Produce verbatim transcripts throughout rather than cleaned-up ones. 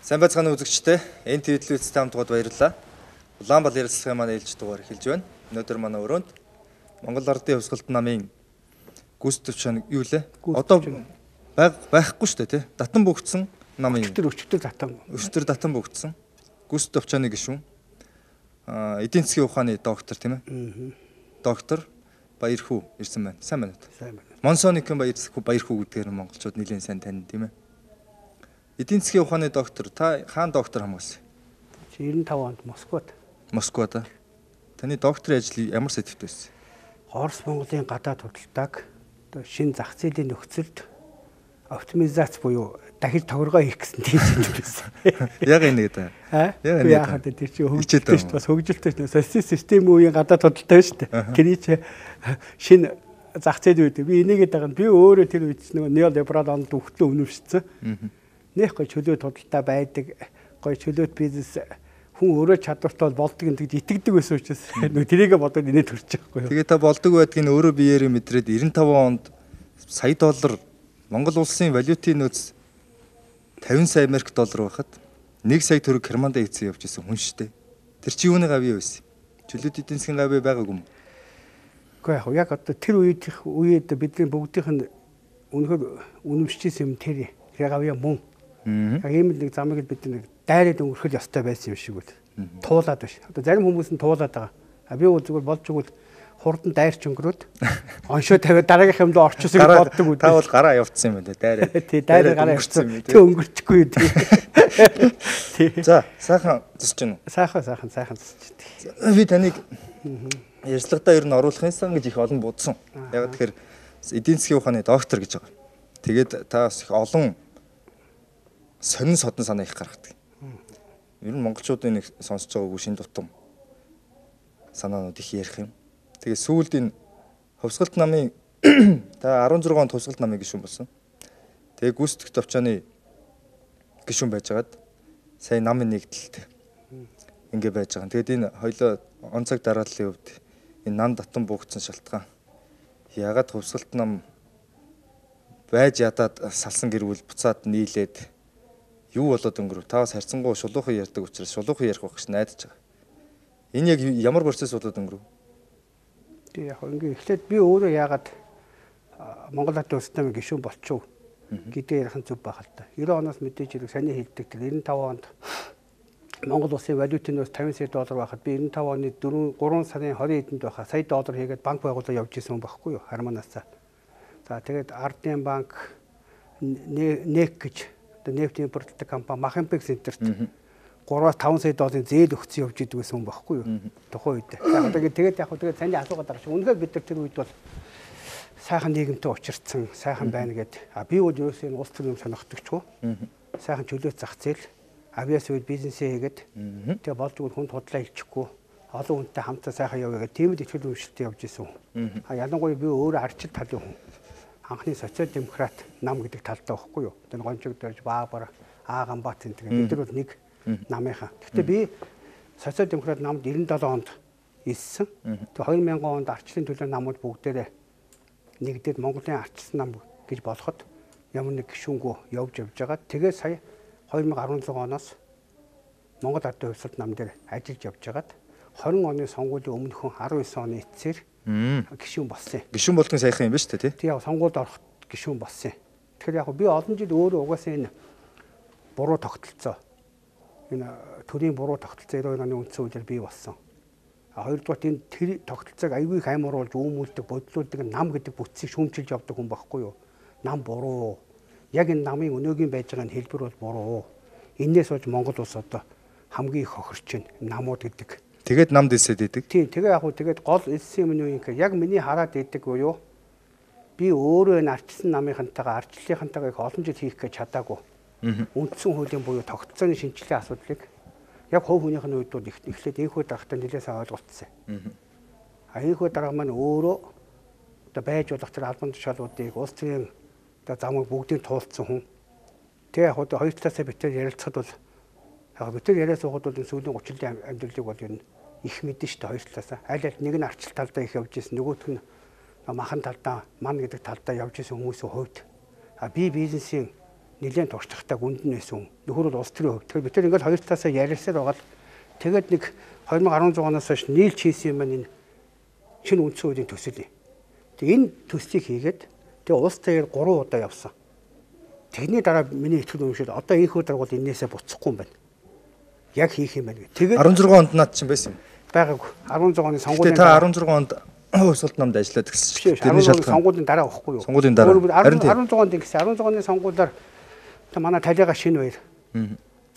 Сайн байцгаана үзэгчдээ. Энэ ТV телевизтэй хамтгаад баярлалаа. Улаанбаал ярилцлагын маань ээлж дугаар эхэлж байна. Өнөөдөр манай өрөөнд Монгол Ардын Хувьсгалт намын гүйс төвчөн юу лээ? Одоо байх байхгүй шүү дээ, тий. Датан бөгдсөн намын өчтөр өчтөр датан. Өчтөр датан бөгдсөн. Гүйс төвчөний гишүүн. Аа, эдийн засгийн ухааны доктор тийм ээ. Доктор Баярхүү ирсэн байна. Сайн байна уу? Сайн байна. Монсоникын Баярхүү Баярхүү гэдгээр монголчууд нэлээд сайн тань тийм ээ. Эдийн засгийн ухааны доктор та хаан доктор хамгаалсан? девяносто пять онд Москвад. Москвад. Таны докторийн ажил ямар сэдвтэй байсан? Орос Монголын гадаад худалдааг одоо шинэ зах зээлийн нөхцөлд оптимизац буюу дахиж товаргоо хийх гэсэн тийм сэдв байсан. Яг энэ гэдэг. Аа? Яг хаа тэр чинь хөгжилтэй шүү дээ. Бас хөгжилтэй шүү дээ. Социалист систем үеийн гадаад худалдаа шүү дээ. Тэрий чи шинэ зах зээл үед би энийгээд байгаа нь би өөрөө тэр үед нэг неолиберал онд өгтлөө өнөвшсөн. Нэх гой чөлөөт худалдаа байдаг, гой чөлөөт бизнес хүн өөрөө чадвартай болдог гэдэг итгэдэг байсан учраас нэг тэрийгэ бодоод инээ төрчих байхгүй юу. Тэгээ та болдог байдгийг өөрөө биеэрээ мэдрээд девяносто пять онд сая доллар Монгол улсын валютын нөөц пятьдесят сая Америк доллар байхад нэг сая төгрөг Германд хийцэн явж исэн хүн шүү дээ. Тэр чи юуны гавь байсан? Чөлөөт эдийн засгийн гавь байгаагүй юм. Гэхдээ яг одоо тэр үед үед бидний бүгдийнх нь үнэхээр үнэмшижсэн юм тэр гавья мөн. Яг ийм нэг замыг бид нэг дайраад өнгөрөх ёстой байсан юм шиг үл. Туулаад биш. Одоо зарим хүмүүс нь туулаад байгаа. А би бол зүгээр болж игэл хурдан дайрч өнгөрөөд оншоо тавиад дараагийнх юмд орчихсыг боддог үү. Та бол гараа явуулсан юм байна дайраад. Тий, дайраа гараа явуулсан. Тэг өнгөрчихгүй юу тий. За, сайхан зусч гэнэ үү? Сайхан сайхан сайхан зусч дээ. Би таныг ярилцлагадаа ер нь оруулахын сан гэж их олон будсан. Яг тэгэхээр эдийн засгийн ухааны доктор гэж байгаа. Тэгээд та бас их олон сонин содон санаа их гаргадаг. Ер нь монголчуудын нэг сонсож байгаагүй шин дутам санаанууд их ярих юм. Тэгээ сүүлд энэ хувьсгалт намын та арван зургаан онд хувьсгалт намын гишүүн болсон. Тэгээ гүйцэтгэх төвчөөний гишүүн байжгаад сая намын нэгдэлт ингэ байж байгаа. Тэгээд энэ хоёлоо онцог дарааллын хувьд энэ нам татан буугдсан шалтгаан ягаад хувьсгалт нам байж ядаад салсан гэрвэл буцаад нийлээд юу болоод өнгөрөв? Та бас харьцангуй шулуухан ярьдаг учраас шулуухан ярих байх гэж найдаж байгаа. Энэ яг ямар процесс болоод өнгөрөв? Тэг яг ингээ эхлээд би өөрөө яагаад Монгол Ардын Хувьсгалт намын гишүүн болчихов гэдэг ярих нь зүг байх л та. девяносто оноос мэдээж хэрэг саний хэлдэг тэр девяносто пять онд Монгол улсын валютын нөөц пятьдесят сая доллар байхад би девяносто пять оны гурван сарын двадцать эдэнд байхад сая доллар хийгээд банк байгуулалт явж исэн хүн байхгүй юу? Харманасаа. За тэгээд Ардын банк нэк гэж нефть импортлдог компани Махимпек Центрт гураваас таван сая долларын зээл өгсөн явж идэг гэсэн хүн байхгүй юу? Тухайн үед. Яг одоо тэгээд яг тэгээд саний асуугаад байгаа шүү. Үнэхээр бид нар тэр үед бол сайхан нийгэмтэй учирцсан, сайхан байна гэд. А би бол ерөөсөө энэ улс төрийн сонирхдогчгүй. Сайхан чөлөөт зах зээл, авиас үед бизнесээ хийгээд тэгээд болж игэл хүнд худлаа илчихгүй. Олон хүнтэй хамтаа сайхан явъя гэдэг тийм л итгэл үнэмшилтэй явж исэн хүн. А ялангуяа би өөрөө арчил талын хүн. Анхны социал демократ нам гэдэг талдаа байхгүй юу? Тэр гончог дөрж Баабар, Ааганбаат энэ бид нар бол нэг намынхаа. Гэхдээ би социал демократ намд девяносто пять онд ирсэн. Тэгээ две тысячи онд арчлалын төлөө намууд бүгдээрээ нэгдээд Монголын арчилсан нам гэж болоход ямар нэг гишүүнгөө явж явж байгаа. Тэгээ сая две тысячи десять оноос Монгол Ардын Хувьсгалт нам дээр ажиллаж явж байгаад двадцать оны сонгуулийн өмнөхөн десет оны эцсээр гишүүн болсон. Гишүүн болдгоо сайхан юм ба шүү дээ, тий? Тий, яг сонгуульд орох гишүүн болсон. Тэгэхээр яг би олон жил өөрөө угаасаа энэ буруу тогтолцоо. Энэ төрийн буруу тогтолцоо девяносто оны үндсэн хуулиар бий болсон. А хоёрдугаар энэ тэр тогтолцоог аягүй их аймууруулж үүмүүлдэг, бодлуулдаг нам гэдэг бүтцийг шүүмжилж явдаг хүн байхгүй юу? Нам буруу. Яг энэ намын өнөөгийн байж байгаа хэлбэр бол буруу. Энээс болж Монгол улс одоо хамгийн их хохирч байна. Намууд гэдэг. Тэгээд намд элсээд идэг. Тийм, тэгээ яг хөө тэгээд гол элсэн юм нь юу юм гэхээр яг миний хараад идэг буюу би өөрөө энэ арчилсан намынхантайгаа арчлалынхантайгаа их олон жил хийх гэж чадаагүй. Үндсэн хуулийн буюу тогтолцооны шинжилгээ асуудлыг яг хувь хүнийх нь үед бол эхлээд энэхүү дарагтай нэлээсээ ойлгуулсан. А энэхүү дарга маань өөрөө одоо байж болох тэр албан тушаалуудыг улс төрийн одоо замыг бүгдийг туулцсан хүн. Тэгээ яг одоо хоёр талаасаа битээр ярилцахад бол яг битээр яриа суухад бол энэ сүүлийн тридцать жилийн амьдралыг бол ер нь их мэдэн шүү дээ хоёр талаасаа. Аль аль нэг нь арчил талдаа их явж ирсэн, нөгөөх нь махан талдаа, ман гэдэг талдаа явж ирсэн хүмүүсийн хувьд а би бизнесийн нэлээд туршлагатай гүнд нь байсан. Нөхөр бол улс төрийн хувьд. Тэгэхээр бид тэр ингээд хоёр талаасаа ярилцсаар байгаа л тэгээд нэг two thousand eleven оноос хойш нийлж хийсэн юм маань энэ шинэ үндсэн хуулийн төсөл юм. Тэгээ энэ төслийг хийгээд тэгээ улс таяар гурван удаа явсан. Тэгний дараа миний итгэл үнэмшил одоо энэ хүү даргуул энээсээ буцахгүй юм байна. Яг хийх юм байна гэх. Тэгээд16 онд наад чинь байсан юм. байгаагүй.16 оны сонгуулийн та16 онд хувьсгалт намд ажиллаад гэсэн чинь. Тэрний шалтгаан сонгуулийн дараа байхгүй юу? Сонгуулийн дараа.16 онд ингэсэн16 оны сонгуулиар та манай талиага шинэ баяр.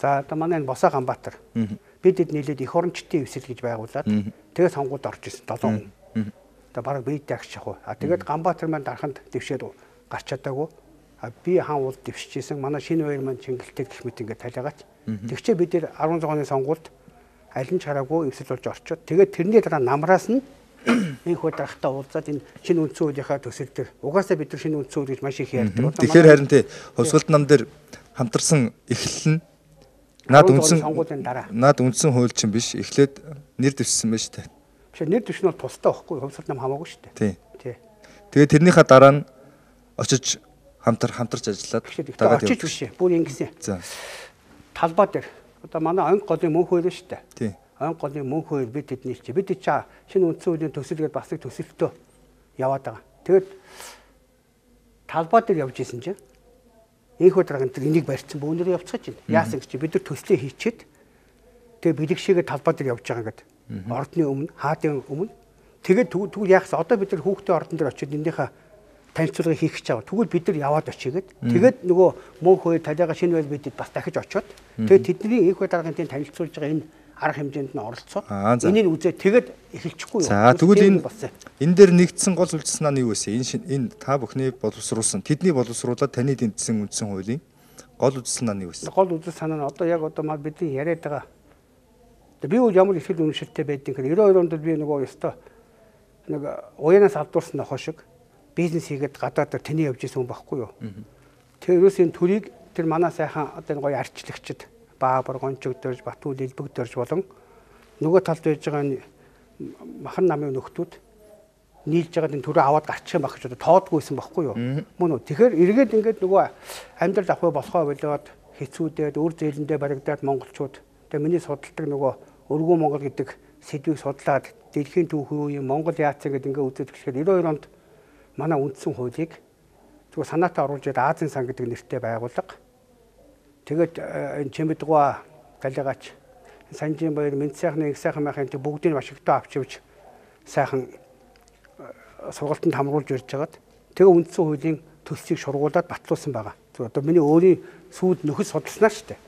За одоо манай энэ Босоо Ганбаатар. Бид хэд нийлээд их орончтын эвсэл гэж байгуулад тэгээд сонгуульд орж ирсэн seven хүн. Одоо бараг бид тагч яг. А тэгээд Ганбаатар маань дараханд дэвшээд гарч чадаагүй. А би хаан уул дэвшижсэн. Манай шинэ баяр маань Чингэлтэй гэх мэт ингээд талиагаач. Тэгчээ бид нэр16 оны сонгуульд аль нь чараагүй эвсэл болж орчоод тэгээд тэрний дараа намраас нь энэ хүү дарахтаа уулзаад энэ шинэ үндсэн хуулийнхаа төсөл дээр угаасаа бид нар шинэ үндсэн хууль гэж маш их ярьдаг. Тэгэхээр харин тий хувьсгалт нам дээр хамтарсан эхлэл нь наад үндсэн сонгуулийн дараа. Наад үндсэн хууль чинь биш эхлээд нэр дэвшсэн байна шүү дээ. Биш нэр дэвшин бол тустай байхгүй хувьсгалт нам хамаагүй шүү дээ. Тий. Тий. Тэгээд тэрнийхээ дараа нь очиж хамтар хамтарч ажиллаад дагаад очиж биш. Бүр ингэсэн. За. Талбай дээр одоо манай онг голын мөнх хууль шүү дээ. Тий. Онг голын мөнх хууль бид тэдний чи бид чи шинэ үндсэн хуулийн төсөлгээд бас их төсөлтөө яваад байгаа. Тэгээд талбай дээр явж исэн чинь энэ хүү дараагийн тэр энийг барьсан бөөнөрөө явцгааж байна. Яасан гэж бид нар төслөө хийчихэд тэгээ бэлэгшээгээ талбай дээр явж байгаа ингээд ордны өмнө хаадын өмнө тэгээд тэгвэл яахсан одоо бид нар хүүхдээ ордон дээр очиод эндийнхаа танилцуулгыг хийх гэж байгаа. Тэгвэл бид нар яваад очигээд тэгээд нөгөө мөнх хууль талиага шинэ байл бидэд бас дахиж очиод тэгээд тэдний энэ хүү дараагийн тийм танилцуулж байгаа энэ арга хэмжээнд нь оролцоод энийг үзээ тэгээд эхэлчихгүй юу. За тэгвэл энэ энэ дээр нэгдсэн гол үлдсэн нь юу вэ? Энэ энэ та бүхний боловсруулсан тэдний боловсруулаад таны дэмжсэн үндсэн хуулийн гол үлдсэн нь юу вэ? Гол үлдсэн санаа нь одоо яг одоо маа бидний яриад байгаа. Би бол ямар их л үнэшилтэй байдгийг хэрэг ninety-two онд би нөгөө ёстой нэг уянаас алдуулсан нохоо шиг бизнес хийгээд гадаадаар тэний явж исэн хүн байхгүй юу. Тэр ерөөсийн төрийг тэр манай сайхан одоо гоё арчлагчд Баабар гончог дөрж Батүл элбэг дөрж болон нөгөө талд байж байгаа нь махан намын нөхдүүд нийлж байгаа энэ төрөө аваад гарчих юм баг гэж одоо тоодгүйсэн байхгүй юу. Мөн үү. Тэгэхээр эргээд ингээд нөгөө амьдрал авах болохоо болоод хэцүүдээд үр зээлэндээ баригдаад монголчууд тэгээ миний судалдаг нөгөө өргөө Монгол гэдэг сэдвийг судлаад дэлхийн түүхийн үеийн Монгол яац гэдэг ингээд үзээд эхлэхээр ninety-two онд манай үндсэн хуулийг зүгээр санаатаа оруулж ирээд Азийн сан гэдэг нэртэй байгууллага. Тэгээд энэ Чимэдгуа талигач Санжин баяр Мэд сайхны их сайхан байхын бүгдийг Вашингтон авч явж сайхан сургалтанд хамруулж ирж хагаад тэгээ үндсэн хуулийн төсөлийг шургуулад батлуулсан байгаа. Зөв одоо миний өөрийн сүйд нөхөс судалснаа шүү дээ.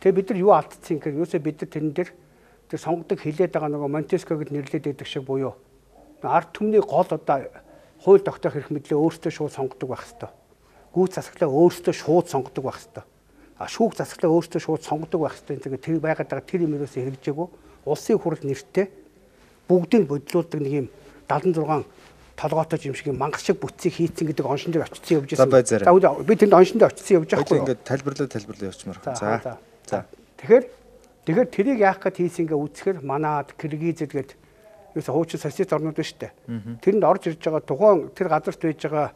Тэгээ бид нар юу алдсан гэхээр юусоо бид нар тэрэн дээр тэр сонгодог хилээд байгаа нөгөө Монтеско гэд нэрлээд байдаг шиг буюу ард түмний гол одоо хууль тогтоох эрх мэдлээ өөрсдөө шууд сонгодог байх хэвээр. Гүйц засаглаа өөрсдөө шууд сонгодог байх хэвээр. А шүүх засаглаа өөрсдөө шууд сонгодог байх хэвээр. Тэгээ тэр байгаад байгаа тэр юм ерөөсөө хэрэгжээгүй. Улсын хурал нэртэй бүгдийг бодлуулдаг нэг юм seventy-six толгойтой юм шиг мангас шиг бүтцийг хийцэн гэдэг оншин дээр очсон явж байсан. За би тэнд оншин дээр очсон явж байгаа хгүй. Ингээд тайлбарлаа тайлбарлаа явчмаар. За. За. Тэгэхээр тэгэхээр тэрийг яах гээд хийсэн ингээ үзэхэр манад Киргизэд гээд ерөөсө хуучин социалист орнууд байна шүү дээ. Тэрэнд орж ирж байгаа тухайн тэр газарт байж байгаа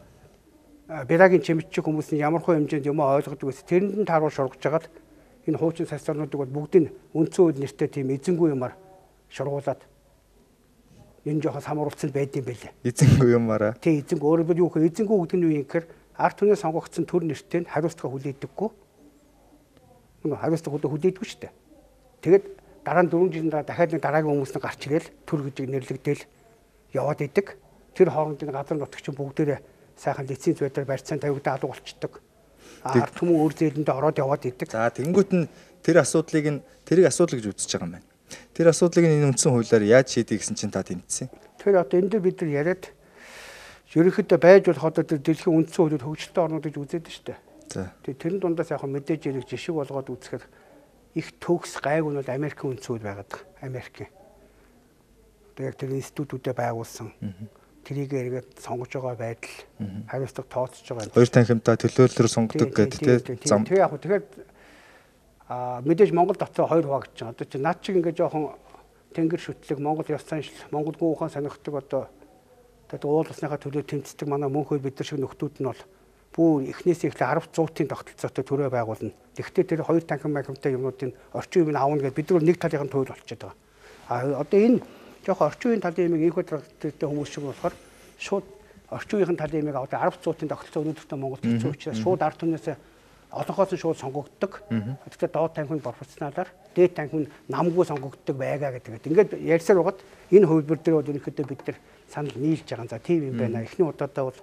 Бярагийн чимэгчиг хүмүүс нь ямар хөө хэмжээнд юм ойлгодог байсан. Тэрэнд нь тааруул шургаж хагаад энэ хуучин социалист орнуудыг бол бүгдийг үндсэн хууль нэртэй тийм эзэнгүй юмар шургуулад энэ жоохон самруулцсан байдсан байлээ. Эзэнгүй юмараа. Тий эзэнгүй өөрөөр юу гэхээр эзэнгүй гэдэг нь юу юм гэхээр ард түмний сонгогдсон төр нэртэй хариуцлага хүлээдэггүй. Мөн хариуцлага хүлээдэггүй шүү дээ. Тэгээд дараа нь дөрвөн жилийн дараа дахиад нэг дараагийн хүмүүс нь гарч ирэл төр гэж нэрлэгдээл яваад идэг. Тэр хоорондын газар нутагч бүгдээрээ сайхан лиценз байдлаар барьцаан тавигдаа алга болчдөг. Ард түмэн өөр зээлэндээ ороод яваад идэг. За тэнгуут нь тэр асуудлыг нь тэрийг асуудал гэж үзэж байгаа юм байна. Тэр асуудлыг энэ үндсэн хуулиар яаж шийдэх гэсэн чинь та тэмцсэн. Тэр одоо энэ дээр бид нар яриад ерөнхийдөө байж болох одоо тэр дэлхийн үндсэн хуулиуд хөгжилтэй орнууд гэж үзээд шүү дээ. За. Тэгээ тэрэн дундаас яг мэдээж яриг жишг болгоод үзэхээр их төгс гайг нь бол Америкийн үндсэн хууль байгаад байгаа. Америкийн. Одоо яг тэр институтүүдэд байгуулсан. Тэрийг эргээд сонгож байгаа байдал хариуцлага тооцож байгаа. Хоёр танхимтай төлөөллөөр сонгодог гэдэг тийм зам. Тэгээ яг тэгэхээр а мэдээж Монгол дотоо хоёр хуваагдаж байгаа. Одоо чи наад чиг ингээ жоохон тэнгэр шүтлэг Монгол ёс заншил Монгол гүн ухаан сонирхдаг одоо тэгээд уул усныхаа төлөө тэмцдэг манай мөнхөө бид нар шиг нөхдүүд нь бол бүр эхнээсээ эхлээ арав зуутын тогтолцоотой төрөө байгуулна. Тэгвэл тэр хоёр танхим майхамтай юмнуудын орчин үеийг аавна гэж бид нар нэг талын туйл болчиход байгаа. А одоо энэ жоохон орчин үеийн талын юмыг инх бодлоготой хүмүүс шиг болохоор шууд орчин үеийн талын юмыг аваад арав зуутын тогтолцоо өнөөдөртөө Монголд хэцүү учраас шууд ард түмнээс олонхоос нь шууд сонгогддог. Тэгэхээр доод танхимд пропорционалаар дээд танхимд намгүй сонгогддог байгаа гэдэг. Ингээд ярьсаар байгаад энэ хувилбар дээр бол ерөнхийдөө бид нар санал нийлж байгаа. За тийм юм байна. Эхний удаадаа бол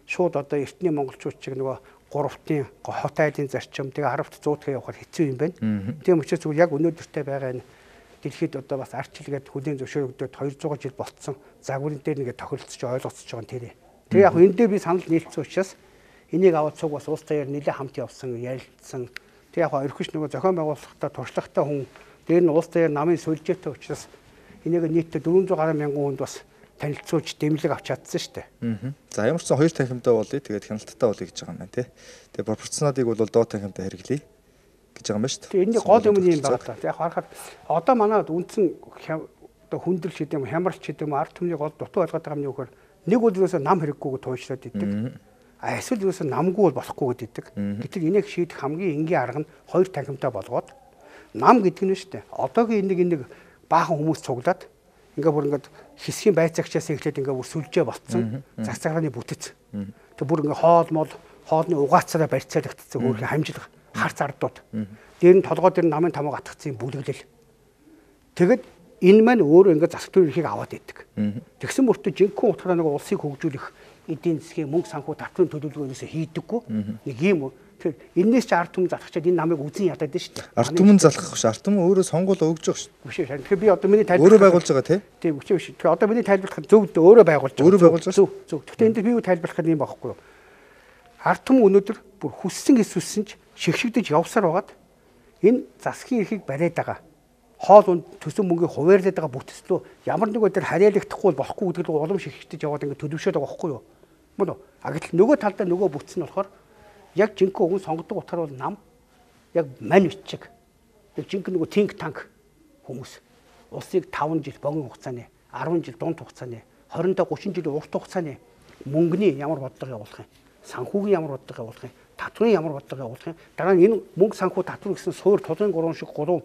шууд одоо эртний монголчууд чиг нөгөө гуравтын хот айлын зарчим тэгээ аравт зуутгаа явахаар хэцүү юм байна. Тийм учраас зүгээр яг өнөөдөртэй байгаа энэ дэлхийд одоо бас арчилгээд хүлийн зөвшөөрөгдөд хоёр зуун жил болцсон загварын дээр нэгэ тохиролцож ойлгоцож байгаа нь тэр. Тэгээ яг энэ дээр би санал нийлсэн учраас энийг аваад цуг бас улс таяар нэлээд хамт явсан, ярилцсан. Тэг яг ерөөш нөгөө зохион байгуулалтаа туршлагатай хүн дээр нь улс таяар намын сүлжээтэй учраас энийг нийтдээ дөрвөн зуун гаруй мянган хүнд бас танилцуулж дэмжлэг авч чадсан шүү дээ. За ямар ч сан хоёр танхимтай болъё. Тэгээд хяналттай болъё гэж байгаа юм байна тий. Тэгээд пропорционалыг бол доод танхимтай хэрэглэе гэж байгаа юм байна шүү дээ. Тэгээд энэний гол юм юм байна та. Яг харахад одоо манайд үндсэн одоо хүндрэл ч гэдэм хямралч гэдэм ард түмний гол дутуу ойлгоод байгаа юм юу гэхээр нэг бол юусаа нам хэрэггүйг туйлшраад идэг. А эсвэл юусаа намгүй бол болохгүй гэдэг. Гэтэл энийг шийдэх хамгийн энгийн арга нь хоёр танхимтай болгоод нам гэдэг нь шүү дээ. Одоогийн энийг энийг баахан хүмүүс цуглаад ингээ бүр ингээд хэсгийн байцаагчаас эхлээд ингээ бүр сүлжээ болцсон цаг цагааны бүтэц. Тэг бүр ингээ хоол мол хоолны угаацаараа барьцаалагдсан өөрхөн хамжлах харц ардууд. Дээр нь толгой дээр намын тамга атгацсан бүлэглэл. Тэгэд энэ маань өөрөө ингээ засаг төр эрхийг аваад идэг. Тэгсэн мөртөө жинхэнэ утгаараа нэг улсыг хөгжүүлэх эдийн засгийн мөнгө санхүү татврын төлөвлөгөөнөөс хийдэггүй. Нэг юм. Тэр энэс ч ард түмэн залхачаад энэ намайг үзэн ядаад шүү дээ. Ард түмэн залхах биш. Ард түмэн өөрөө сонгуул өгж байгаа шүү. Биш ээ. Тэгэхээр би одоо миний тайлбар өөрөө байгуулж байгаа тий. Тийм үгүй биш. Тэгэхээр одоо миний тайлбарлах зөв өөрөө байгуулж байгаа. Өөрөө байгуулж байгаа. Зөв зөв. Гэхдээ энэ би юу тайлбарлах юм байхгүй юу? Ард түмэн өнөөдөр бүр хүссэн эсвэлсэн ч шигшигдэж явсаар байгаад энэ засгийн эрхийг бариад байгаа. Хоол унд төсөн мөнгөийг хуваарлаад байгаа бүтцлөө ямар нэг үгээр харьяалагдахгүй болохгүй гэдэг нь улам шигшигдэж яваад ингэ төлөвшөөд байгаа байхгүй юу? Мөн үү? А гэтэл нөгөө талдаа нөгөө бүтц нь болохоор яг жинхэнэ өгөн сонгодог утгаар бол нам яг мань бичиг. Яг жинхэнэ нөгөө think tank хүмүүс улсыг таван жил богино хугацааны, арван жил дунд хугацааны, хорин гучин жилийн урт хугацааны мөнгөний ямар бодлого явуулах юм, санхүүгийн ямар бодлого явуулах юм, татврын ямар бодлого явуулах юм. Дараа нь энэ мөнгө санхүү татвар гэсэн суур тулын гурван шиг гурван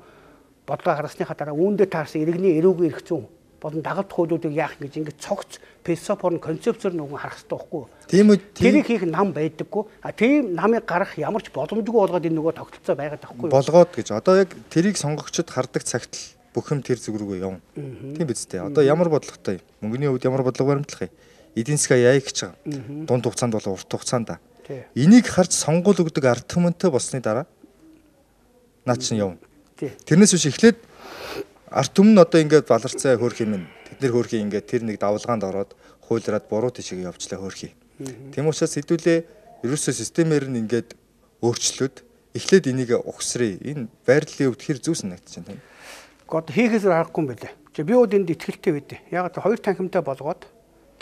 бодлого гаргасныхаа дараа үүндээ таарсан иргэний эрүүгийн эрх зүйн болон дагалт хуулиудыг яах гэж ингэж цогц философор концепцээр нүгэн харах хэрэгтэй байхгүй юу? Тийм үү? Тэрийг хийх нам байдаггүй. А тийм намыг гарах ямар ч боломжгүй болгоод энэ нөгөө тогтолцоо байгаад байхгүй юу? Болгоод гэж. Одоо яг тэрийг сонгогчд хардаг цагт л бүх юм тэр зүг рүүгээ явна. Тийм биз дээ. Одоо ямар бодлоготой юм? Мөнгөний хувьд ямар бодлого баримтлах юм? Эдийн засгаа яа гэж байгаа. Дунд хугацаанд болон урт хугацаанд. Энийг харж сонгуул өгдөг ард түмэнтэй болсны дараа наа чинь явна. Тэрнээс биш эхлээд ард түмэн одоо ингээд баларцаа хөөх юм нь тэд нэр хөөх ингээд тэр нэг давлгаанд ороод хуйлраад буруу тишээ явуулчлаа хөөх. Тийм учраас хэдүүлээ ерөөсөө системээр нь ингээд өөрчлөөд эхлээд энийг ухсрыг энэ байрлалын хувьд хэр зүг санагдаж байна. God хийхээс аргагүй юм байлаа. Чи би ууд энд итгэлтэй байдэ. Яг хоёр танхимтай болгоод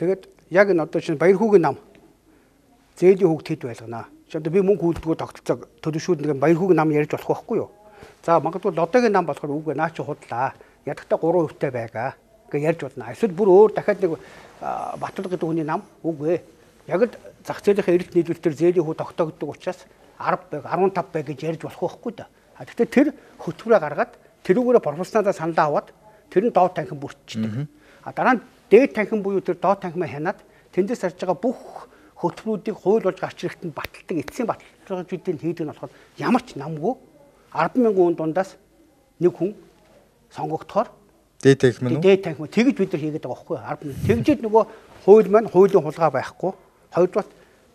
тэгээд яг энэ одоо чинь баяр хүүгийн нам зээлийн хүүгд хэд байлганаа. Чи одоо би мөнгө хүүлдэггүй тогтолцоо төлөвшүүлнэ баяр хүүгийн нам ярьж болох байхгүй юу? За магадгүй лодогийн нам болохоор үгүй наа чи худлаа. Ядахта гурван хувьтай байгаа гэж ярьж болно. Эсвэл бүр өөр дахиад нэг Батал гэдэг хүний нам үгүй. Яг л зах зээлийн эрэлт нийлүүлэлтээр зээлийн хүү тогтоогддог учраас арав байг, арван тав байг гэж ярьж болох байхгүй да. А тэгэхээр тэр хөтөлбөрөө гаргаад тэрүүгээрээ профессионалаа саналаа аваад тэр нь доод танхим бүрдчихдэг. А дараа нь дээд танхим буюу тэр доод танхимаа хянаад тэндээс харж байгаа бүх хөтөлбөрүүдийг хууль болж гарч ирэхэд нь баталдаг эцсийн баталгаажуудыг хийдэг нь болохоор ямар ч намгүй арван мянган хүн дундаас нэг хүн сонгогдохоор дээд танхим нь дээд танхим тэгж бид нар хийгээд байгаа байхгүй юу? Тэгжээд нөгөө хууль маань хуулийн хулгай байхгүй. Хоёрдугаар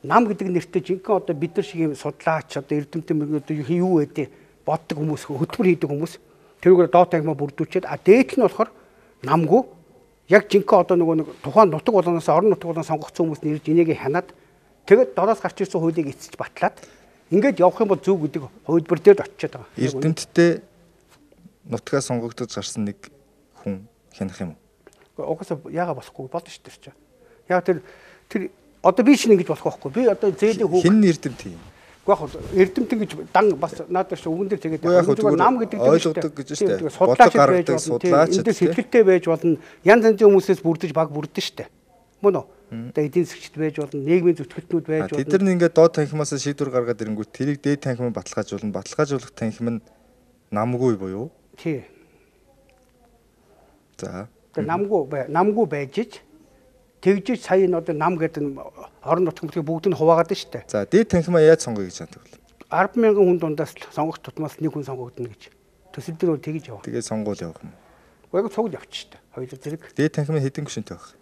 нам гэдэг нэртэй жинхэнэ одоо бид нар шиг юм судлаач одоо эрдэмтэн одоо юу вэ боддог хүмүүс хөтөлбөр хийдэг хүмүүс тэрүүгээр доод танхимаа бүрдүүлчихэд а дээд нь болохоор намгүй яг жинхэнэ одоо нөгөө нэг тухайн нутаг болоноос орон нутаг болон сонгогдсон хүмүүс нэрж энийг хянаад тэгээд дороос гарч ирсэн хуулийг эцэж батлаад ингээд явах юм бол зөв гэдэг хувилбар дээр очиод байгаа. Эрдэмтдээ нутгаа сонгогдож гарсан нэг хүн хянах юм уу? Угаасаа яага болохгүй болно шүү дээ. Яг тэр тэр одоо би шинэ ингэж болох байхгүй. Би одоо зээлийн хүүг хин эрдэмт юм. Гэхдээ яг эрдэмтэн гэж дан бас наадах шиг үгэн дээр тэгээд нам гэдэг ойлгодог гэж шүү дээ. Судлаач байж болно. Эндээс сэтгэлтэй байж болно. Янз янзын хүмүүсээс бүрдэж баг бүрдэн шүү дээ. Мөн үү? Одоо эдийн засгчд байж болно, нийгмийн зүтгэлтнүүд байж болно. Тэд нар ингээд доод танхимаас шийдвэр гаргаад ирэнгүүт тэрийг дээд танхимд баталгаажуулна. Баталгаажуулах танхим нь намгүй буюу. Тий. За. Тэгээ намгүй намгүй байж ич тэгжиж сая энэ одоо нам гэдэг нь орон нутгийн бүгд нь хуваагаад байна шүү дээ. За дээд танхимаа яаж сонгоё гэж боддог вэ? арван мянган хүн дундаас сонгох тутмаас нэг хүн сонгогдно гэж. Төсөл дээр бол тэгж яваа. Тэгээ сонгуул явах юм. Уяг цугл явчих шүү дээ. Хоёул зэрэг. Дээд танхимын хэдэн гишүүнтэй байх?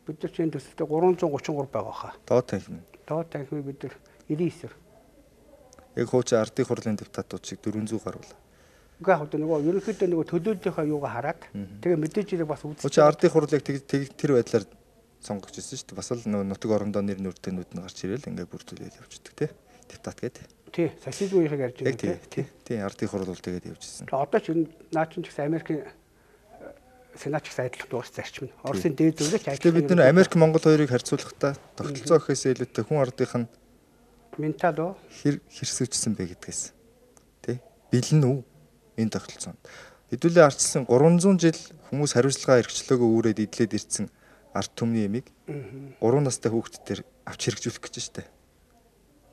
Бид нар чинь төсөлдөө гурван зуун гучин гурав байгаа хаа. Доод танхим. Доод танхимыг бид нар девяносто девять. Яг хуучин ардын хурлын депутатууд шиг дөрвөн зуун гарвал. Угаа хөө нөгөө ерөнхийдөө нөгөө төлөөллийнхаа юугаа хараад тэгээ мэдээж ирэх бас үзсэн. Хуучин ардын хурлыг тэр байдлаар сонгогч ирсэн шүү дээ. Бас л нөгөө нутаг орондоо нэр нүртэнүүд нь гарч ирэл ингээд бүрдүүлээд явчихдаг тий. Депутат гэдэг. Тий, социализмын үеийг ярьж байгаа тий. Тий, ардын хурл бол тэгээд явжсэн. Одоо ч наа чинь ч гэсэн Америкийн сенат ч гэсэн адилхан дуус зарчим нь. Оросын дээд зөвлөгч ажил. Тэгээд бид нэр Америк Монгол хоёрыг харьцуулахдаа тогтолцоо гэхээс илүүтэй хүн ардынх нь ментал уу хэр хэрсүүчсэн бэ гэдгээс тий. Бэлэн үү энэ тогтолцоонд. Хэдүүлээ арчилсан гурван зуун жил хүмүүс хариуцлага эрхчлөөгөө үүрээд идлээд ирсэн ард түмний ямиг гурван настай хүүхдүүдээр авч хэрэгжүүлэх гэж штэ.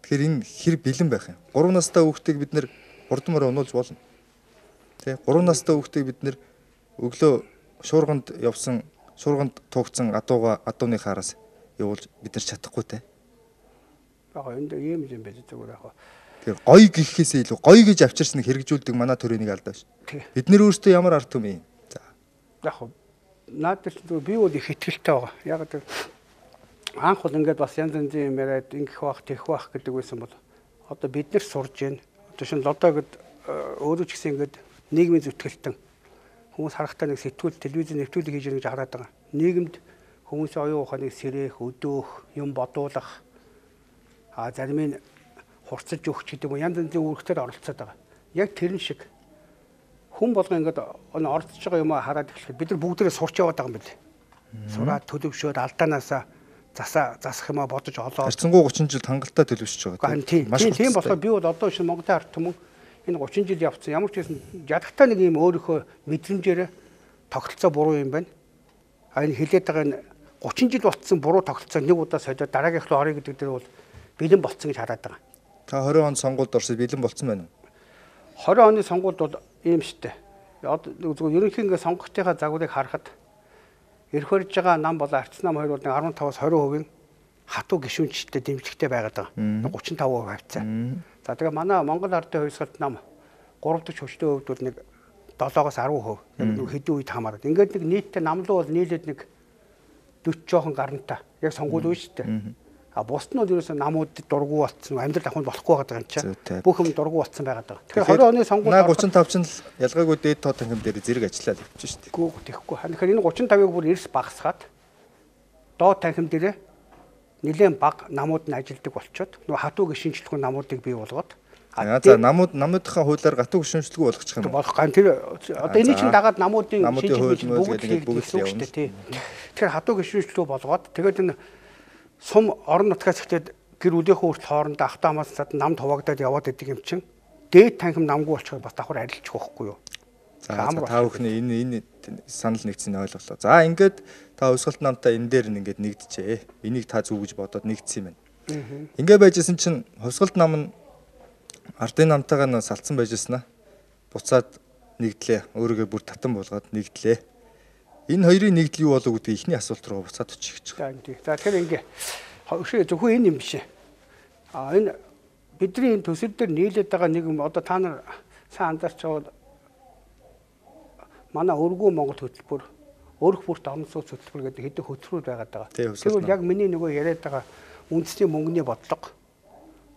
Тэгэхээр энэ хэр бэлэн байх юм. гурван настай хүүхдийг бид нэр хурдмаар унуулж болно. Тэ гурван настай хүүхдийг бид нэр өглөө шуурганд явсан шуурганд тугцсан адууга адууны хаараас явуулж бид нар чадахгүй те. Аа энд ийм юм байж зүгээр яг. Тэгэхээр гоё гэхээс илүү гоё гэж авчирсныг хэрэгжүүлдэг манай төрөнийг алдаа ш. Бид нэр өөрсдөө ямар ард түмэн. За. Яг надад ч би бол их ихтгэлтэй байгаа. Яг тэр анх бол ингээд бас янз янзын юм яриад ингэх бах тэгэх бах гэдэг байсан бол одоо бид нар сурж байна. Одоо шин лодоо гэд өөрөө ч гэсэн ингээд нийгмийн зүтгэлтэн хүмүүс харахтаа нэг сэтгүүл телевизэн нэвтрүүлэг хийж байгаа гэж хараад байгаа. Нийгэмд хүмүүсийн оюун ухааныг сэрэх, өдөөх, юм бодуулах а зарим нь хурцаж өгч гэдэг юм янз янзын үүрэгтэр оролцоод байгаа. Яг тэрэн шиг хүн болгоо ингээд оролцож байгаа юм хараад эхлэхэд бид нар бүгдээрээ сурч яваад байгаа юм байна. Сураад төлөвшөөд алдаанаасаа засаа засах юм а бодож олоо. Харцангуй гучин жил хангалттай төлөвшөж байгаа. Тийм. Тийм болохоор би бол одоо шинэ Монголын ард түмэн энэ гучин жил явцсан ямар ч гэсэн ядагтай нэг юм өөрийнхөө мэдрэмжээр тогтолцоо буруу юм байна. А энэ хилээд байгаа энэ гучин жил болцсон буруу тогтолцоо нэг удаа солиод дараагийнх руу орё гэдэг дээр бол бэлэн болцсон гэж хараад байгаа. Та двадцать онд сонгуульд орсод бэлэн болцсон байна уу? двадцать оны сонгуульд бол ийм штэ. Одоо зөвхөн ерөнхий ингээ сонгогчдынхаа загварыг харахад эрх барьж байгаа нам болон арц нам хоёр бол арван таваас хорин хувийн хатуу гишүүнчтэй дэмжлэгтэй байгаад байгаа. гучин тав хувь хавцаа. За тэгээ манай Монгол ардын хувьсгалт нам гурав дахь хүчтэй хувьд бол нэг долоогоос арван хувь хэдэн үед хамаарат. Ингээд нэг нийтдээ намлуу бол нийлээд нэг дөрвөн жоохон гарантай. Яг сонгуул үе шүү дээ. А бусд нь бол ерөөсөө намуудад дургу болцсон, амьдрал ахуйд болохгүй байгаа юм чинь. Бүх юм дургу болцсон байгаад байгаа. Тэгэхээр двадцать оны сонгуульд наа гучин тав ч ялгаагүй дээд тоо танхим дээр зэрэг ажиллаад явчих шүү дээ. Гүү тэхгүй. Тэгэхээр энэ гучин тавыг бүр эрс багасгаад доод танхим дээр нэлээд бага намууд нь ажилдаг болчоод нөгөө хатуу гишүүнчлэхүүн намуудыг бий болгоод за намууд намуудынхаа хуулиар гатуу гишүүнчлэгүй болгочих юм. Болох гэн тэр одоо энэ чинь дагаад намуудын шинжилгээ бүгд бүгд явна шүү дээ. Тэгэхээр хатуу гишүүнчлүү болгоод тэгээд энэ сум орон нутгаас ихтэй гэр бүлийнхээ хүртэл хоорондоо автаа хамаасад нам хуваагдаад яваад идэг юм чинь дээд танхим намгүй болчиход бас давхар арилчих واخхгүй юу. За та бүхний энэ энэ санал нэгдсэний ойлголоо. За ингээд та өсгөлт намтай энэ дээр ингээд нэгдэжээ. Энийг та зүг гэж бодоод нэгдсэн юм байна. Ингээд байжсэн чинь хувьсгалт нам нь ардын намтайгаа нь салцсан байжснаа. Буцаад нэгдлээ. Өөрийгөө бүр татан болгоод нэгдлээ. Энэ хоёрын нэгдэл юу болов гэдэг ихний асуулт руу буцаад очих гэж байна. За тэгэхээр ингээ өшөө зөвхөн энэ юм биш. А энэ бидний энэ төсөл дээр нийлээд байгаа нэг юм одоо та нар сайн анзаарч байгаа манай өргөө Монгол хөтөлбөр өрх бүрт орон сууц хөтөлбөр гэдэг хэдэн хөтөлбөр байгаад байгаа. Тэгвэл яг миний нөгөө яриад байгаа үндэсний мөнгөний бодлого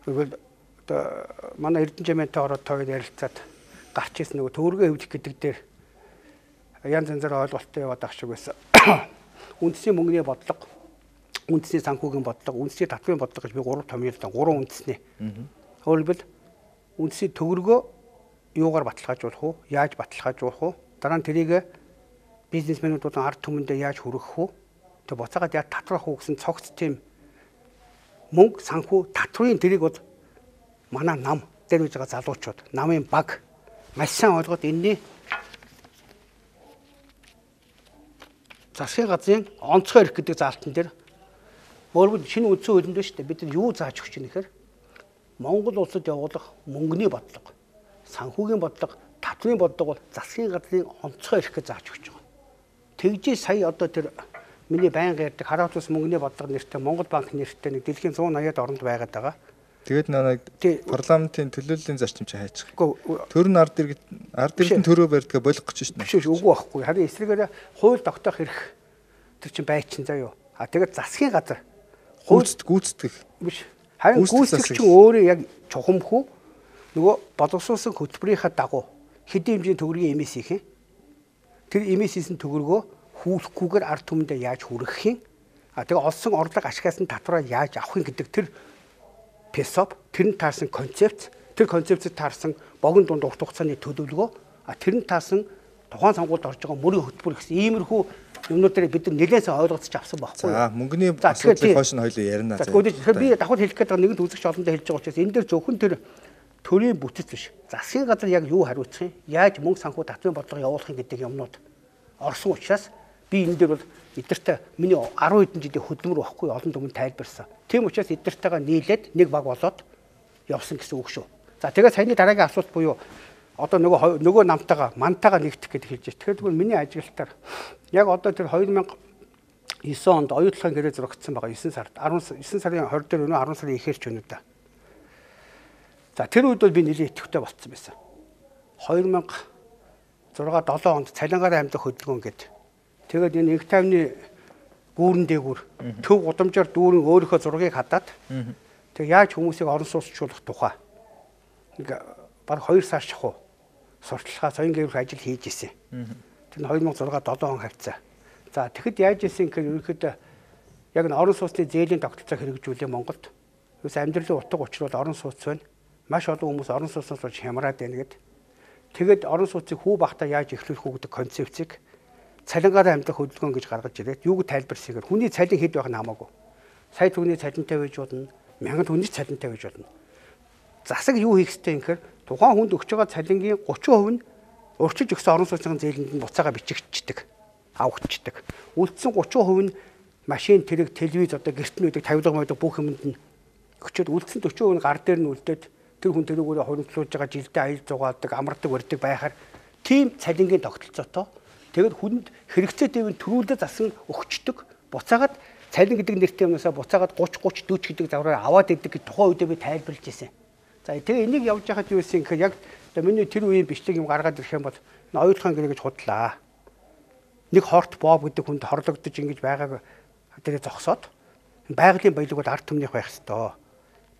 тэгвэл одоо манай Эрдэнэжмэнтэй ороод тойд ярилцаад гарч ирсэн нөгөө төвөргөө хөвдөх гэдэг дээр янз янзаар ойлголттой яваад ах шиг байсан. Үндэсний мөнгөний бодлого, үндэсний санхүүгийн бодлого, үндэсний татврын бодлого гэж би гурав томьёолтой, гурван үндэсний. Өөрөлдвөл үндэсний төгрөгөө юугаар баталгаажуулах уу? Яаж баталгаажуулах уу? Дараа нь тэрийг бизнесмэнүүд болон ард түмэндээ яаж хүргэх үү? Тэг буцаагаад яаж татварах уу гэсэн цогц тийм мөнгө, санхүү, татврын тэрийг бол манай нам дээр үж байгаа залуучууд, намын баг маш сайн ойлгоод энэний засгийн газрын онцгой эрх гэдэг заалтан дээр Өөрөөр шинэ үндсэн хуулинд байна шүү дээ. Бид нар юу зааж өгч байна гэхээр Монгол улсад явуулах мөнгөний бодлого, санхүүгийн бодлого, татврын бодлого бол засгийн газрын онцгой эрх гэж зааж өгч байгаа. Тэгжээ сая одоо тэр миний байнга ярьдаг хараат ус мөнгөний бодлого нэртэй Монгол банк нэртэй нэг дэлхийн зуун аяад оронд байгаад байгаа. Тэгээд нэг парламентын төлөөллийн зарчим чи хайчих. Үгүй төр нь ард иргэд ард иргэдэн төрөө барьдгаа болох гэж шнэ. Биш үгүй байхгүй. Харин эсрэгээр хууль тогтоох эрх тэр чинь байчин заяо. А тэгээд засгийн газар гүйцэд гүйцэтгэх биш. Харин гүйцэтгэгч чинь өөрөө яг чухамхүү нөгөө боловсруулсан хөтөлбөрийнхаа дагуу хэдийн хэмжээний төгрөгийн эмээс хийх юм. Тэр эмээс хийсэн төгрөгөө хүүлэхгүйгээр ард түмэндээ яаж хүргэх юм. А тэгээд олсон орлого ашигаас нь татвараа яаж авах юм гэдэг тэр песоп тэрнд таарсан концепц тэр концепцэд таарсан богино дунд урт хугацааны төлөвлөгөө а тэрнд таарсан тухайн сонгуульд орж байгаа мөрийн хөтөлбөр гэсэн иймэрхүү юмнуудыг бид нар нэлээд сайн ойлгоцож авсан байхгүй. За мөнгөний асуудлыг хойш нь хоёул ярина. За тэгэхээр би давхар хэлэх гээд байгаа нэгэн үзэгч олондоо хэлж байгаа учраас энэ дээр зөвхөн тэр төрийн бүтэц биш. Засгийн газар яг юу хариуцах юм? Яаж мөнгө санхүү татврын бодлого явуулах юм гэдэг юмнууд орсон учраас би энэ дээр бол эдгээртээ миний арван хэдэн жилийн хөдөлмөр байхгүй олон түмэнд тайлбарсан. Тийм учраас эдгээртэйгээ нийлээд нэг баг болоод явсан гэсэн үг шүү. За тэгээд саяны дараагийн асуулт буюу одоо нөгөө нөгөө намтайгаа мантайгаа нэгдэх гэдэг хэлж байна. Тэгэхээр миний ажиглалтаар яг одоо тэр хоёр мянга девять онд оюутлахын гэрээ зурагдсан байгаа девять сард девять сарын двадцать дээр өнөө десять сарын ихэрч өнөө да. За тэр үед бол би нэлийн идэвхтэй болцсон байсан. deux thousand six seven онд цалингаар амьдах хөдөлгөөн гэдэг. Тэгээд энэ их тайвны гүүрэн дээгүүр төв гудамжаар дүүрэн өөрийнхөө зургийг хадаад тэг яаж хүмүүсийг орон сууцчлуулах тухай ингээ баг two сар шахуу сурталчилгаа соён гэрэх ажил хийж исэн. Тэр нь two thousand six seven он хавцаа. За тэгэхэд яаж исэн гэхээр ерөнхийдөө яг н орон сууцны зээлийн тогтолцоо хэрэгжүүлээ Монголд. Юус амьдралын утга учир бол орон сууц байна. Маш олон хүмүүс орон сууцнаас болж хямраад байна гэд. Тэгэд орон сууцыг хүү бахта яаж эхлүүлэх үү гэдэг концепцийг цалингаар амьдрах хөдөлгөөн гэж гаргаж ирээд юуг тайлбарсагаар хүний цалин хэд байх нь хамаагүй. Сая төгрөгийн цалинтай байж болно, мянган төгрөгийн цалинтай байж болно. Засаг юу хийх ёстой юм гэхээр тухайн хүнд өгч байгаа цалингийн thirty percent нь урьдчилж өгсөн орон сууцны зээлэнд нь буцаага бичигдчихдэг, авагдчихдаг. Үлдсэн thirty percent нь машин тэрэг, телевиз одоо гэрт нь үүдэг тавилга маяг бүх юмд нь өгчөөд үлдсэн forty percent нь гар дээр нь үлдээд тэр хүн тэрүүгээрээ хуримтлуулж байгаа жилдээ аял зугаадаг, амардаг, барьдаг байхаар тийм цалингийн тогтолцоотой тэгэд хүнд хэрэгцээ дэвэн төрүүлээ засан өгчдөг. Буцаагаад цалин гэдэг нэртэй юмнасаа буцаагаад thirty thirty forty гэдэг завраар аваад идэг гэж тухайн үедээ би тайлбарлаж ирсэн. За тэгээ энийг явж байхад юу гэсэн гэхээр яг миний тэр үеийн бичлэг юм гаргаад ирэх юм бол оюутлахын гэрээ гэж худлаа. Нэг хорт боб гэдэг хүнд хорлогдож ингэж байгааг тэрэ зогсоод байгалийн баялаг бол ард түмнийх байх ёстой.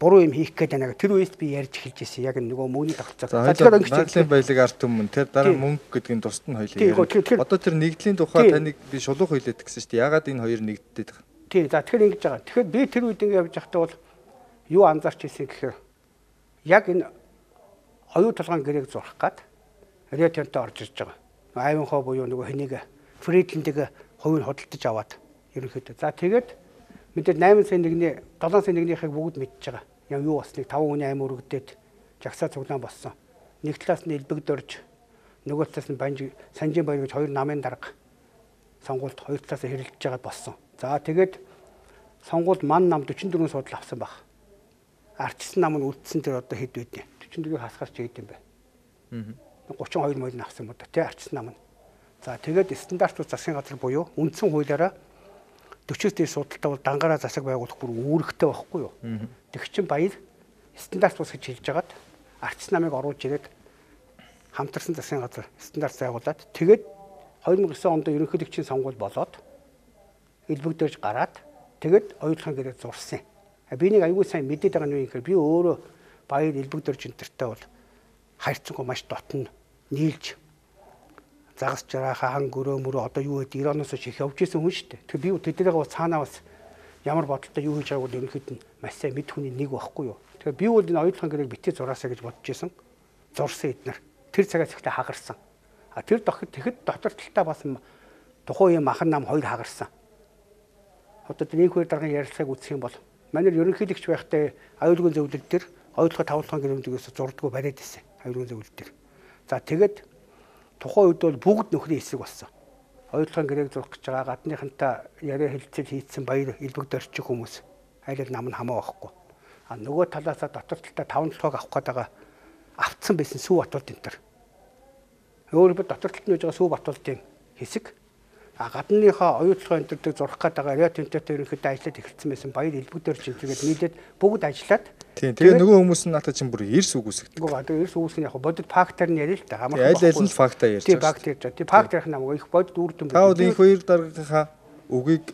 Буруу юм хийх гээд байна. Тэр үеэс би ярьж эхэлж ирсэн. Яг нөгөө мөнгөний тогтолцоо. Тэгэхээр байгалийн баялаг ард түмэн тэр дараа мөнгө гэдгийн тусад нь хоёлаа. Одоо тэр нэгдлийн тухай таныг би шулуух хилээд гэсэн шүү дээ. Ягаад энэ хоёр нэгддэг вэ? Тий, за тэгэхээр ингэж байгаа. Тэгэхээр би тэр үед ингэ явж байхдаа бол юу анзаарч ирсэн гэхээр яг энэ оюу толгойн гэрээг зурх гад ретентэй орж ирж байгаа. Айванхоо буюу нөгөө хэнийг Фридлендийг хувийг худалдаж аваад ерөнхийдөө. За тэгээд мэдээ eight сая нэгний seven сая нэгнийхийг бүгд мэдж байгаа. Яа юу басныг five хүний амь өргөдөөд жагсаа цуглаан болсон. Нэг талаас нь элбэгдөрж нөгөө талаас нь банж санжийн баяр гэж хоёр намын дарга сонгуульд хоёр талаас хэрэлдэж байгаа болсон. За тэгээд сонгуульд ман нам forty-four судал авсан баг. Арчсан нам нь үлдсэн тэр одоо хэд байдیں۔ forty-four-ыг хасгаарч ийд юм бэ. Аа. thirty-two морь нь авсан юм да тий арчсан нам нь. За тэгээд стандартууд засгийн газар буюу үндсэн хуулиараа forty-с дээр судалтай бол дангаараа засаг байгуулах бүр үүрэгтэй байхгүй юу. Тэг чин баяр стандарт бус гэж хэлж хагаад арчс намыг оруулж ирээд хамтарсан засгийн газар стандарт байгуулад тэгээд two thousand nine онд ерөнхийлөгчийн сонгуул болоод элбэгдэрж гараад тэгээд оюутлахын гэрээ зурсан. Би нэг аюул сайн мэдээд байгаа нь юу гэхээр би өөрөө баяр элбэгдэрж энтертэй бол хайрцангуй маш дотн нийлж загас жарааха хан гөрөө мөрөө одоо юу гэдэг Иранаас их явж исэн хүн шүү дээ. Тэгэхээр би тэднийгээ бас цаанаа бас ямар бодолтой юу хийж байгааг бол ерөнхийд нь маш сайн мэд хүний нэг байхгүй юу. Тэгэхээр би бол энэ оюутлахын гэрээг битээ зураасаа гэж бодож исэн. Зурсан эднэр. Тэр цагаас ихтэй хагарсан. А тэр дохид тэгэхэд дотор талтаа бас тухайн юм махан нам хоёр хагарсан. Одоо тэр нэг хоёр дараагийн ярилцлагыг үзэх юм бол манай ерөнхийлөгч байхдаа аюулгүй зөвлөл төр оюутлахын тавлахын гэрэмдгээс зурдггүй бариад исэн. Аюулгүй зөвлөл төр. За тэгээд тухайн үед бол бүгд нөхрийн эсрэг болсон. оюутлогын гэрээг зурх гэж байгаа гадныхантай яриа хэлцэл хийцэн баяр элбэг дөрчих хүмүүс айлд нам нь хамаа байхгүй. А нөгөө талаасаа дотор талтай таван толгойг авах гээд байгаа автсан байсан Сүв Батболд энэ төр. Өөрөөр дотор талд нь байж байгаа Сүв Батболдын хэсэг а гадныхаа оюутлогын энэ төр зурх гээд байгаа Рио Тинтотой ерөнхийдөө ажиллаад эхэлсэн байсан баяр элбэг дөрч тэгээд нийлээд бүгд ажиллаад тийм тэгээ нөгөө хүмүүс нь наатаа чинь бүр эрс үгүйсгдэг. Гоо тэгээ эрс үгүйсгэх нь яг бодит фактаар нь яриа л та хамаагүй. Аль аль нь фактаа ярьж байгаа. Тийм факт ярьж байгаа. Тийм факт ярих намайг их бодит үрдэн байна. Та бол энэ хоёр дараагийнхаа үгийг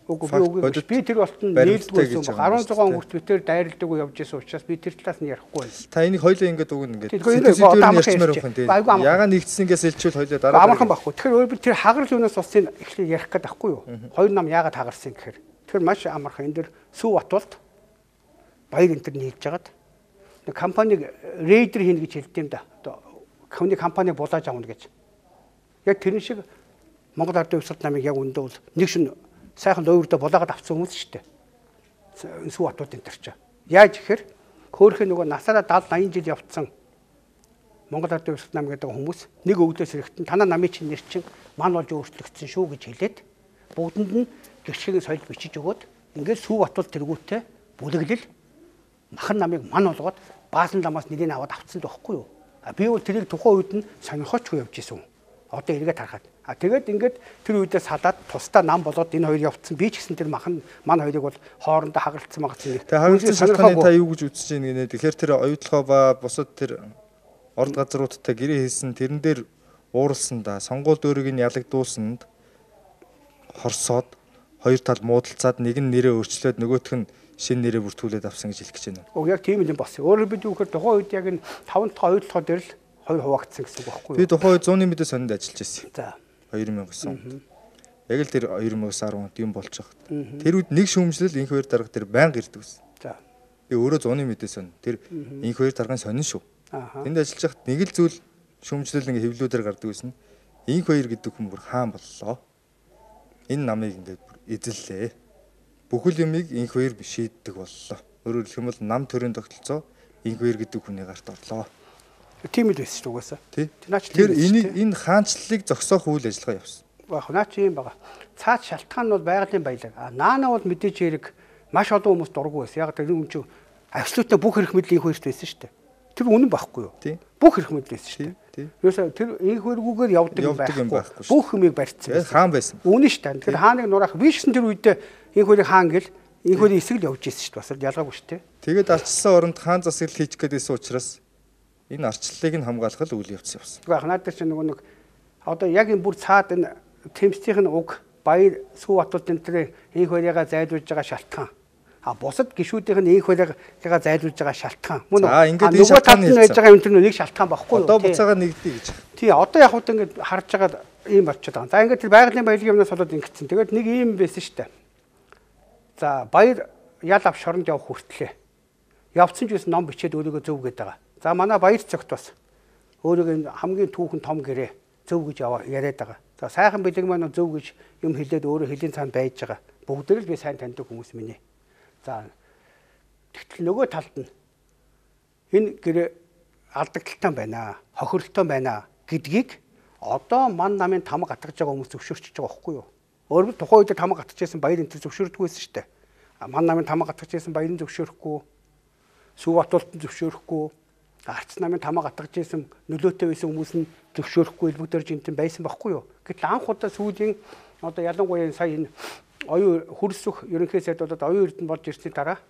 үгүй би тэр болтон нээлтгүй байсан. арван зуун хүртэл би тэр дайралдаг уу явж исэн учраас би тэр талаас нь ярихгүй байна. Та энийг хоёлоо ингэж өгнө ингээд. Сэтгэлээр ярьчмаар байх юм тийм. Яга нэгдсэнгээс илчүүл хоёлоо дараа. Амархан байхгүй. Тэгэхээр өөр би тэр хагарл юунаас усыг эхлээд ярих гээд байхгүй юу? Хоёр нам яагаад хагарсан гэхээр тэр маш амархан энэ дэр Сүв Батболд баяр энэ төр нийлж хагаад нэг компаниг рейдер хийнэ гэж хэлдэм да. Одоо хүний компаниг булааж авна гэж. Яг тэр шиг Монгол Ардын Хувьсгал намыг яг өндөө бол нэг шин сайхан өөртөө булаагаад авсан хүмүүс шүү дээ. Сүв Батболд энэ төр чаа. Яаж ихээр хөөхөө нөгөө насаараа даавал аян жил явцсан Монгол Ардын Хувьсгал нам гэдэг хүмүүс нэг өвдөөс хэрэгтэн танаа намын чинь нэр чинь ман болж өөрчлөгдсөн шүү гэж хэлээд бүгдэнд нь гэрчгийн соёл бичиж өгөөд ингээд Сүв Батболд тэргүүтээ бүлэглэл махан намыг ман болгоод баасан ламаас нэрийг аваад авцсан л байхгүй юу? А би бол тэрийг тухайн үед нь сонирхооч явж исэн. Одоо эргээд харахад. А тэгээд ингээд тэр үедээ салаад тусдаа нам болоод энэ хоёр явцсан. Би ч гэсэн тэр махан ман хоёрыг бол хоорондоо хагалцсан магацсан. Тэгээд хагалцсан шалтгааны та юу гэж үзэж байна гинэ? Тэгэхээр тэр оюутлогоо ба бусад тэр орд газруудтай гэрээ хийсэн тэрэн дээр ууралсан да. Сонгуул дөөрийг нь ялагдуулсанд хорсоод хоёр тал муудалцаад нэг нь нэрээ өөрчлөөд нөгөөх нь шинэ нэрээ бүртгүүлээд авсан гэж хэлэх гэж байна. Уг яг тийм юм болсон. Өөрөөр бид юу гэхээр тухайн үед яг энэ таван дахь оюутлогоо дээр л хоёр хуваагдсан гэсэн үг байхгүй юу? Би тухайн үед зууны мэдээ сонинд ажиллаж байсан. За. хоёр мянган он. Яг л тэр хоёр мянган он онд юм болж байгаа. Тэр үед нэг шүүмжлэл инх хоёр дарга тэр байнга ирдэг байсан. За. Би өөрөө зууны мэдээ сонь. Тэр инх хоёр даргын сонин шүү. Тэнд ажиллаж хахад нэг л зүйл шүүмжлэл ингээ хэвлүүдээр гардаг байсан. Инх хоёр гэдэг хүн бүр хаан боллоо. Энэ намыг ингээ эзэллээ. Бүхэл юмыг инх хоёр шийддэг боллоо. Өөрөөр хэлэх юм бол нам төрийн тогтолцоо инх хоёр гэдэг хүний гарт орлоо. Тийм л байсан шүү угаасаа. Тэр энийг энэ хаанчлалыг зогсоох үйл ажиллагаа явсан. Баах наа чи юм байгаа. Цаад шалтгаан нь бол байгалийн баялаг. А наана бол мэдээж хэрэг маш олон хүмүүс дургу байсан. Яг тэр юм чи абсолютно бүх эрх мэдлийн инх хоёрт байсан шүү дээ. Тэр үнэн байхгүй юу? Бүх эрх мэдэл байсан шүү дээ. Юуса тэр инх хоёргүйгээр явдаг юм байхгүй. Бүх юмыг барьцсан. Хаан байсан. Үнэн шүү дээ. Тэр хааныг нураах биш гэсэн тэр үедээ инх хоёрыг хаан гэл инх хоёрын эсрэг л явж ирсэн шүү дээ. Бас ялгаагүй шүү дээ. Тэгээд арчилсан оронд хаан засаглал хийчих гэдээсэн учраас энэ арчлалыг нь хамгаалах үйл явц явсан. Гэхдээ надад чинь нөгөө нэг одоо яг энэ бүр цаад энэ тэмцтийн уг баяр Сүв Батболд энэ төрийн инх хоёрыгаа зайлуулж байгаа шалтгаан. А бусад гишүүдийнх нь инх хоёрыгаа зайлуулж байгаа шалтгаан. Мөн нөгөө талд нь байж байгаа юм тэр нэг шалтгаан багхгүй юу? Одоо буцаага нэгдээ гэж. Тий, одоо яг хөө ингэж харж байгаа ийм болчиход байгаа. За ингээд тэр байгалийн баялагын юмнаас болоод ингэсэн. Тэгээд нэг ийм байсан шүү дээ. За баяр ял ав шоронд явах хүртлээ. Явцсан ч гэсэн ном бичээд өөрийгөө зөв гэдэг байгаа. За манай баяр цогт бас өөрийгөө хамгийн түүхэн том гэрээ зөв гэж яриад байгаа. За сайхан бэлэг маань зөв гэж юм хэлээд өөрөө хэлийн цаанд байж байгаа. Бүгдээр л би сайн таньдаг хүмүүс минь. За тэгтэл нөгөө талд нь энэ гэрээ алдагдaltaй байна, хохирлолтой байна гэдгийг одоо ман намын тамга гатгаж байгаа хүмүүс зөвшөөрч байгаа байхгүй юу? Өөрөөр тухайн үед тамга гатгаж байсан баяр энэ зөвшөөрдөг байсан шүү дээ. Ман намын тамга гатгаж байсан баярын зөвшөөрөхгүй, Сүв Батболд зөвшөөрөхгүй, арц намын тамга гатгаж байсан нөлөөтэй байсан хүмүүс нь зөвшөөрөхгүй элбэгдэр жинтэн байсан байхгүй юу? Гэтэл анх удаа сүүлийн одоо ялангуяа сая энэ оюун хөрсөх ерөнхий сайд болоод оюун эрдэнэ болж ирсний дараа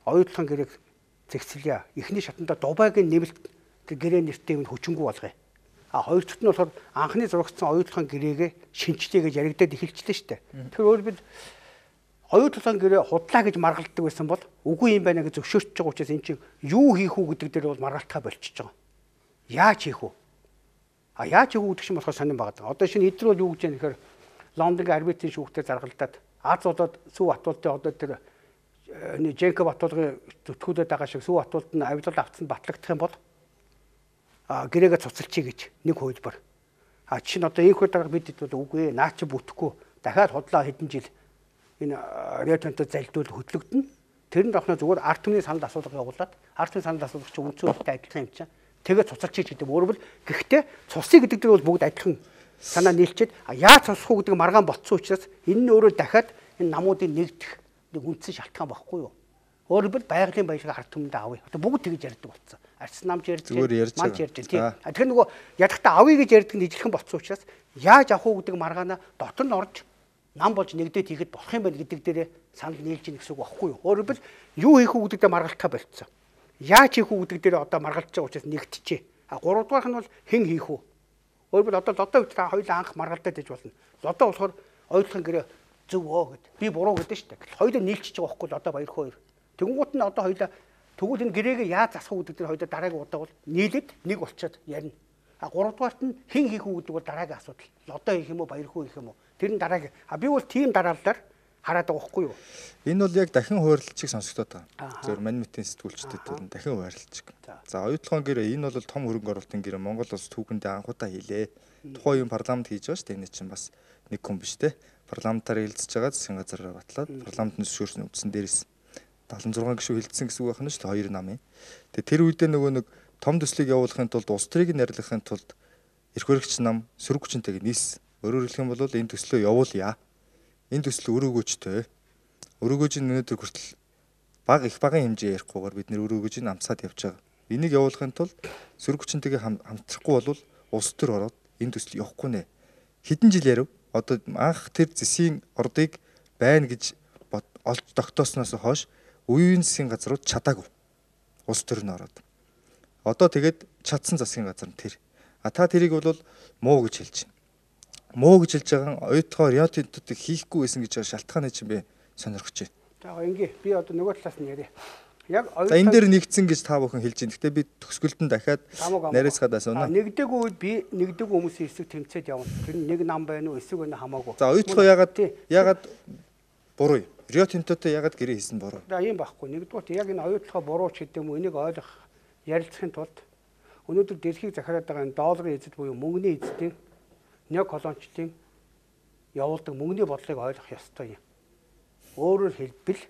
оюутлогын гэрээг зэгцэлье. Эхний шатанда Дубайгийн нэмэлт гэрээ нэртэй юм хүчингү болгоё. А хоёр дахь нь болохоор анхны зурагцсан оюутлогын гэрээгээ шинжлэе гэж яригдаад эхэлчихлээ шүү дээ. Тэгэхээр өөр бид оюутлогын гэрээ худлаа гэж маргалддаг байсан бол үгүй юм байна гэж зөвшөөрч байгаа учраас эн чинь юу хийх үү гэдэг дээр бол маргалтаа болчихж байгаа. Яаж хийх үү? А яаж хийх үү гэдэг чинь болохоор сонирн байгаа. Одоо шинэ эдгээр бол юу гэж яах гэхээр Лондонгийн арбитрийн шүүхтээр заргалдаад Аз болоод Сүв Батболдын одоо тэр Жэнков Батболгийн зүтгүүлээд байгаа шиг Сүв Батболд нь авилал авцсан батлагдах юм бол а гэрээгээ цуцалчий гэж нэг хуулбар. А чинь одоо энэ хуулбар бид хэд бол үгүй наа чи бүтэхгүй дахиад худлаа хэдэн жил энэ Риотонтой залдуул хөтлөгдөн. Тэр нь давхна зүгээр арт түмний санал асуулга явуулаад арт түмний санал асуулга чинь үндсүүлэлттэй адилхан юм чинь. Тэгээд цуцалчий гэдэг өөрөөр гэхдээ цусыг гэдэг дээр бол бүгд адилхан санаа нийлчихэд яаж сонсох уу гэдэг маргаан ботсон учраас энэ нь өөрөө дахиад энэ намуудыг нэгдэх нэг үндсэн шалтгаан байхгүй юу? Өөрөөр байгалийн баялаг ард түмэндээ авъя. Одоо бүгд тэгж ярьдаг болсон. Арс намж ярьдаг, манч ярьдаг тийм. Тэгэхээр нөгөө ядахта авъя гэж ярьдаг нь ижилхэн болсон учраас яаж авах уу гэдэг маргаанаа дотор нь орж нам болж нэгдээд хийхэд болох юм байна гэдэг дээрээ санал нийлж ийн гэсэн үг байхгүй юу? Өөрөөр юу хийх үү гэдэг дээр маргалтаа болцсон. Яаж хийх үү гэдэг дээр одоо маргалж байгаа учраас нэгтчихэ. А гурав дахь нь бол хэн хийх үү? Өөрөөр одоо лодоо үед та хоёулаа анх маргалдаад иж болно. Лодоо болохоор ойлгохын гэрээ зөв өө гэд. Би буруу гэдэг шүү дээ. Хоёулаа нийлчихэж байгаа байхгүй лодоо баяр хоёр. Тэнгуут нь одоо хоёулаа тэгвэл энэ гэрээгээ яаж засах үү гэдэг дээр хоёулаа дараагийн удаа бол нийлээд нэг болчиход ярина. А гурав дахь нь хэн хийх үү гэдэг бол дараагийн асуудал. Лодоо хийх юм уу, баяр хүү хийх юм уу? Тэр нь дараагийн. А би бол тийм дараалалаар хараад байгаа байхгүй юу? Энэ бол яг дахин хуваарлалчийг сонсогдоод байгаа. Зөвхөн манимитийн сэтгүүлчдэд бол дахин хуваарлалчиг. За оюутлогын гэрээ энэ бол том хөрөнгө оруулалтын гэрээ Монгол улс түүхэндээ анхудаа хийлээ. Тухайн юм парламент хийж байгаа шүү дээ. Энэ чинь бас нэг хүн биш те. Парламентаар хэлцэж байгаа засгийн газараар батлаад парламентын зөвшөөрсөн үндсэн дээрээс седемдесет и шесть гишүүн хилцсэн гэсэн үг байна шүү дээ. Хоёр намын. Тэгээ тэр үедээ нөгөө нэг том төслийг явуулахын тулд улс төрийг нэрлэхин тулд эрх баригч нам сөрөг хүчинтэйг нийс. Өөрөөр хэлэх юм бол энэ төслөө явуулъя. Энэ төсөл өрөөгөөчтэй. Өрөөгөөж өнөөдөр хүртэл баг их багын хэмжээ ярихгүйгээр бид нэр өрөөгөөж амсаад явж байгаа. Энийг явуулахын тулд сөрөг хүчинтэйг хамтрахгүй бол улс төр ороод энэ төсөл явахгүй нэ. Хэдэн жил ярив? Одоо анх тэр зэсийн ордыг байна гэж олж тогтоосноос хойш үеийн засгийн газрууд чадаагүй. Улс төр нь ороод. Одоо тэгээд чадсан засгийн газар нь тэр. А та тэрийг бол муу гэж хэлж байна. Муу гэж хэлж байгаа оюутгоор яатуудыг хийхгүй байсан гэж шалтгааны чинь би сонирхож байна. За ингээ би одоо нөгөө талаас нь яриа. Яг оюутан энэ дээр нэгдсэн гэж та бүхэн хэлж байна. Гэтэ би төгсгөлтөнд дахиад нарийцгаад асууна. Нэгдэггүй үед би нэгдэггүй хүмүүсийн эсрэг тэмцээд явна. Тэр нэг нам байна уу, эсрэг байна хамаагүй. За оюутгоо ягаад ягаад буруу юм? Рио Тинтотой ягаад гэрээ хийсэн буруу? За ийм байхгүй. Нэгдүгээр яг энэ оюутлогоо буруу ч гэдэг юм уу энийг ойлгох ярилцахын тулд өнөөдөр дэлхийг захираад байгаа энэ долларын эзэд буюу мөнгөний эзэдийн неоколончлын явуулдаг мөнгөний бодлыг ойлгох ёстой юм. Өөрөөр хэлбэл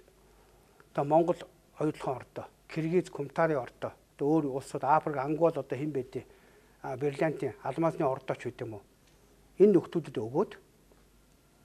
одоо Монгол оюутлогын ордоо, Киргиз, Кумтарын ордоо, одоо өөр улсууд Африк, Ангол одоо хэн байдیں۔ Бриллиантын алмазны ордооч үт юм уу? Энэ нөхдүүдэд өгөөд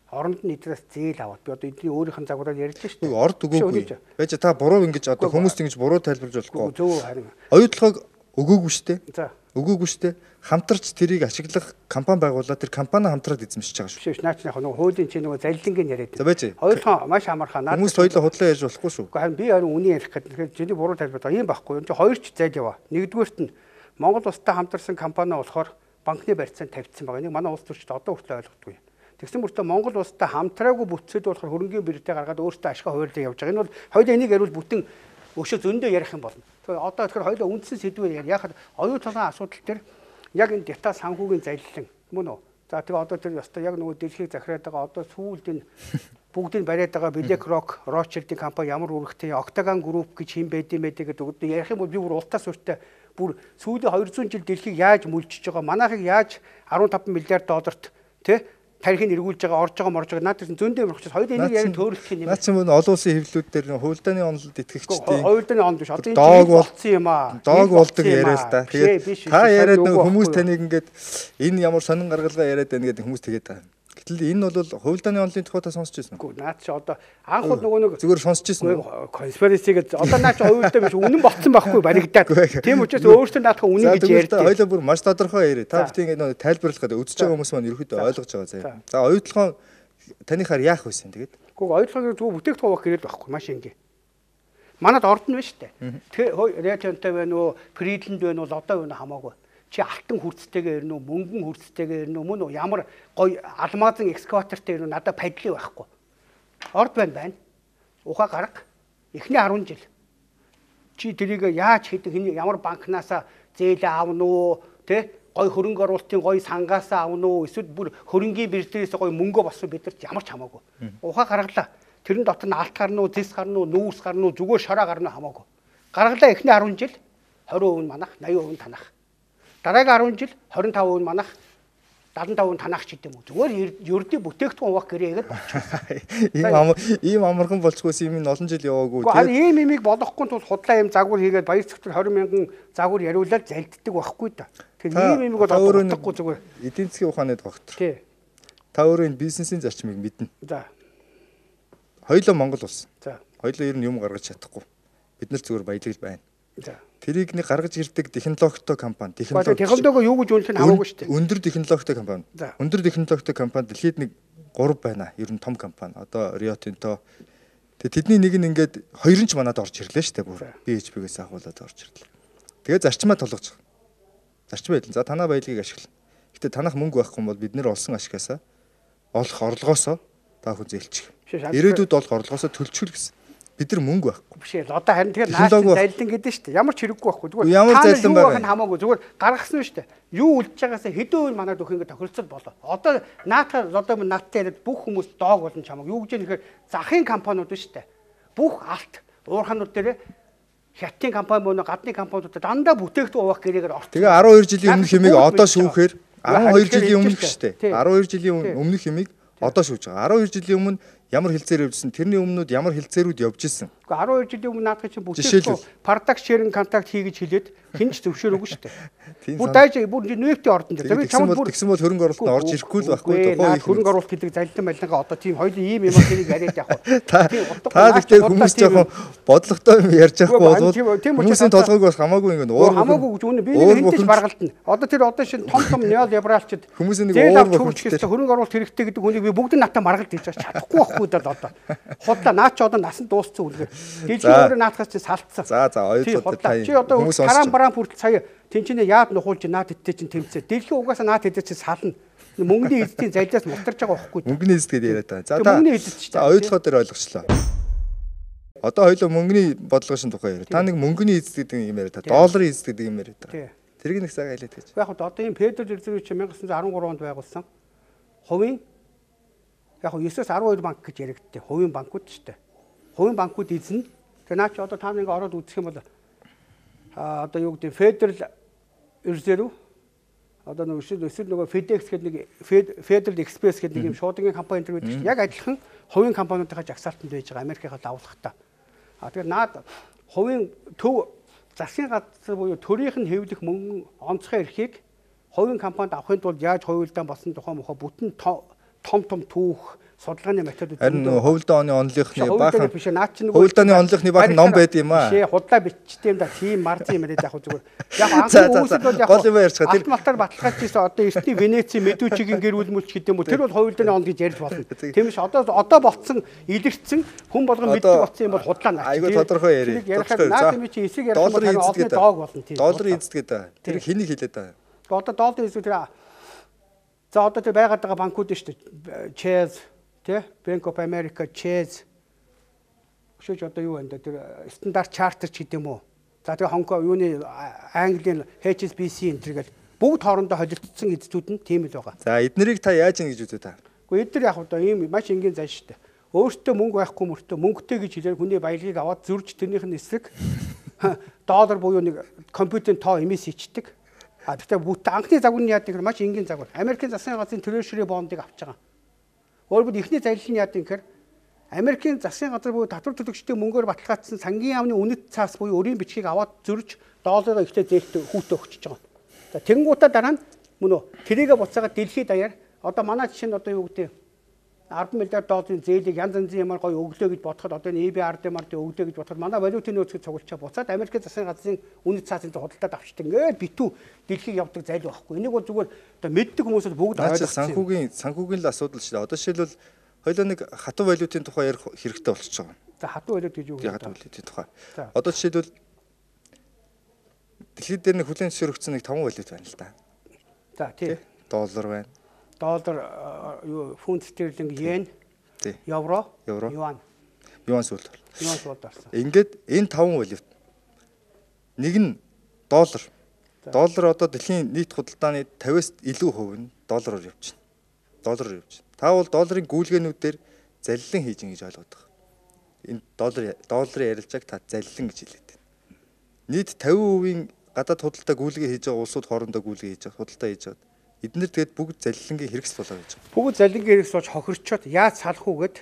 оронд нь эдрээс зээл аваад би одоо эдний өөрийнх нь загвараар ярьж шүү дээ. Орд өгөөгүй. Байж та буруу ингэж одоо хүмүүст ингэж буруу тайлбарлаж болохгүй. Зөв харин. Оюутлогыг өгөөгүй шүү дээ. За. Өгөөгүй шүү дээ. Хамтарч тэрийг ашиглах компани байгуулаад тэр компани хамтраад эзэмшиж байгаа шүү. Биш наачны яг нөгөө хуулийн чинь нөгөө залилангийн яриад. За байж. Оюутлогоо маш амархаа. Хүмүүс хоёулаа худлаа ярьж болохгүй шүү. Харин би харин үний ярих гэдэг. Тэгэхээр чиний буруу тайлбарлаа. Ийм байхгүй. Энд хоёр ч зайл яваа. Нэгдүгээрт нь Монгол улстай хамтарсан компани болохоор банкны барьцаанд тавьчихсан байгаа. Энийг манай улс төрчид одоо хүртэл ойлгохгүй. Тэгсэн мөртөө Монгол улстай хамтраагүй бүтцэд болохоор хөрөнгөний бэрдээ гаргаад өөртөө ашгаа хуваарлаа явж байгаа. Энэ бол хоёулаа энийг ярил бүтэн өшөө зөндөө ярих юм болно. Тэгэхээр одоо тэгэхээр хоёулаа үндсэн сэдвээр яа. Яхад оюутлогын асуудал төр яг энэ дата санхүүгийн залилан мөн үү? За тэгээ одоо тэр ёстой яг нөгөө дэлхийг захираад байгаа одоо сүүлд энэ бүгдийг бариад байгаа BlackRock, Rothschild-ийн компани ямар үүрэгтэй Octagon Group гэж хэм байдсан байдаг гэдэг одоо ярих юм бол би бүр ултаас урьдтай бүр сүүлийн хоёр зуун жил дэлхийг яаж мүлжиж байгаа манайхыг яаж арван таван миллиард долларт тий тарихыг эргүүлж байгаа орж байгаа морж байгаа надад зөндөө юм учраас хоёул энийг яг төөрөлдөх юм. Наад чинь олон улсын хэвлэлүүд дээр хуульдааны онолд итгэгчдийн хуульдааны онд биш одоо энэ болцсон юм аа. Доог болдог яриа л да. Тэгээд та яриад нөгөө хүмүүс таныг ингээд энэ ямар сонин гаргалгаа яриад байна гэдэг хүмүүс тэгээд байгаа. Гэтэл энэ бол хуульдааны онолын тухай та сонсч байсан уу? Наад чи одоо анх бол нөгөө нэг зүгээр сонсч байсан уу? Конспирациг одоо наад чи хуульдаа биш үнэн болцсон байхгүй баригдаад. Тийм учраас өөртөө наадах үнэн гэж ярьдаг. Хоёлаа бүр маш тодорхой яриа. Та бүхэн ингээд тайлбарлах гэдэг үзэж байгаа хүмүүс маань ерөөхдөө ойлгож байгаа заяа. За оюутлогоо танихаар яах байсан тэгээд? Гэхдээ оюутлогын зөв бүтээгдэхүүн авах гэрэл байхгүй маш энгийн. Манад ордон байна шүү дээ. Тэгэхээр Риатонтой байна уу, Фридланд байна уу, одоо байна хамаагүй. Чи алтан хүрцтэйгээр ирнэ үү, мөнгөн хүрцтэйгээр ирнэ үү, мөн үү ямар гоё алмазын экскаватортой ирнэ үү, надад падли байхгүй. Орд байна байна. Ухаа гарга. Эхний арван жил. Чи тэрийг яаж хийдэг, ямар банкнасаа зээл аавна уу, тэ гоё хөрөнгө оруулалтын гоё сангаас аавна уу, эсвэл бүр хөрөнгийн биржлээс гоё мөнгө болсон бидэрт ямар ч хамаагүй. Ухаа гаргалаа. Тэрэн дотор нь алт гарна уу, зис гарна уу, нүүрс гарна уу, зүгээр шороо гарна хамаагүй. Гаргалаа эхний арван жил двадцать percent манах, eighty percent танах. Дараагийн арван жил twenty-five percent манах, дадан тавын танах ч гэдэм үү. Зүгээр ердийн бүтээгдэхүүн хуваах гэрээгээд болчихсон. Ийм амар ийм амархан болчихгүйс юм ин олон жил яваагүй. Тэгээд ийм имийг болохгүй тул худлаа ийм загвар хийгээд баяр цогцол двадцать мянган загвар яриулаад залддаг байхгүй да. Тэгэхээр ийм имийг бол болохгүй зүгээр. Эдийн засгийн ухааны доктор. Тий. Та өөрөө энэ бизнесийн зарчмыг мэднэ. За. Хоёулаа Монгол улс. За. Хоёулаа ер нь юм гаргаж чадахгүй. Бид нар зүгээр баялагж байна. За. Тэрийг нэг гаргаж ирдэг технологитой компани, технологи технологио юу гэж үнэлэх нь хамаагүй шүү дээ. Өндөр технологитой компани. Өндөр технологитой компани дэлхийд нэг гурав байна. Ер нь том компани. Одоо Rio Tinto. Тэгээ тэдний нэг нь ингээд хоёр нь ч манад орж ирлээ шүү дээ. Бүр би эйч пи-гээс ахуулаад орж ирлээ. Тэгээ зарчмаа толгож байгаа. Зарчим байдал. За танаа баялагийг ашигла. Гэтэ танах мөнгө байхгүй бол бид нэр олсон ашигасаа олох орлогоосоо та хүн зээлчих. Ирээдүйд олох орлогоосоо төлчихүл гэсэн. Бид нар мөнгө байхгүй. Биш ээ. Одоо харин тэгэхээр нааш зайлдан гэдэг шүү дээ. Ямар ч хэрэггүй байхгүй. Зүгээр ямар зайлдан байгаа нь хамаагүй. Зүгээр гаргасан шүү дээ. Юу үлдэж байгаасаа хэдэн үйл манад өгөх ингэ тохиролцол болоо. Одоо наатаа одоо нааттай яриад бүх хүмүүс доог болон чамаг. Юу гэж нэхэр захын компаниуд шүү дээ. Бүх алт уурханууд дээр хятадын компани мөн гадны компаниудад дандаа бүтээгдэхүүн хуваах гэрээгээр орсон. Тэгээ арван хоёр жилийн өмнөх хэмиг одоо шүүхээр арван хоёр жилийн өмнөх шүү дээ. арван хоёр жилийн өмнөх хэмиг одоо шүүж байгаа. арван хоёр жилийн өмнө ямар хилцээр явжсэн, тэрний өмнөд ямар хилцээрүүд явж исэн. Гэхдээ арван хоёр жилийн өмнө наадах чинь бүтээгдэхүүн product sharing contract хийгэж хэлээд хэн ч зөвшөөрөөгүй шүү дээ. Бүр дайж бүр нефтийн ордон дээр. Би чамд бүр тэгсэн бол хөрөнгө оруулалт нь орж ирэхгүй л байхгүй доо. Хөрөнгө оруулалт гэдэг залилан байлангаа одоо тийм хоёул ийм юм хэрэг яриад явах. Та гэхдээ хүмүүс жоохон бодлоготой юм ярьж байхгүй бол хүмүүсийн толгойг бас хамаагүй ингэ уур хамаагүй гэж үнэ би нэг хинтэж баргалтна. Одоо тэр одоо шин том том неолибералчд хүмүүсийн нэг уур хөвчтэй хөрөнгө оруулалт хэрэгтэй гэдэг хүнийг би бүгд натаа маргалт хийж чадахгүй байхгүй даа одоо. Худлаа наа ч одоо насан дууссан үлгээр. Дэлхийн өөрөө наатахаас чи салтсан. За за ойлголоо та. Чи одоо каран бараан хүртэл сая тэнчинээ яад нухуулж наад хэдтэй чинь тэмцээ. Дэлхийн угаасаа наад хэдтэй чи сална. Мөнгөний эзэдийн залиас мултарч байгаа байхгүй. Мөнгөний эзэд гэдээ яриад байгаа. За та мөнгөний эзэд ч та ойлгохоо дээр ойлгочлоо. Одоо хоёул мөнгөний бодлогын тухай яриа. Та нэг мөнгөний эзэд гэдэг юм яриа та. Долларын эзэд гэдэг юм яриа та. Тэрийг нэг цаг айлаад гэж. Яг одоо энэ Федерал Резерв чи 천구 дөрвөн онд байгуулсан. Хувийн яг нine-ээс арван хоёр банк гэж яригдтээ. Хувийн банкуд ч гэдэг. Хувийн банкуд эзэн. Тэгээ наа чи одоо та нэг ороод үзэх юм бол а одоо юу гэдэг Федерал Резерв одоо нэг өсөл нөгөө FedEx гэдэг нэг Federal Express гэдэг нэг юм шуудангийн компани энэ байдаг. Яг адилхан хувийн компаниудынхаа жагсаалтанд байж байгаа Америкийнхаа давлахтаа. А тэгэхээр наад хувийн төв засгийн газар буюу төрийнх нь хэвлэх мөнгө онцгой эрхийг хувийн компанид авахын тулд яаж хувилдаан болсон тухай мохоо бүтэн том том түүх судалгааны методууд харин хувилдааны оны онлынхны баахан биш наад чинь хувилдааны онлынхны баахан ном байд юм аа. Шээ худлаа бичтэй юм да тийм марзын юм яриад яг зүгээр. Яг анхны үүсэл бол яг гол юм ярьж байгаа. Тэр малтаар баталгааж ийсэн одоо эртний Венеци Медучигийн гэр бүл мүлч гэдэг юм уу тэр бол хувилдааны он гэж ярьж болно. Тийм ш одоо одоо болцсон илэрсэн хүн болгон мэддэг болсон юм бол худлаа наач. Айгуу тодорхой яриа. Наад юм чи эсэг ярих бол харин одны доог болно тийм. Долларын эзэд гэдэг. Тэр хэнийг хэлээд байгаа. Одоо долларын эзэд тэр за одоо тэр байгаад байгаа банкуд шүү дээ. Chase тэ Bank of America, Chase шүүж одоо юу байна тэр стандарт чартер ч гэдэм үү. За тэгээ Хонконг юуны Английн эйч эс би си энэ төргээл бүгд хоорондоо холилдсон эзэдүүд нь тийм л байгаа. За эднэрийг та яаж ийн гэж үзээ та? Гэхдээ эдгээр яг одоо ийм маш энгийн зан шүү дээ. Өөртөө мөнгө байхгүй мөртөө мөнгөтэй гэж хэлээр хүний баялагийг аваад зөрж тэрнийх нь эсрэг доллар буюу нэг компьютерийн тоо эмээс ичдэг. А тэгтээ бүт анхны загварны яадаг маш энгийн загвар. Америкийн засгийн газрын Treasury bond-ыг авч байгаа. Өөрөөр ихний залилын яадаг гэхээр Америкийн засгийн газар буюу татвар төлөгчдийн мөнгөөр баталгаажсан сангийн яамны үнэт цаас буюу өрийн бичгийг аваад зөрж долларыг ихтэй зээлт хүүтэ өгчөж байгаа. За тэнгуутаа дараа нь мөн үү тэрийгэ буцаагаад дэлхийд даяар одоо манай жишээ нь одоо юу гэдэг арван миллиард долларын зээлийг янз янзын ямар гоё өглөө гэж бодоход одоо энэ и би ар дэмар дэ өглөө гэж бодоход манай валютын нөөцөд цугулчаа буцаад Америкийн засгийн газрын үнэт цаасын худалдаад авчдаг. Ингээд битүү дэлхийг явдаг зайл байхгүй. Энийг бол зүгээр одоо мэддэг хүмүүсд бүгд ойлгох. Санхүүгийн санхүүгийн л асуудал шүү дээ. Одоо жишээлбэл хоёлоо нэг хатуу валютын тухай ярих хэрэгтэй болчихж байгаа. За хатуу валют гэж юу вэ? Хатуу валютын тухай. Одоо жишээлбэл дэлхийд дээр нэг хүлээн зөвшөөрөгдсөн нэг таван валют байна л да. За тийм. Доллар байна. Доллар юу фунт стерлинг, йен, евро, юан. Юан сүүл. Юан сүүл дарсан. Ингээд энэ таван валют. Нэг нь доллар. Доллар одоо дэлхийн нийт худалдааны пятьдесят-аас илүү хувь нь доллараар явж байна. Доллараар явж байна. Та бол долларын гүйлгээнүүдээр залилан хийж ин гэж ойлгоод байгаа. Энэ доллар долларын ярилцааг та залилан гэж хэлээд байна. Нийт пятьдесят%-ийн гадаад худалдаа гүйлгээ хийж байгаа улсууд хоорондоо гүйлгээ хийж байгаа, худалдаа хийж байгаа. Эднэр тэгээд бүгд залилангийн хэрэгсэл болоо гэж байна. Бүгд залилангийн хэрэгсэл болж хохирчоод яаж салах уу гэд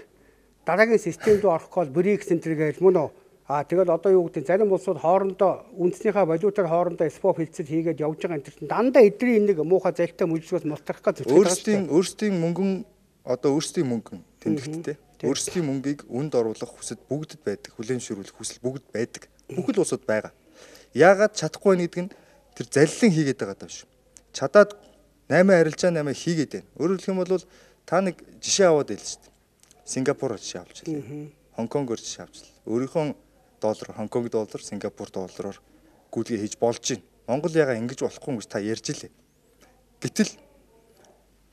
дараагийн системд орох гол брикс центр гэж мөн үү? Аа тэгэл одоо юу гэдэг зарим улсууд хоорондоо үндснийхээ валютаар хоорондоо спот хилцэл хийгээд явж байгаа энэ чинь дандаа эдний нэг муухай залтай мүлжгөөс мултрах гэж зүтгэж байгаа. Өөрсдийн өөрсдийн мөнгөн одоо өөрсдийн мөнгөн тэмдэгттэй. Өөрсдийн мөнгийг үнд оруулах хүсэл бүгдэд байдаг. Хүлээмжшүүлэх хүсэл бүгд байдаг. Бүх л улсууд байгаа. Яагаад чадахгүй нэг нь тэр залилан хийгээд байгаа даа шүү. Чадаад найман арилжаа наймаа хийгээд байна. Өөрөөр хэлэх юм бол та нэг жишээ аваад ийл шүү дээ. Сингапураар жишээ авч ирлээ. Хонконгоор жишээ авч ирлээ. Өөрийнхөө доллар, Хонконг доллар, Сингапур доллараар гүйлгээ хийж болж байна. Монгол ягаа ингэж болохгүй гэж та ярьж илээ. Гэтэл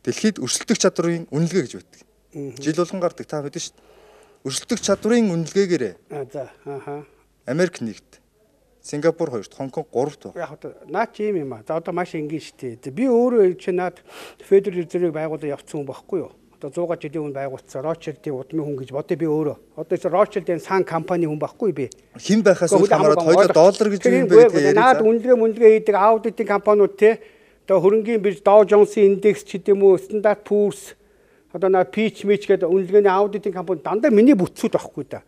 дэлхийд өрсөлдөх чадрын үнэлгээ гэж байдаг. Жил болгон гардаг та мэдэн шүү дээ. Өрсөлдөх чадрын үнэлгээгээр за ааха Америк нэгт, Сингапур хоёрт, Хонконг гуравт байна. Яг одоо наад чи юм юм аа. За одоо маш энгийн шүү дээ. Би өөрөө чи наад Федерал Резервийг байгуулаад явцсан хүн байхгүй юу? Одоо сто жилийн өмнө байгуулсан Ротшильдийн удмын хүн гэж бодъё би өөрөө. Одоо чи Ротшильдийн сан компани хүн байхгүй би. Хэн байхаас үл хамааран хоёулаа доллар гэж юм бэ гэдэг. Наад үнэлгээ мүнэлгээ хийдэг аудитын компаниуд те одоо хөрөнгөний бирж Dow Jones-ийн индекс ч гэдэм үү, Standard Poor's одоо на Pitch Mitch гэдэг үнэлгээний аудитын компани дандаа миний бүтцүүд байхгүй да.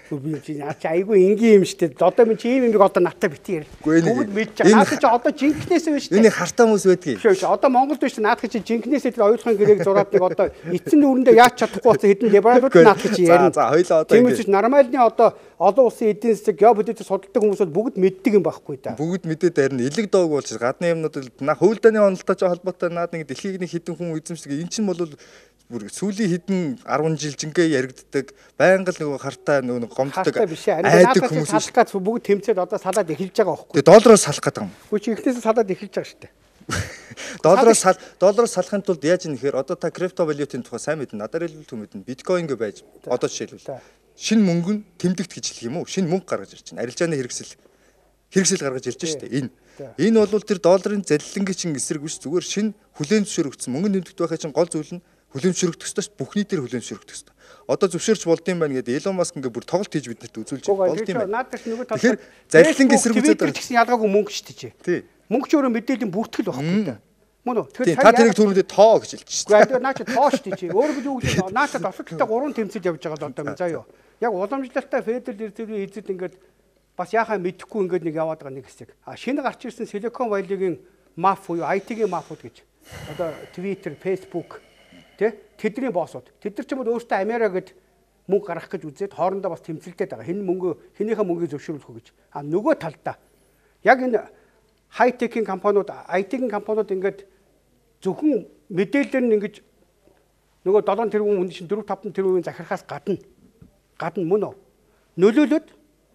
Би чи наач айгүй энгийн юм штэ. Одоо минь чи ийм юм одоо натаа бити ярил. Бүгд мэдж байгаа. Наад чи одоо жинкнээс биш штэ. Энийг хартаа хүмүүс байдгийг. Биш биш. Одоо Монголд биш наад чи жинкнээс тэр оюутгын гэрээг зураад нэг одоо эцэн нүрэндээ яаж чадахгүй болсон хэдэн либералууд наад чи ярина. За хоёлаа одоо тийм үсч нормальны одоо олон улсын эдийн засаг геополитик судалдаг хүмүүсүүд бүгд мэддэг юм байхгүй да. Бүгд мэдээд харин элэг доог болж гадны юмнууд на хөвөлдөний онолтой ч холбоотой наад нэг дэлхийг нэг хідэн хүн эзэмшдэг. Эн чинь бол бүр сүүлийн хэдэн арван жил жингээ яригддаг байнга л нөгөө хартаа нөгөө гомддог айдаг хүмүүс салхаад бүгд тэмцээд одоо салаад эхэлж байгаа байхгүй. Тэгээ доллароос салах гэдэг юм. Үгүй чи ихнээс салаад эхэлж байгаа шүү дээ. Доллароос сал доллароос салахын тулд яаж юм нэхэр одоо та крипто валютын тухай сайн мэднэ. Надаар хэлбэл түн мэднэ. Биткойн гэ байж одоо жишээлбэл шинэ мөнгө нь тэмдэгт гэж хэлэх юм уу? Шинэ мөнгө гаргаж ирж байна. Арилжааны хэрэгсэл хэрэгсэл гаргаж ирж байна шүү дээ. Энэ энэ бол тэр долларын залилангийн чин эсрэг биш зүгээр шинэ хүлээн зөвшөөрөгдсөн мөнгө нэмэгдэх байхаа чин гол зүйл нь хүлэмжшөрөгдөх ёстой бүхний дээр хүлэмжшөрөгдөх ёстой. Одоо зөвшөөрч болдсон байна гэдэг Elon Musk ингээ бүр тоглолт хийж биднэрт үзүүлж болдсон юм байна. Надад нөгөө талаар залилангийн эсрэг үзээд байгаа гэсэн ялгаагүй мөнгө шүү дээ. Тий. Мөнгө ч өөрөө мэдээллийн бүртгэл байхгүй да. Мөн үү? Тэгэхээр та тэрийг түрүүндээ тоо гэж хэлж шүү дээ. Гэхдээ наа чи тоо шүү дээ чи. Өөрөө би юу гэж наачад осолттой гурван тэмцэл явж байгаа л одоо юм заа юу. Яг уламжлалтай Федерал Резервийн эзэд ингээд бас яхаа мэдэхгүй ингээд нэг яваад байгаа нэг хэсэг. А шинэ гарч ирсэн Silicon Valley-гийн маф буюу ай ти-гийн мафууд гэж. Одоо Twitter, Facebook тэ тэдний боссууд. Тэд нар ч юм уу өөртөө Америка гэд мөнгө гаргах гэж үзээд хоорондоо бас тэмцэлдээд байгаа. Хэн мөнгө хэнийхээ мөнгийг зөвшөөрөх үү гэж. А нөгөө талдаа яг энэ хай-текийн компаниуд, ай ти-гийн компаниуд ингээд зөвхөн мэдээлэл нь ингэж нөгөө долоон тэрбум хүн чинь дөрөв таван тэрбумын захирахаас гадна гадна мөн үү? Нөлөөлөд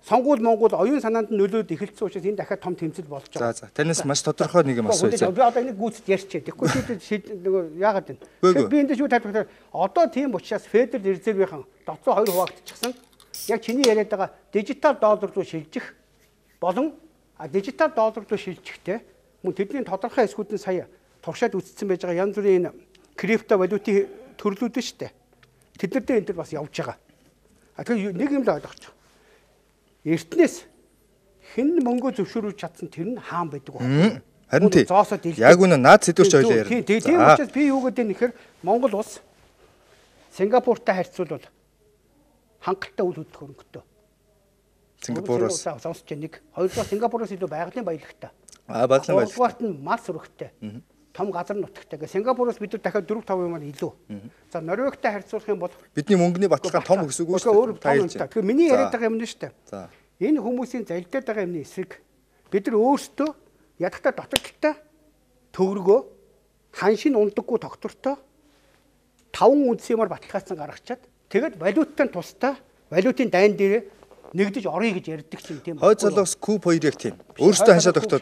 сонгуул Монгол оюун санаанд нөлөөд эхэлсэн учраас энэ дахиад том тэмцэл болж байгаа. За за танаас маш тодорхой нэг юм асууя. Би одоо энийг гүйцэд ярьчээ. Тэгэхгүй чи нөгөө яагаад вэ? Би энд шүү тайлбарлаа. Одоо тийм учраас Федерал Резервийн доцоо хоёр хуваагдчихсан. Яг чиний яриад байгаа дижитал доллар руу шилжих болон дижитал доллар руу шилжихдээ мөн тэдний тодорхой эсгүүд нь сая туршаад үзсэн байж байгаа янз бүрийн крипто валютын төрлүүд нь шүү дээ. Тэд нар дээр энэ төр бас явж байгаа. А тэгэхээр нэг юм л ойлгочих. Эртнээс хэн мөнгө зөвшөөрүүлж чадсан тэр нь хаан байдаг байна. Харин тий. Яг үнэ наад сэдвэрч ойлоо ярина. Тийм тийм учраас би юу гэдэг нь нэхэр Монгол улс Сингапуртай харьцуулбал хангалттай үйл хөдлөх хөрөнгөтэй. Сингапуроос сонсож нэг хоёрдугаар Сингапуроос илүү байгалийн баялагтай. Аа байгалийн баялагтай. Гуравдугаарт нь мал сүрэгтэй. Том газар нутагтай. Гэ Сингапуроос бид нар дахиад дөрөв таван юмар илүү. За Норвегтэй харьцуулах юм бол бидний мөнгөний баталгаа том өсөг үү шүү дээ. Тэгэхээр миний яриад байгаа юм нь шүү дээ. За энэ хүмүүсийн залдаад байгаа юмны эсрэг бид нар өөрсдөө ядахта дотоодтой төврөгөө ханшин ундаггүй тогтвортой таван үндсэн юмар баталгаажсан гаргачаад тэгээд валюттай тусдаа валютын дайн дээр нэгдэж орё гэж ярьдаг чинь тийм. Хойд залуус куб хоёр яг тийм. Өөрсдөө ханшаа тогтоод.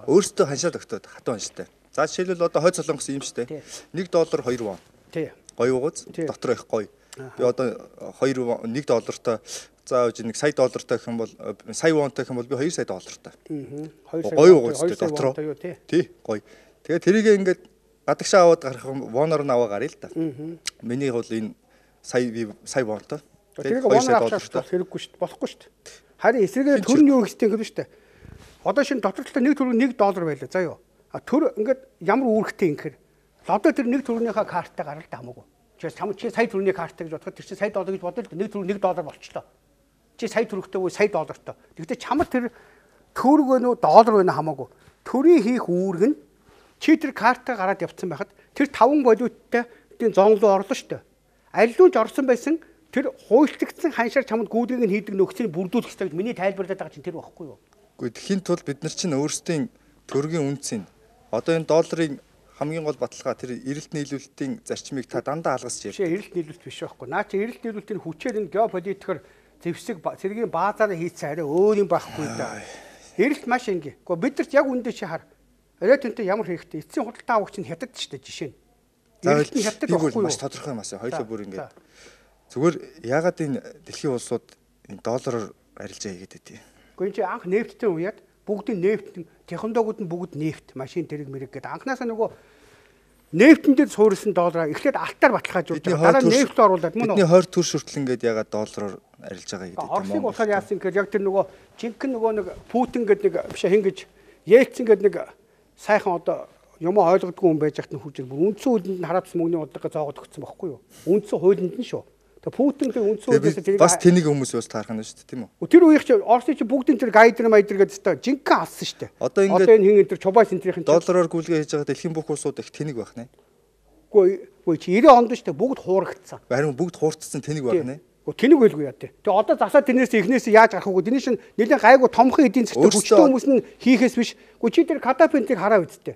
Өөрсдөө ханшаа тогтоод хатуу ханштай. За жишээлбэл одоо хойд солонгос юм шүү дээ. нэг доллар хоёр вон. Тий. Гоё угаз дотор их гоё. Би одоо хоёр нэг доллартай заавж нэг сая доллартай гэх юм бол сая вонтой гэх юм бол би хоёр сая доллартай. Аа. Гоё угазтай дотор. Тий. Гоё. Тэгээ тэрийг ингээд гадагшаа аваад гарах воноор нь аваа гаръя л да. Миний бол энэ сая би сая вонтой. тэрийг воноор авах хэрэггүй шүү дээ. Болохгүй шүү дээ. Харин эсрэгээр төр нь юу гэхтэй юм шүү дээ. Одоо шинэ дотор талаа нэг төр нэг доллар байлаа. За юу. А төр ингээд ямар үүрэгтэй ингэхэр Одоо тэр нэг төгрөгийнхаа картаа гарал та хамаагүй. Чи сам чи сая төгрөгийн картаа гэж бодоход тэр чи сая доллар гэж бодъё л нэг төгрөг нэг доллар болчлоо. Чи сая төгрөгтэй буюу сая доллартай. Тэгвэл чамд тэр төгрөг вэ нүү доллар вэ нүү хамаагүй. Төрийн хийх үүрэг нь чи тэр картаа гараад явцсан байхад тэр таван валюттай тийм зонлоо орлоо шүү дээ. Аллууж орсон байсан тэр хуульчлагдсан ханшаар чамд гүйдгийг нь хийдэг нөхцөлийг бүрдүүлэх хэрэгтэй гэж миний тайлбарлаад байгаа чинь тэр байхгүй юу? Гэхдээ тэхийн тулд бид нар чинь өөрсдийн төгрөгийн үнцийг одоо энэ долларын хамгийн гол баталгаа тэр эрэлт нийлүүлэлтийн зарчмыг та дандаа алгасч ярьж байна. Эрэлт нийлүүлэлт биш байхгүй. Наа чи эрэлт нийлүүлэлтийн хүчээр энэ геополитикээр зэвсэг цэргийн баазаараа хийцэн арай өөр юм байхгүй да. Эрэлт маш энгийн. Гэхдээ бидэрт яг үндэ чи хар. Арай төнтэй ямар хэрэгтэй. Эцсийн худалдаа авагч нь хятад ч дээ жишээ нь. Эрэлт нь хятад байхгүй юу? Маш тодорхой юм аа. Хоёлоо бүр ингээд. Зүгээр ягаад энэ дэлхийн улсууд энэ доллараар арилжаа хийгээд байдгийг. Гэхдээ чи анх нефттэй уяад бүгдийн нефт технологиуд нь бүгд нефт машин тэрэг мэрэг гэдэг анхнаасаа нөгөө нефтэн дээр суурилсан доллараа эхлээд алтаар баталгаажуулж байгаа. Дараа нь нефт оруулаад мөн үү? Бидний хойд төр шүртэл ингээд ягаад доллараар арилж байгаа гэдэг юм. Оросыг болохоор яасан гэхээр яг тэр нөгөө жинхэнэ нөгөө нэг Путин гэдэг нэг биш хин гэж Ельцин гэдэг нэг сайхан одоо юм ойлгодгүй хүн байж хат нь хүчээр бүр үндсэн хуулинд нь хараадс мөнгөний бодлого зоогод өгсөн байхгүй юу? Үндсэн хуулинд нь шүү. Тэгээ Путин тэр үндсэн хуулиас тэрийг бас тэнийг хүмүүс бас таарах нь шүү дээ тийм үү? Тэр үеих чи Орсын чи бүгдийн тэр гайдер майдер гэдэг та жинхэнэ алсан шүү дээ. Одоо ингээд энэ хин энэ Чубайс энтрийн доллараар гүйлгээ хийж байгаа дэлхийн бүх улсууд их тэнийг байх нэ. Үгүй үгүй чи девяносто онд шүү дээ бүгд хуурагдсан. Харин бүгд хуурцсан тэнийг байх нэ. Үгүй тэнийг байлгүй яа тий. Тэгээ одоо засаад тэрнээс эхнээс яаж гарах вэ? Тэрний шин нэлээд гайгүй томхон эдийн засгт хүчтэй хүмүүс нь хийхээс биш. Үгүй чи тэр катапентийг хараа үсттэй.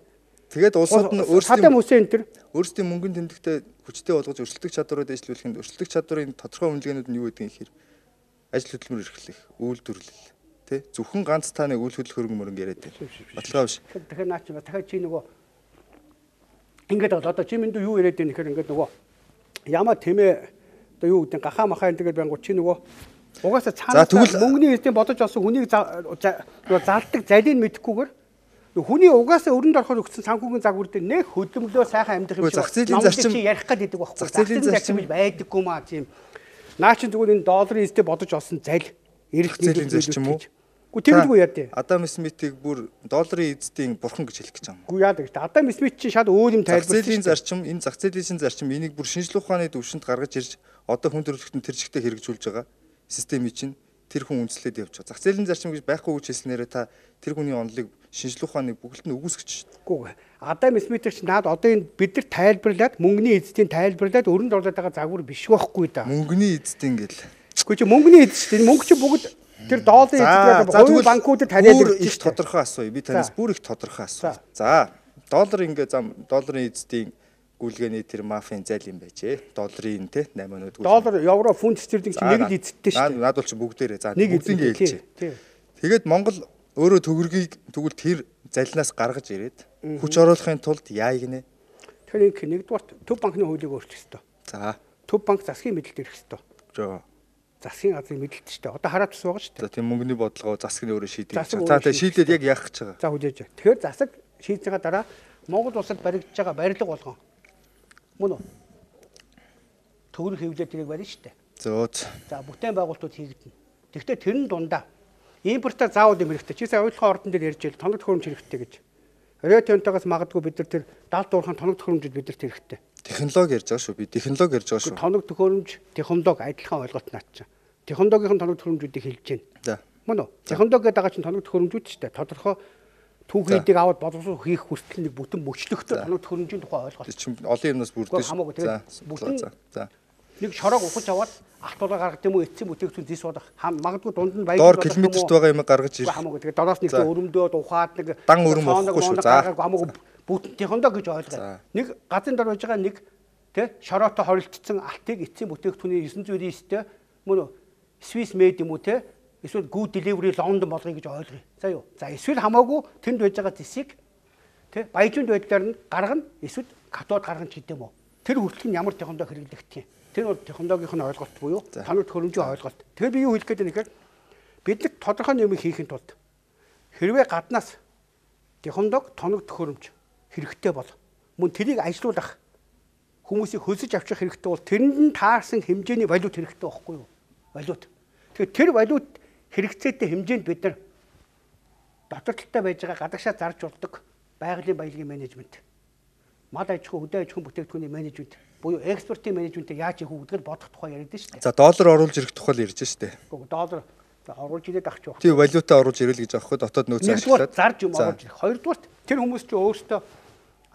Тэгээд улсууд нь өөрсдийн мөсөн тэр өөрсдийн мөнгөнд тэмдэгтээ хүчтэй болгож өрсөлдөх чадвараа дэвшлүүлэхэд өрсөлдөх чадварын тодорхой үнэлгээнүүд нь юу гэдгийг ихээр ажил хөдөлмөр эрхлэх, үйлдвэрлэл тий зөвхөн ганц тааны үйл хөдлөх хөрөнгө мөрөнгө яриад байна. Баталгаа биш. Тэгэхээр наач дахиад чи нөгөө ингээд одоо чи минь юу яриад байна гэхээр ингээд нөгөө ямаа тэмээ одоо юу гэдэг гахаа махаа энэ тэгээд байнгут чи нөгөө угаасаа цаанаа мөнгөний эрдэнэ бодож олсон хүнийг залдаг залийг мэдэхгүйгээр хүний угаасаа өрөнд орохоор өгсөн санхүүгийн загвар дээр нэг хөдөлмөлөө сайхан амьдрах юм шиг зах зээлийн зарчим ярих гэдэг байхгүй. Зах зээлийн зарчим байдаггүй маа тийм. Наа чи тэгвэл энэ долларын эзэд бодож олсон зал эрэлт зээлийн зарчим уу? Үгүй тэгдэггүй яа дээ. Адам Смитийг бүр долларын эзэдийн бурхан гэж хэлэх гэж байгаа юм. Үгүй яа дээ. Адам Смит чинь шал өөр юм тайлбарласан. Зах зээлийн зарчим энэ зах зээлийн зарчим энийг бүр шинжлэх ухааны төвшөнд гаргаж ирж одоо хүн төрөлхтөн тэр жигтэй хэрэгжүүлж байгаа системийг чинь тэр хүн үндэслээд явж байгаа. Зах зээлийн зарчим гэж байхгүй гэж хэлснээрээ та тэр хүний онолыг шинжлэх ухааны бүгд нь үгүйсгэж шүү дээ. Үгүй. Адам Смит ч наад одоо энэ бид нар тайлбарлаад мөнгөний эзэдийн тайлбарлаад өрөнд орлоод байгаа загвар биш байхгүй да. Мөнгөний эзэдийн гэл. Үгүй чи мөнгөний эзэд шүү дээ. Мөнгө чи бүгд тэр долларын эзэд байгаа хувийн банкуудад тариад ирж их тодорхой асууя. Би танаас бүр их тодорхой асууя. За, доллар ингээ зам долларын эзэдийн гүйлгээний тэр мафийн зал юм байжээ. Долларын те восемь өнөд. Доллар, евро, фунт стерлинг чи нэг л эзэдтэй шүү дээ. Наад бол чи бүгдээрээ. За, бүгдийг хэлчихэ. Тэгээд Монгол өөрөө төгрөгийг тэгвэл тэр залнаас гаргаж ирээд хүч оруулахын тулд яа гинэ. Тэгэхээр нэгдүгээр төв банкны хуулийг өөрчлөх ёстой. За. Төв банк засгийн мэдэлд ирэх ёстой. Жоо. Засгийн газрын мэдэлд шүү дээ. Одоо хараад бас байгаа шүү дээ. За тийм мөнгөний бодлогоо засаг нь өөрөө шийдэж байгаа. За тэгээ шийдээд яг яах гэж байгаа. За хүлээж байгаа. Тэгэхээр засаг шийдсэгээ дараа Монгол улсад баригдаж байгаа барилга болгон. Мөн үү? Төгрөг хэвлээд тэрийг барина шүү дээ. Зөөц. За бүтээн байгуулалтууд хийгдэнэ. Тэгэхдээ тэр нь дундаа импортоор заавал юм хэрэгтэй. Чи сая ойлгохын ордон дээр ярьж байл тоног төхөөрөмж хэрэгтэй гэж. Ретентагаас магадгүй бид нар тэр далд дуурхайн тоног төхөөрөмжөд бидэрт хэрэгтэй. Технологи ярьж байгаа шүү. Би технологи ярьж байгаа шүү. Тоног төхөөрөмж, технологи адилхан ойлголт наачаа. Технологийн тоног төхөөрөмжүүдийг хэлж байна. За. Мөн үү? Технологид байгаа чинь тоног төхөөрөмжүүд шүү дээ. Тодорхой түүхийдийг аваад боловсрол хийх хүртэл нэг бүтэн мөчлөгтэй тоног төхөөрөмжийн тухай ойлголт. Тийм олон юмнаас бүрдэж. За. Бүтэн за. Нэг шорог ухаж аваад алт тулаа гаргах юм уу эцсийн бүтээгдэхүүн зис болох магадгүй дунд нь баяж доор километрт байгаа юм гаргаж ирэх. Хамаагүй тэгээ доороос нэг өрөмдөөд ухаад нэг дан өрөм болохгүй шүү. За. Хамаагүй бүтэн технологи гэж ойлгоо. Нэг газрын дор байж байгаа нэг тий шороотой хоригдсон алтыг эцсийн бүтээгдэхүүний девять зуун девять-тэй мөн Swiss made юм уу тий эсвэл good delivery London болгоё гэж ойлгоё. За юу. За эсвэл хамаагүй тэнд байж байгаа зисийг тий баяжунд байдлаар нь гаргана эсвэл катод гаргана ч гэдэм үү. Тэр хүртэл нь ямар технологи хэрэглэгдэх юм. Тэр бол технологийн ойлголт буюу тоног төхөөрөмжийн ойлголт. Тэгэхээр би юу хэлэх гээд байна гэхээр бид тодорхой юм хийхин тулд хэрвээ гаднаас технологи тоног төхөөрөмж хэрэгтэй бол мөн тэрийг ажилуулах хүмүүсийг хөлсөж авчих хэрэгтэй бол тэрэнд нь таарсан хэмжээний валют хэрэгтэй байхгүй юу? Валют. Тэгэхээр тэр валют хэрэгцээтэй хэмжээнд бид нар дотор талтай байж байгаа гадагшаа зарж болдог байгалийн баялагын менежмент мал аж ахуй, хөдөө аж ахуйн бүтээгдэхүүний менежмент буюу экспортын менежментийг яаж хийх вэ гэдгээр бодох тухай яриад шүү дээ. За доллар оруулж ирэх тухай л ярьж штэ. Гэхдээ доллар оруулж ирээд ах ч байх. Тийм валюта оруулж ирэл гэж аахгүй дотоод нөөц ашиглаад зарж юм оруулж ирэх. Хоёрдугаарт тэр хүмүүс чинь өөрсдөө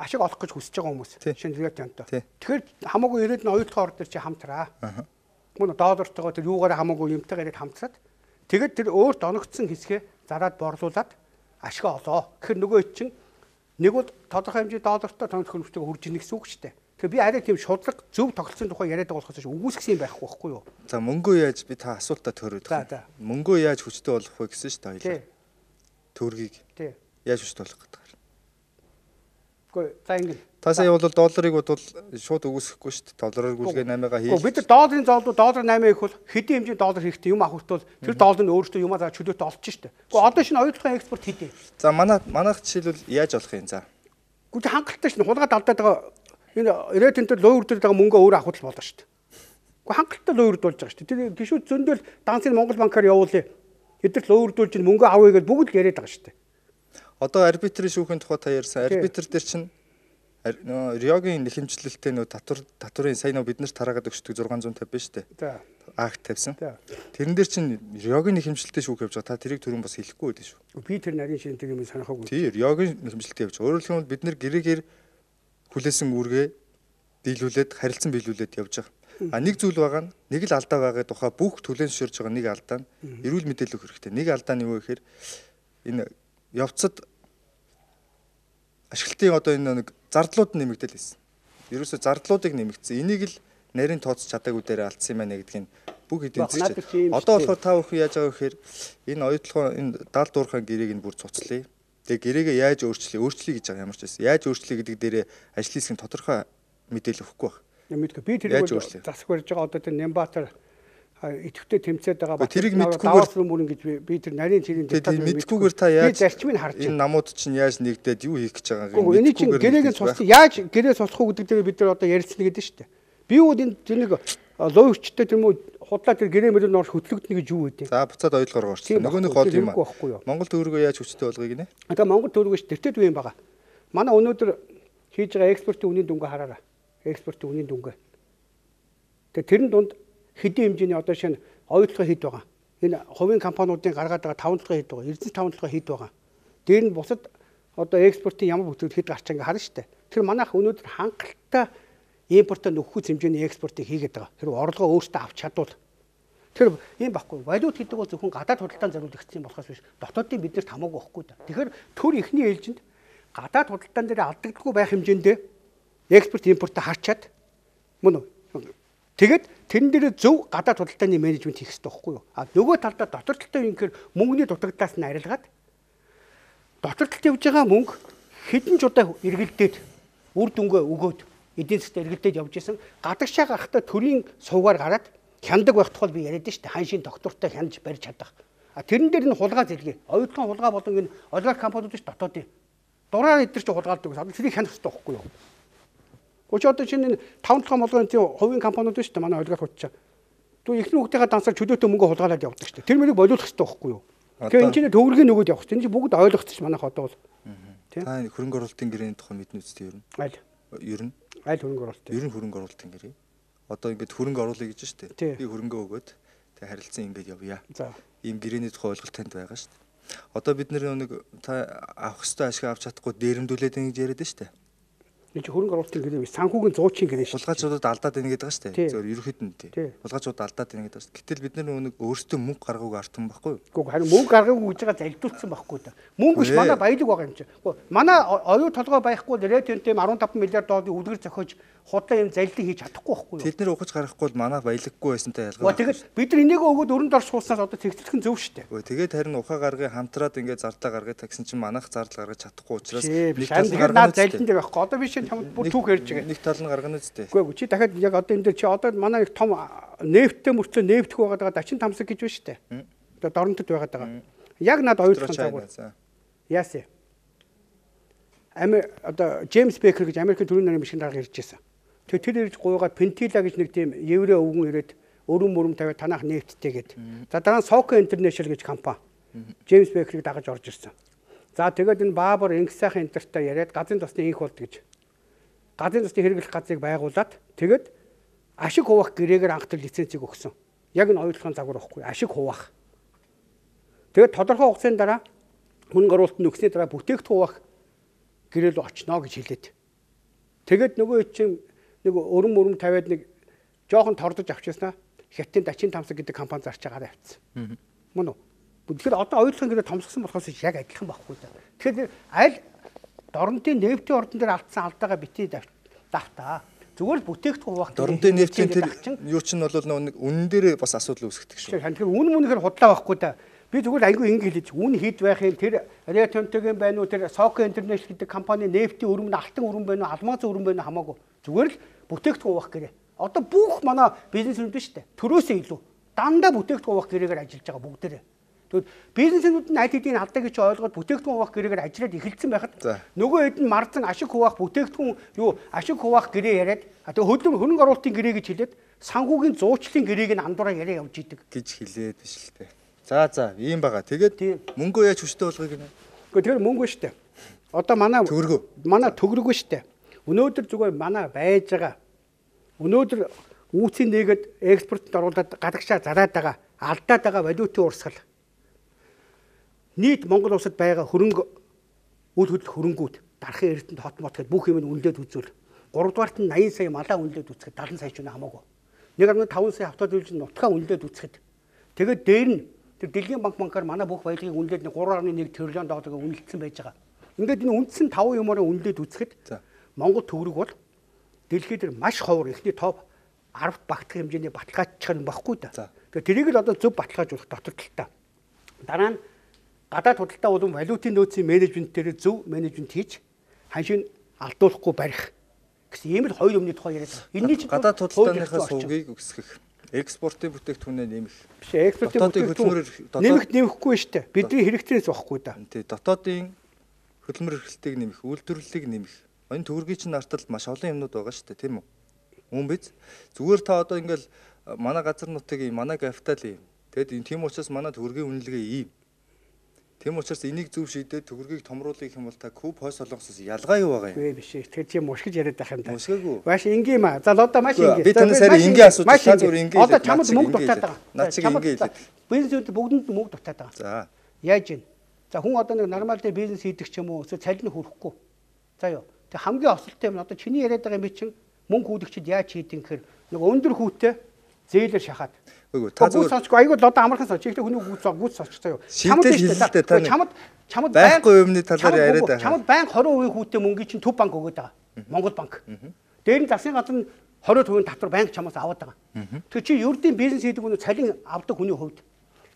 ашиг олох гэж хүсэж байгаа хүмүүс. Шинэ риотонтой. Тэгэхээр хамаагүй ирээд нь оюутлахын ордор чи хамтраа. Мөн доллартойгоо тэр юугаар хамаагүй юмтайгаар ирээд хамтраад тэгээд тэр өөрт оногдсон хэсгээ зараад борлуулад ашиг олоо. Тэгэхээр нөгөө чинь нэг бол тодорхой хэмжээ доллартай тоног хөрөнгөтэйг хурж ийн гэсэн үг шүү дээ. Тэгэхээр би арай тийм шудлаг зөв тогтолцооны тухай яриад байгаа болохоос үгүйсгсэн юм байхгүй байхгүй юу? За мөнгөө яаж би та асуултаа төрөөд байна. Мөнгөө яаж хүчтэй болох вэ гэсэн шүү дээ хоёлаа. Төгрөгийг. Яаж хүчтэй болох гэдэг. Гэхдээ за ингэ. Та сая бол долларыг бодвол шууд үгүйсэхгүй шүү дээ. Доллараар гүйлгээ наймагаа хийж. Бид нар долларын зоолдоо доллар наймаа их бол хэдийн хэмжээний доллар хэрэгтэй юм авах бол тэр доллар нь өөрөөсөө юмаа за чөлөөтэй олж шүү дээ. Гэхдээ одоо шинэ оюутлахын экспорт хийдэ. За манай манайх жишээлбэл яаж олох юм за? Гэхдээ хангалттай шин хулгайд алдаад байгаа энэ ирээд энэ луу үрдүүлж байгаа мөнгө өөрөө авах болно шүү дээ. Гэхдээ хангалттай луу үрдүүлж байгаа шүү дээ. Тэр гişүүд зөндөл дансын Монгол банкаар явуулъя. Эдгээр луу үрдүүлж мөнгө авъя гэж бүгд л яриад байгаа шүү дээ. Одоо арбитрийн шүүхийн тухай та ярьсан. Арбитр дээр чинь Риогийн нэхэмжлэлтэй нөө татвар татварын сайн нөө бид нарт тараагаад өгчдөг зургаан зуун тавьсан шүү дээ. За. Акт тавьсан. Тэрэн дээр чинь Риогийн нэхэмжлэлтэй шүүх явж байгаа. Та тэрийг түрүүн бас хэлэхгүй байлаа шүү. Би тэр нарийн шинэ тэр юм санахаагүй. Тий, Риогийн нэхэмжлэлтэй явж. Өөрөөр хэлбэл бид нар гэрээгээр хүлээсэн үүргээ биелүүлээд харилцан биелүүлээд явж байгаа. А нэг зүйл байгаа нь нэг л алдаа байгаа тухай бүх төлөөн зөвшөөрж байгаа нэг алдаа нь эрүүл мэдээлэл өгөх хэрэгтэй. Нэг алдаа нь юу вэ гэхээр энэ явцад ашиглалтын одоо энэ нэг зардлууд нэмэгдэл байсан. Ерөөсө зардлуудыг нэмэгдсэн. Энийг л нарийн тооцож чадаагүй дээр алдсан юм байна гэдгийг бүх эдийн засгийн. Одоо болохоор та бүхэн яаж байгаа вэ гэхээр энэ оюутлахын энэ даал дуурхайн гэрээг нь бүр цуцлаа. Тэгээ гэрээгээ яаж өөрчлөе, өөрчлөе гэж байгаа ямар ч байсан. Яаж өөрчлөе гэдэг дээрээ ажлын хэсгийн тодорхой мэдээлэл өгөхгүй байна. Мэдгүй би тэр засаг барьж байгаа одоо тэр Нямбатар идэвхтэй тэмцээд байгаа ба тэрийг мэдгүйгээр мөрөн гэж би тэр нарийн цэрийн деталь мэдгүйгээр та яаж зарчмыг харж энэ намууд чинь яаж нэгдээд юу хийх гэж байгааг нь энэ чинь гэрээгийн цуцлах яаж гэрээ цуцлах уу гэдэг дээр бид нар одоо ярилцсан гэдэг шүү дээ. Би юу энэ нэг лоо өвчтэй тийм үү худлаа тэр гэрээ мөрөнд орж хөтлөгдөнө гэж юу гэдэг. За буцаад ойлгоор орчихсон. Нөгөө нэг гол юм аа. Монгол төгрөгөө яаж хүчтэй болгоё гинэ? Одоо Монгол төгрөгөөс тэртет үе юм байгаа. Манай өнөөдөр хийж байгаа экспортын үнийн дүнгээ хараарай. Экспортын үнийн дүнгээ. Тэгээ тэрэн дунд хэдийн хэмжээний одоо шинэ оюутлага хийд байгаа. Энэ хувийн компаниудын гаргаад байгаа тавталгаа хийд байгаа. Эрдэнэс тавталгаа хийд байгаа. Дээр нь бусад одоо экспортын ямар бүтээгдэхүүн хэд гарч байгаа харна шүү дээ. Тэр манайх өнөөдөр хангалттай импортоо нөхөх хэмжээний экспортыг хийгээд байгаа. Тэр орлогоо өөртөө авч чадвал тэр юм баггүй. Валют гэдэг бол зөвхөн гадаад худалдаанд зориулагдсан болохоос биш. Дотоодын биднэрт хамаагүй байхгүй да. Тэгэхээр төр ихний ээлжинд гадаад худалдаан дээр алдагдахгүй байх хэмжээндээ экспорт импортоо харчаад мөн тэгээд тэрэн дээр зөв гадаад худалдааны менежмент хийх хэрэгтэй байхгүй юу? А нөгөө талдаа дотор талтай юм гэхээр мөнгөний дутагдаас нь арилгаад дотор талд явж байгаа мөнгө хэдэн ч удаа эргэлдээд үр дүнгээ өгөөд эдийн засгт эргэлдээд явж исэн гадагшаа гарахтаа төрийн сувгаар гараад хяндаг байх тухай би яриад штэ ханшийн доктортой хянаж барьж чадах. А тэрэн дээр нь хулгай зэрэг. Оюутлын хулгай болон энэ олигарх компаниуд ш дотоодын дураар эдгэр чи хулгайлдаг. Одоо тэрийг хянах хэрэгтэй байхгүй юу? Гуч одоо чинь таван толгой молгоны хувийн компаниуд шүү дээ манай олигарх утчаа. Түр ихний хүүхдийнхээ дансаар чөлөөтэй мөнгө хулгайлаад явдаг шүү дээ. Тэр мөрийг болиулах хэрэгтэй байхгүй юу? Тэгэхээр энэ чинь төгрөгийн нөгөөд явах чинь бүгд ойлгоцсон манайх одоо бол. Та хөрөнгө оруулалтын гэрээний тухай мэднэ үстэй ер нь. Аль. Ер нь. Аль хөрөнгө оруулалт. Ер нь хөрөнгө оруулалтын гэрээ. Одоо ингээд хөрөнгө оруулъя гэж шүү дээ. Би хөрөнгө өгөөд тэг харилцан ингээд явъя. За. Ийм гэрээний тухай ойлголт танд байгаа шүү дээ. Одоо бид нэг та авах хэвээр ашиг авч чадахгүй дээрэмдүүлээд ингэж яриад шүү дээ. Энэ чи хөрөнгө оруулалтын гэрээ биш санхүүгийн зуучин гэрээ шүү. Хулгайчуудад алдаад байна гэдэг байгаа шүү дээ. Зөв ерөөхдөө нь тий. Хулгайчууд алдаад байна гэдэг шүү. Гэтэл бид нар нэг өөрсдөө мөнгө гаргууг артсан байхгүй юу? Гэхдээ харин мөнгө гаргаагүй гэж байгаа залдуулсан байхгүй да. Мөнгө биш манай баялаг байгаа юм чи. Гэхдээ манай оюу толгой байхгүй ретентэй арван таван миллиард долларын үлгэр зохиож худлаа юм залилан хийж чадахгүй байхгүй юу? Тэд нэр ухаж гарахгүй бол манай баялаггүй байсантай ялгаа. Тэгэхэд бид нар энийг өгөөд өрөнд орж сууснаас одоо цэгцлэх нь зөв шүү дээ. Тэгээд харин ухаа гаргыг хамтраад ингээд зарлаа гаргаж тагсан чинь манайх зардал гаргаж чадахгүй учраас нэг тал гаргаад залилан дээр байхгүй. Одоо би шинэ тамд бүр түүх ярьж байгаа. Нэг тал нь гаргана үстэй. Үгүй чи дахиад яг одоо энэ дээр чи одоо манай нэг том нефттэй мөрцөө нефтэх байгаад байгаа дачин тамсаг гэж байна шүү дээ. Одоо доронтод байгаад байгаа. Яг над оюутлах цагуул. Яасан. Ами одоо Джеймс Бекер гэж Америкийн төрийн нарийн бичгийн дарга ирж байсан. Тэгээ тэр ирж гуйгаад Pentila гэж нэг тийм еврей өвгөн ирээд өрөм мөрөм тавиад танах нефттэй гээд. За дараа нь Soco International гэж компани Джеймс Бекерийг дагаж орж ирсэн. За тэгээд энэ Баабар Инх сайхан интертай яриад газрын тосны инх болд гэж. газрын засгийн хэрэглэх газрыг байгуулад тэгээд ашиг хуваах гэрээгээр анхтар лицензийг өгсөн. Яг энэ ойлгохын загвар واخгүй. Ашиг хуваах. Тэгээд тодорхой хугацааны дараа хүн гаруулт нь өгсөний дараа бүтээгдэхүүн хуваах гэрээ рүү очно гэж хэлээд. Тэгээд нөгөө чинь нэг өрөм өрөм тавиад нэг жоохон тордож авчихснаа Хятадын Дачин Тамсаг гэдэг компани зарч байгаараа авцсан. Мөн үү? Тэгэхээр одоо ойлгохын гэрээ томсгосон болохоос яг адилхан байхгүй да. Тэгэхээр аль дорнотын нефтийн ордон дээр алдсан алдаагаа битгий давтаа. Зүгээр л бүтээгдэхүүн хуваах. Дорнотын нефтийн тэр юу чинь бол нэг үнэн дээр бас асуудал үүсгдэг шүү. Тэгэхээр үн мөнөөр худлаа байхгүй да. Би зүгээр айгүй ингэ хэлж үн хэд байх юм тэр Риотонтогийн байна уу тэр Соко Интернэшнл гэдэг компани нефтийн өрөм нь алтан өрөм байна уу алмаз өрөм байна уу хамаагүй. Зүгээр л бүтээгдэхүүн хуваах гэрээ. Одоо бүх манай бизнесүүд нь шүү дээ. Төрөөсөө илүү дандаа бүтээгдэхүүн хуваах гэрээгээр ажиллаж байгаа бүгдээрээ. Тэгвэл бизнесүүд нь аль хэдийн алдааг гэж ойлгоод бүтээгдэхүүн хуваах гэрээгээр ажиллаад эхэлсэн байхад нөгөө хэд нь марзан ашиг хуваах бүтээгдэхүүн юу ашиг хуваах гэрээ яриад тэгээ хөдөлмөр хөрөнгө оруулалтын гэрээ гэж хэлээд санхүүгийн зуучлалын гэрээг нь андуураа яриа явж идэг гэж хэлээд биш л дээ. За за ийм байгаа. Тэгээд мөнгөө яаж хүчтэй болгоё гинэ. Гэхдээ тэр мөнгө шүү дээ. Одоо манай төгрөгөө. Манай төгрөгөө шүү дээ. Өнөөдөр зүгээр манай байж байгаа. Өнөөдөр үүсийн нээгээд экспортод оруулаад гадагшаа зараад байгаа алдаад байгаа валютын урсгал. Нийт Монгол улсад байгаа хөрөнгө үйл хөдлөх хөрөнгүүд дарахын эрдэнэт хот мот гэдээ бүх юм нь үнэлээд үзвэл гуравдугаарт нь восемь сая малаа үнэлээд үзэхэд сетenta сая ч үнэ хамаагүй. one point five сая автодилж нутгаа үнэлээд үзэхэд тэгээд дээр нь тэр Дэлхийн банк банкаар манай бүх баялагийг үнэлээд three point one триллион долларыг үнэлсэн байж байгаа. Ингээд энэ үндсэн five юмараа үнэлээд үзэхэд Монгол төгрөг бол дэлхийд дээр маш ховор эхний топ ten багтах хэмжээний баталгаажчих юм баггүй да. Тэгээд тэрийг л одоо зөв баталгаажуулах дотор талтай. Дараа нь гадаад худалдаа болон валютын нөөцийн менежмент дээр зөв менежмент хийж ханшийн алдуулахгүй барих гэсэн ийм л хоёр өмнөд тухай яриад байгаа. Энийний чинь гадаад худалдааныхаа сувгийг өсгөх, экспортын бүтээгдэхүүнээ нэмэх. Биш экспортын бүтээгдэхүүн нэмэх нэмэхгүй шүү дээ. Бидний хэрэгтээс واخхгүй да. Тий, дотоодын хөдөлмөр эрхлэлтийг нэмэх, үйлдвэрлэлийг нэмэх. Энэ төгрөгийн чинь арталт маш олон юмнууд байгаа шүү дээ, тийм үү? Мөн биз? Зүгээр та одоо ингээл манай газар нутгийн манай капитал юм. Тэгэд энэ тийм учраас манай төгрөгийн үнэлгээ ийм. Тийм учраас энийг зөв шийдээд төгрөгийг томруулах юм бол та Куб хойс солонгосоос ялгаа юу байгаа юм? Үгүй биш. Тэр чи мушгиж яриад байх юм да. Мушгаагүй. Маш энгийн юм аа. За одоо маш энгийн. Би танаас арай энгийн асууж та зүгээр энгийн. Одоо чамд мөнгө дутаад байгаа. Наад чиг энгийн хэлээд. Бизнесүүд бүгдэнд мөнгө дутаад байгаа. За. Яаж ийн? За хүн одоо нэг нормал дээр бизнес хийдэг ч юм уу эсвэл цалин хүрэхгүй. За юу. Тэг хамгийн осолтой юм одоо чиний яриад байгаа юм чинь мөнгө хүүдэгчд яаж хийдэг гэхээр нэг өндөр хүүтэй зээлэр шахаад. Үгүй та зүгээр сонсохгүй айгүй одоо амархан сонсч ихтэй хүний гүйц гүйц сонсчихсан юу. Чамд чамд чамд байхгүй юмны талаар яриад байгаа. Чамд байн twenty percent хүүтэй мөнгөийг чинь Төв банк өгöd байгаа. Монгол банк. Дээр нь засгийн газар нь twenty percent татвар банк чамаас аваад байгаа. Тэр чи ердийн бизнес хийдэг хүн цалин авдаг хүний хувьд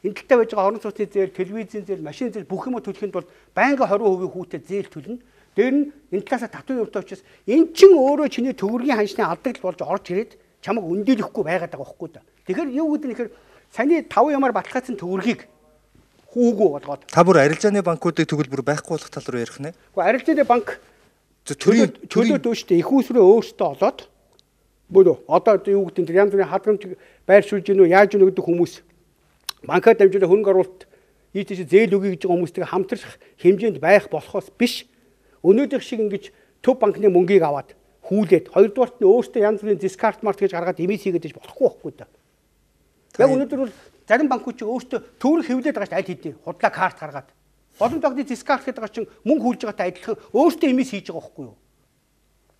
энэ талтай байж байгаа орон сууцны зээл, телевизийн зээл, машин зээл бүх юм төлөхийн тулд банк twenty percent хүүтэй зээл төлнө. Дээр нь энэ талаас татвар явуулдаг учраас эн чин өөрөө чиний төгрөгийн ханшны алдагт болж орж ирээд чамаг өндөлөхгүй байгаад байгаа байхгүй да. Тэгэхээр юу гэдэг нь ихэр саяны five юмар баталгаажсан төгрөгийг хүүгүү болгоод та бүр арилжааны банкуудыг тэгвэл бүр байхгүй болох тал руу ярих нэ. Гэхдээ арилжааны банк төрийн төлөө дөөштэй их усрээ өөртөө олоод бөлөө одоо юу гэдэг нь янз бүрийн хадгаламж байршуулж гинөө яаж гинөө гэдэг хүмүүс банкад дамжуулаад хөрөнгө оруулалт ийж зээл өгье гэж байгаа хүмүүстэй хамтрах хэмжээнд байх болохоос биш өнөөдөр шиг ингэж Төв банкны мөнгийг аваад хүүлээд хоёрдугаарт нь өөртөө янз бүрийн дискарт март гэж гаргаад эмээс хийгээд болохгүй байхгүй да. Яг өнөөдөр бол зарим банкуд ч өөртөө төгрөг хэвлээд байгаа ш аль хэдийн худлаа карт гаргаад. Олон тогтны дискарт гэдэг байгаа чинь мөнгө хүүлж байгаатай адилхан өөртөө эмээс хийж байгаа байхгүй юу?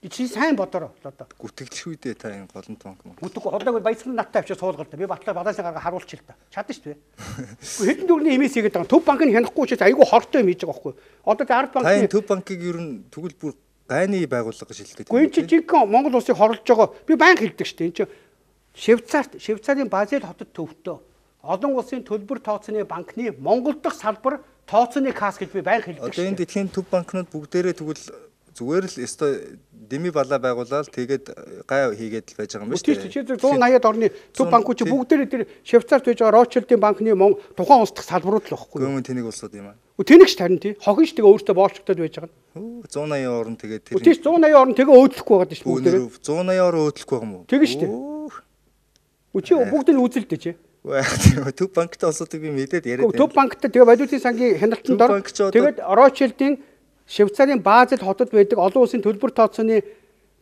Чи сайн бодороо одоо. Гүтгэлч үедээ та энэ голон банк мөн. Гүтг хоолойг баясгалан наттай авчиж суулгал да. Би батлаа бадаасаа гаргаа харуулчих л та. Чадна шүү дээ. Хэдэн төгрөгийн эмээс хийгээд байгаа. Төв банк нь хянахгүй учраас айгүй хортой юм хийж байгаа байхгүй юу? Одоо Ард банкны Төв банкыг ер нь тэгвэл бүр гайны байгууллага гэж хэлдэг. Гүн чи жинхэнэ Монгол улсыг хорлож байгаа. Би банк хэлдэг шүү дээ. Энд чи Швейцарт Швейцарын Базель хотод төвтөө олон улсын төлбөр тооцооны банкны Монгол дахь салбар тооцооны касс гэж би банк хэлдэг. Одоо энэ дэлхийн төв банкнууд бүгдээрээ тэгвэл зүгээр л өстой дими балаа байгуулаад тэгээд гай хийгээд л байж байгаа юм шүү дээ. Чи one eighty-ад орны төв банкуд чи бүгдээрээ тэр Швейцарт байж байгаа Ротшильдийн банкны тухайн улс дахь салбарууд л байхгүй. Гүн тэнийг улсууд юм аа. Тэнийг ч тарин тий. Хохин ш тэгээ өөртөө боолчтод байж байгаа. one eighty орн тэгээд тэр. Тийш one eighty орн тэгээ өөдлөхгүй байгаа шүү бүгдээрээ. one eighty орн өөдлөхгүй байгаа юм уу? Тэгээ шүү дээ. Үчи бүгд нь үзэлдэ чи. Төв банктай улсуудыг би мэдээд яриад байна. Төв банктай тэгээ валютын сангийн хяналтанд ор тэгээд Ротшильдийн Швейцарын Базель хотод байдаг олон улсын төлбөр тооцооны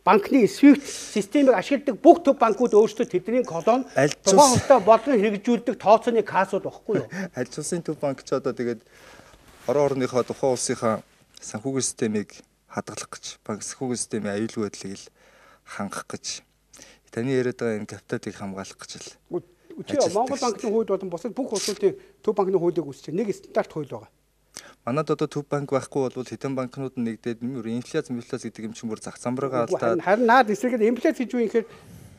банкны SWIFT системийг ашигладаг бүх төв банкуд өөрсдөө тэдний колон тухайн хувьтай бодлого хэрэгжүүлдэг тооцооны кассууд багхгүй юу? Аль улсын төв банк ч одоо тэгээд орон орныхоо тухайн улсынхаа санхүүгийн системийг хадгалах гэж, банк санхүүгийн системийн аюулгүй байдлыг л хангах гэж, таны яриад байгаа энэ капиталыг хамгаалах гэж л. Үгүй Монгол банкны хууль болон бусад бүх улсуудын төв банкны хуулийг үүсгэж нэг стандарт хууль байгаа. Манайд одоо төв банк байхгүй бол хэдэн банкнууд нь нэгдээд нэмэр инфляц, инфляц гэдэг юм чинь бүр зах замбараа алдаад харин наад эсрэгээр инфляц гэж юу юм гэхээр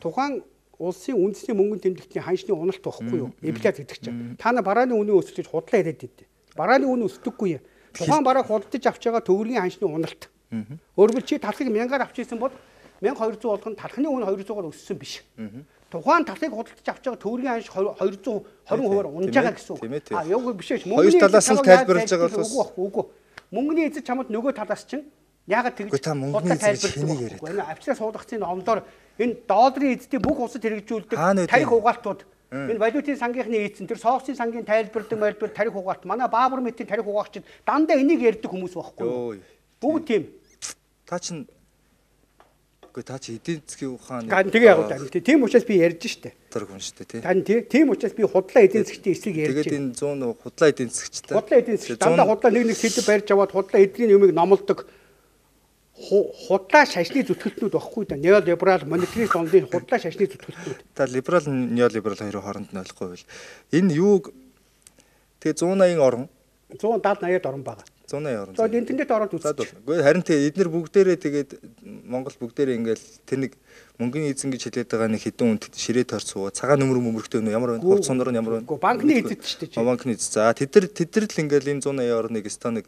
тухайн улсын үндэсний мөнгөний тэмдэгтийн ханшны уналт байхгүй юу? Инфляц гэдэг чинь. Та нар барааны үнийн өсөлтөж худлаа яриад байдیں۔ Барааны үн өсдөггүй юм. Тухайн бараа худалдаж авч байгаа төгрөгийн ханшны уналт. Өөрөөр чи талхыг мянгаар авч ирсэн бол мянга хоёр зуун болгоно талхны үн хоёр зугаар өссөн биш. Тухайн талхыг худалдаж авч байгаа төгрөгийн ханш хоёр зуун хорин хувиар унж байгаа гэсэн үг. А яг биш ээ. Хоёр талаас нь тайлбарлаж байгаа бол үгүй үгүй. Мөнгөний эзэд чамд нөгөө талаас чинь ягаад тэгж худалдаа тайлбарлаж байгаа. Авчраа суулгацын номдоор энэ долларын эзэдийн бүх улсад хэрэгжүүлдэг тарих угаалтууд энэ валютын сангийнхны эзэн тэр соосийн сангийн тайлбарладаг мэлбэр тарих угаалт манай Баабар мэтийн тарих угаагчид дандаа энийг ярьдаг хүмүүс байхгүй. Бүгд тийм. Та чинь үгүй та чи эдийн засгийн ухааны тэгээ яг л тийм учраас би ярьж штэ. Тэр хүн штэ тий. Тань тийм учраас би худлаа эдийн засгийн эсрэг ярьж. Тэгээд энэ цуун худлаа эдийн засгчтай. Худлаа эдийн засгч дандаа худлаа нэг нэг сэдв барьж аваад худлаа эдийн юмыг номлодог худлаа шашны зүтгэлтнүүд багхгүй да. Неолиберал монетарист ондын худлаа шашны зүтгэлтнүүд. Та либерал неолиберал хоёрын хооронд нь ойлгохгүй байл. Энэ юуг тэгээ цуун аян орон цуун даал наяад орон байгаа. цуун аян орон. За интернет ороод үзчих. Үгүй харин тэгээ эдгээр бүгдээрээ тэгээд Монгол бүгдээрээ ингээл тэр нэг мөнгөний эзэн гэж хэлээд байгаа нэг хэдэн үнд ширээ тойрцоо цагаан нөмөр мөмөрхтэй өнөө ямар байна? Хувц сундар нь ямар байна? Үгүй банкны эзэд шүү дээ. Банкны эзэд. За тэд нар тэд нар л ингээл энэ цуун аян орныг станыг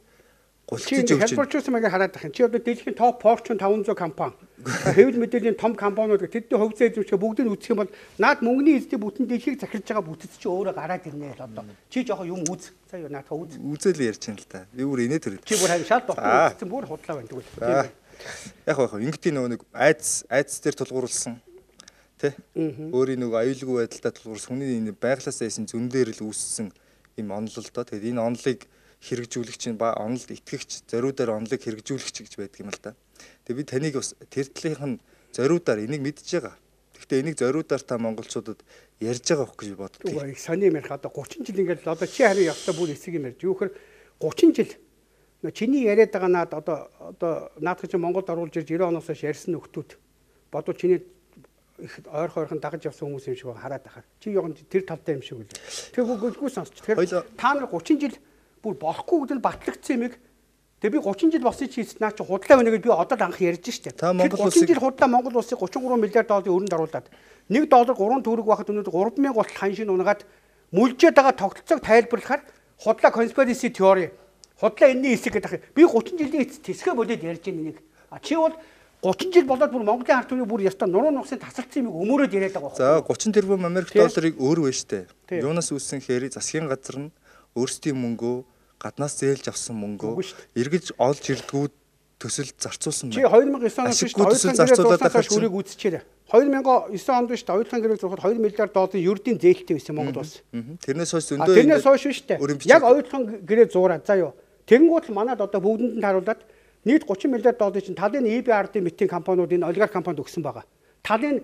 гулциж өгч. Хэлбэрчүүлсэн маяг хараад тахын. Чи одоо дэлхийн топ Fortune таван зуун компани. Хэвлэл мэдээллийн том компаниуд тэдний хувьцаа эзэмших бүгдийг үзэх юм бол наад мөнгөний эзэдийн бүтэн дэлхийг захирж байгаа бүтэц чи өөрөө гараад ирнэ л одоо. Чи жоохон юм үз. За юу наатаа үз. Үзэл ярьж байна л та. Би бүр инээ төрөд. Чи бүр харин шал болохгүй үзсэн бүр худлаа байна тэгвэл. Яг байх. Ингэдийн нөгөө нэг айц айц дээр тулгуурлсан. Тэ? Өөрийн нөгөө аюулгүй байдалтай тулгуурсан хүний энэ байглаасаа исэн зүүн дээр л үүссэн юм онол л доо. Тэгээд энэ онолыг хэрэгжүүлэгч нь ба онолд итгэгч зориудаар онолыг хэрэгжүүлэгч гэж байдаг юм л да. Тэгээ би таныг бас тэр талынх нь зориудаар энийг мэдж байгаа. Гэхдээ энийг зориудаар та монголчуудад ярьж байгаа хөх гэж би боддог. Үгүй их сони юм ярих одоо гучин жил ингээд одоо чи харин явста бүр эсэг юм ярьж. Юу гэхээр гучин жил нөө чиний яриад байгаа наад одоо одоо наадах чи Монголд оруулж ирж девяносто оноос хойш ярьсан нөхдүүд бодвол чиний их ойр хойрхон дагаж явсан хүмүүс юм шиг байгаа хараад ахаар. Чи яг тэр талтай юм шиг үлээ. Тэр гүггүй сонсч. Тэгэхээр та нар гучин жил бүр болохгүй гэдэг нь батлагдсан юмыг тэгээ би гучин жил болсон чи наа чи худлаа байна гэж би одоо анх ярьж штэ. гучин жил худлаа Монгол улсыг гучин гурван миллиард долларын өрөнд оруулаад нэг доллар гурван төгрөг байхад өнөөдөр гурван мянган гутал ханшийн унгаад мүлжээд байгаа тогтолцоог тайлбарлахаар худлаа conspiracy theory худлаа энэний хэсэг гэдэг. Би гучин жилийн эцэст тэсгэ болоод ярьж байгаа нэг. А чи бол гучин жил болоод бүр Монголын ард түмний бүр яста нуруу нухсын тасалцсан юмыг өмөрөөд яриад байгаа. За гучин тэрбум Америк долларыг өөр вэ штэ. Юунаас үүссэн хэрэг засгийн газар нь өөрсдийн мөнгөө гаднаас зээлж авсан мөнгөө эргэж олж ирдгүүд төсөл зарцуулсан байна. Чи хоёр мянган девять оноос шүү дээ. Зарцуулаад байгаа шүрийг үүсчихээрээ. хоёр мянган девять онд шүү дээ. Оюутлын гэрээ зурхад хоёр миллиард долларын ердийн зээлтэй байсан Монгол улс. Тэрнээс хойш зөндөө тэрнээс хойш шүү дээ. Яг оюутлын гэрээ зураад заа юу. Тэнгуут л манад одоо бүгдэнд нь харуулад нийт гучин миллиард долларын чинь талын и би ар-ийн мэтийн компаниуд энэ олигарх компанид өгсөн байгаа. Талын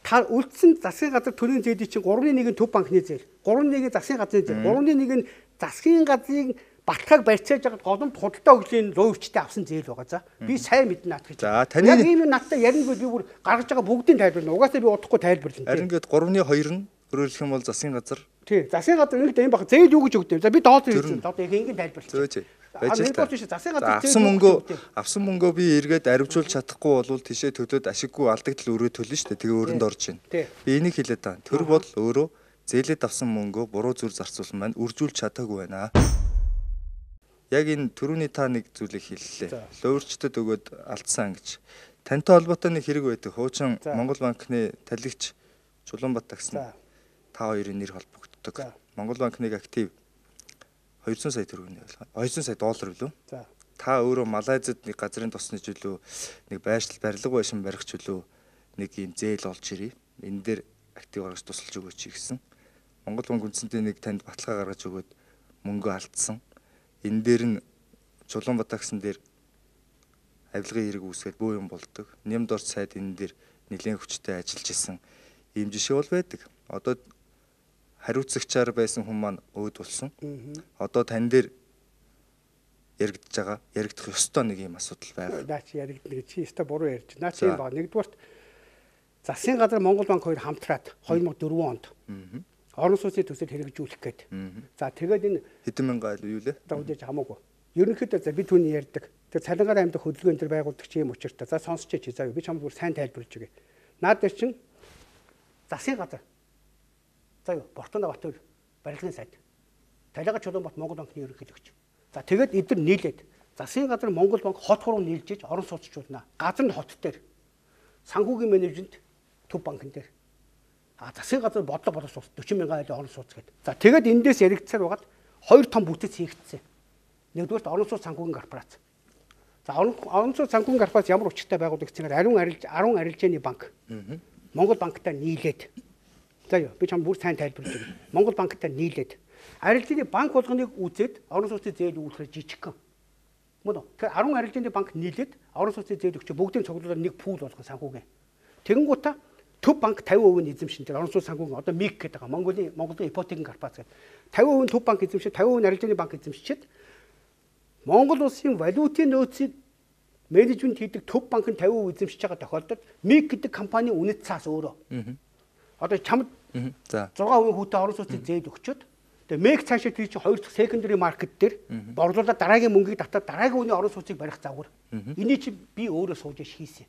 үлдсэн засгийн газар төрийн зээлийг чинь гурван нэгэн төв банкны зээл, гурван нэгэн засгийн газрын зээл, гурван нэгэн засгийн газрын баталгааг барьцааж байгаа голомт худалдаа хөгжлийн луйвчтай авсан зээл байгаа. За би сайн мэднэ наад гэж. За таны яг ийм надтай ярина гэж би бүр гаргаж байгаа бүгдийг тайлбарлана. Угаасаа би удахгүй тайлбарлана. Харин ингээд гурвны хоёр нь өөрөөлөх юм бол засгийн газар. Тий, засгийн газар нэг юм баг зээл юу гэж өгдөв. За би доод хэлсэн. Доод яг ингэ тайлбарлаж. Зөөж. Байж та. Засгийн газар авсан мөнгөө авсан мөнгөө би эргээд аривжуулж чадахгүй болвол тишээ төлөөд ашиггүй алдагдал өрөө төлнө шүү дээ. Тэгээ өрөнд орж ийн. Би энийг хэлээд байгаа. Тэр бол өөрөө зээлээд авсан мөнгөө буруу зүйл зарцуулсан байна. Үржүүлж чадаагүй байна. Яг энэ түрүүний та нэг зүйлийг хэллээ. Луурчдад өгөөд алдсан гэж. Тантай холбоотой нэг хэрэг байдаг. Хуучин Монгол банкны талигч Чулуунбат таксан та хоёрын нэр холбогддог. Монгол банкны актив двести сая төгрөгийн байлгаа. двести сая доллар билүү? За. Та өөрөө Малайзад нэг газрын тосны жилүү нэг байршил барилга байшин барих жилүү нэг юм зээл олж ирээ. Энэ дээр актив гаргаж тусалж өгөөч гэсэн. Монгол банк үндсэндээ нэг танд баталгаа гаргаж өгөөд мөнгө алдсан. Энэ дээр нь Чулуунбат таксан дээр авилгын хэрэг үүсгээд бөө юм болдог. Нямд орц сайд энэ дээр нэлээд хүчтэй ажиллаж исэн ийм жишээ бол байдаг. Одоо хариуцагчаар байсан хүн маань өөд болсон. Одоо тань дээр яригдж байгаа, яригдах ёстой нэг юм асуудал байна. Наа чи яригдана гэж чи ёстой буруу ярьж. Наа чи юм ба. Нэгдүгээрт засгийн газар Монгол банк хоёр хамтраад две тысячи четыре онд орон сууцны төсөл хэрэгжүүлэх гээд. За тэгээд энэ хэдэн мянган айл юу лээ? За үдээж хамаагүй. Ерөнхийдөө за би түүний ярьдаг. Тэр цалингаар аймдах хөдөлгөөн төр байгуулдаг чи юм учиртай. За сонсч чи заа би чамд бүр сайн тайлбарлаж өгье. Наад дээр чин засгийн газар. За юу Бортонд Бат хоёр барилгын сайд. Талига Чулуунбат Монгол банкны ерөнхийлөгч. За тэгээд эдгээр нийлээд засгийн газар Монгол банк хот хуруу нийлжиж орон сууцчулнаа. Газар нь хот дээр санхүүгийн менежмент төв банкн дээр. А засгийн газар бодлого боловч forty мянган айлын орон сууц гэдэг. За тэгээд эндээс яригдсаар байгаад хоёр том бүтэц хийгдсэн. Нэгдүгээрт орон сууц санхүүгийн корпорац. За орон сууц санхүүгийн корпорац ямар учиртай байгуулдаг гэхээр ариун арилж арван арилжааны банк. Монгол банктай нийлээд. За юу би чам бүр сайн тайлбарлаж өгье. Монгол банктай нийлээд арилжааны банк болгоныг үзээд орон сууцны зээл үүсгэж жижигхэн. Мөн үү? Тэгэхээр арван арилжааны банк нийлээд орон сууцны зээл өгч бүгдийн цуглуулаад нэг пул болгон санхүүгийн. Тэгэнгүүтээ төв банк fifty percent эзэмшин дээр орон сууц санхүүгийн одоо МИК гэдэг байгаа. Монголын Монголын ипотекийн корпорац гэдэг. fifty percent төв банк эзэмшиж fifty percent арилжааны банк эзэмшиж Монгол улсын валютын нөөцийг менежмент хийдэг төв банк нь fifty percent эзэмшиж байгаа тохиолдолд МИК гэдэг компани үнэт цаас өөрөө. Одоо чамд за six percent хүүтэй орон сууцын зээл өгчөөд тэгээ МИК цаашаа тэр чинь хоёр дахь secondary market дээр борлуулаад дараагийн мөнгийг татаад дараагийн үний орон сууцыг барих загвар. Энийг чи би өөрөө сууж хийсэн.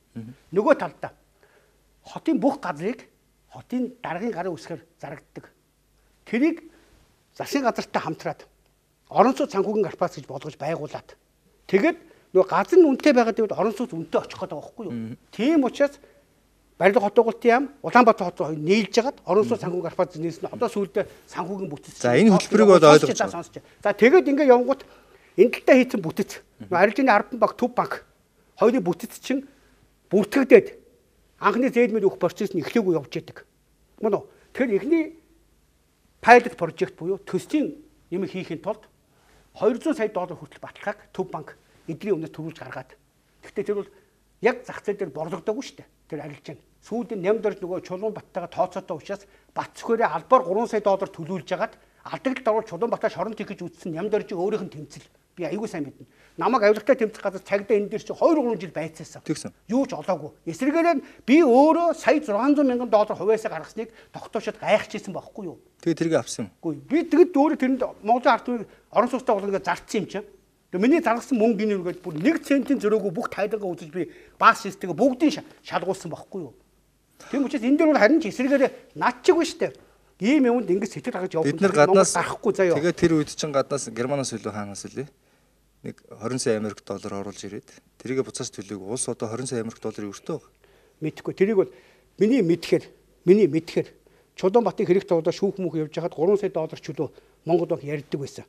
Нөгөө талдаа хотын бүх газрыг хотын даргын гарын үсгээр зарагддаг. Тэрийг засгийн газартай хамтраад орон сууц санхүүгийн корпорац гэж болгож байгуулад. Тэгээд нөгөө газар нь үнэтэй байгаа гэвэл орон сууц үнэтэй очих гээд байгаа байхгүй юу? Тийм учраас барилга хот байгуулалтын яам Улаанбаатар хот хоёр нийлж хагаад орон сууц санхүүгийн корпорац нийлсэн. Одоо сүүлдээ санхүүгийн бүтэц. За энэ хөтөлбөрийг бол ойлгож байгаа. За тэгээд ингээ явгууд энэ талдаа хийсэн бүтэц. Арилжааны Арбан банк, Төв банк хоёрын бүтэц чинь бүртгэгдээд анхны зээл мэд өгөх процесс нь эхлээгүй явж байдаг. Мөн үү? Тэгэхээр эхний пайлот прожект буюу төслийн юм хийхин тулд two hundred сая доллар хүртэл баталгааг Төв банк эдний өмнөөс төрүүлж гаргаад. Гэхдээ тэр бол яг зах зээл дээр борлогдоогүй шүү дээ. Тэр арилжаана. Сүүлдээ нямд орж нөгөө Чулуунбаттайгаа тооцоотой учраас Батцөхөрөө албаар three сая доллар төлүүлж хагаад алдагдлалд орвол Чулуунбатаа шоронд хийх гэж үзсэн нямд оржийг өөрийнх нь тэмцэл. Би аягүй сайн мэднэ. Намайг авилгатай тэмцэх газар цагдаа энэ дээр чи two three жил байцаасан. Юу ч олоогүй. Эсрэгээр нь би өөрөө сая six hundred мянган доллар хувьяасаа гаргасныг тогтоочод гайхажсэн байхгүй юу? Тэгээ тэрийг авсан юм. Үгүй. Би тэгэд өөрөө тэрэнд Монголын ард түмнийг орон сууцтай болгоно гэж зарцсан юм чинь. Тэгээ миний заргасан мөнгө гинэ үргээд бүр one центийн зөрөөгөө бүх тайлгаа үзэж би баас системээ бүгдийг шалгуулсан байхгүй юу? Тийм учраас энэ дээр бол харин ч эсрэгээр над чиг биш үү? Ийм юмд ингэж сэтгэл гаргаж явах бид нар гаднаас гарахгүй заяа. Тэгээ тэр үед чинь гаднаас Германаас илүү хаанаас үлээ? Нэг twenty сая Америк доллар оруулж ирээд тэрийг буцаас төлөөг улс одоо twenty сая Америк долларын өртөө баг. Мэдхгүй. Тэрийг бол миний мэдхээр миний мэдхээр Чулуунбатын хэрэг туудаа шүүх мөх явж хахад three сая доллар чөлөө Монгол банк ярьдаг байсан.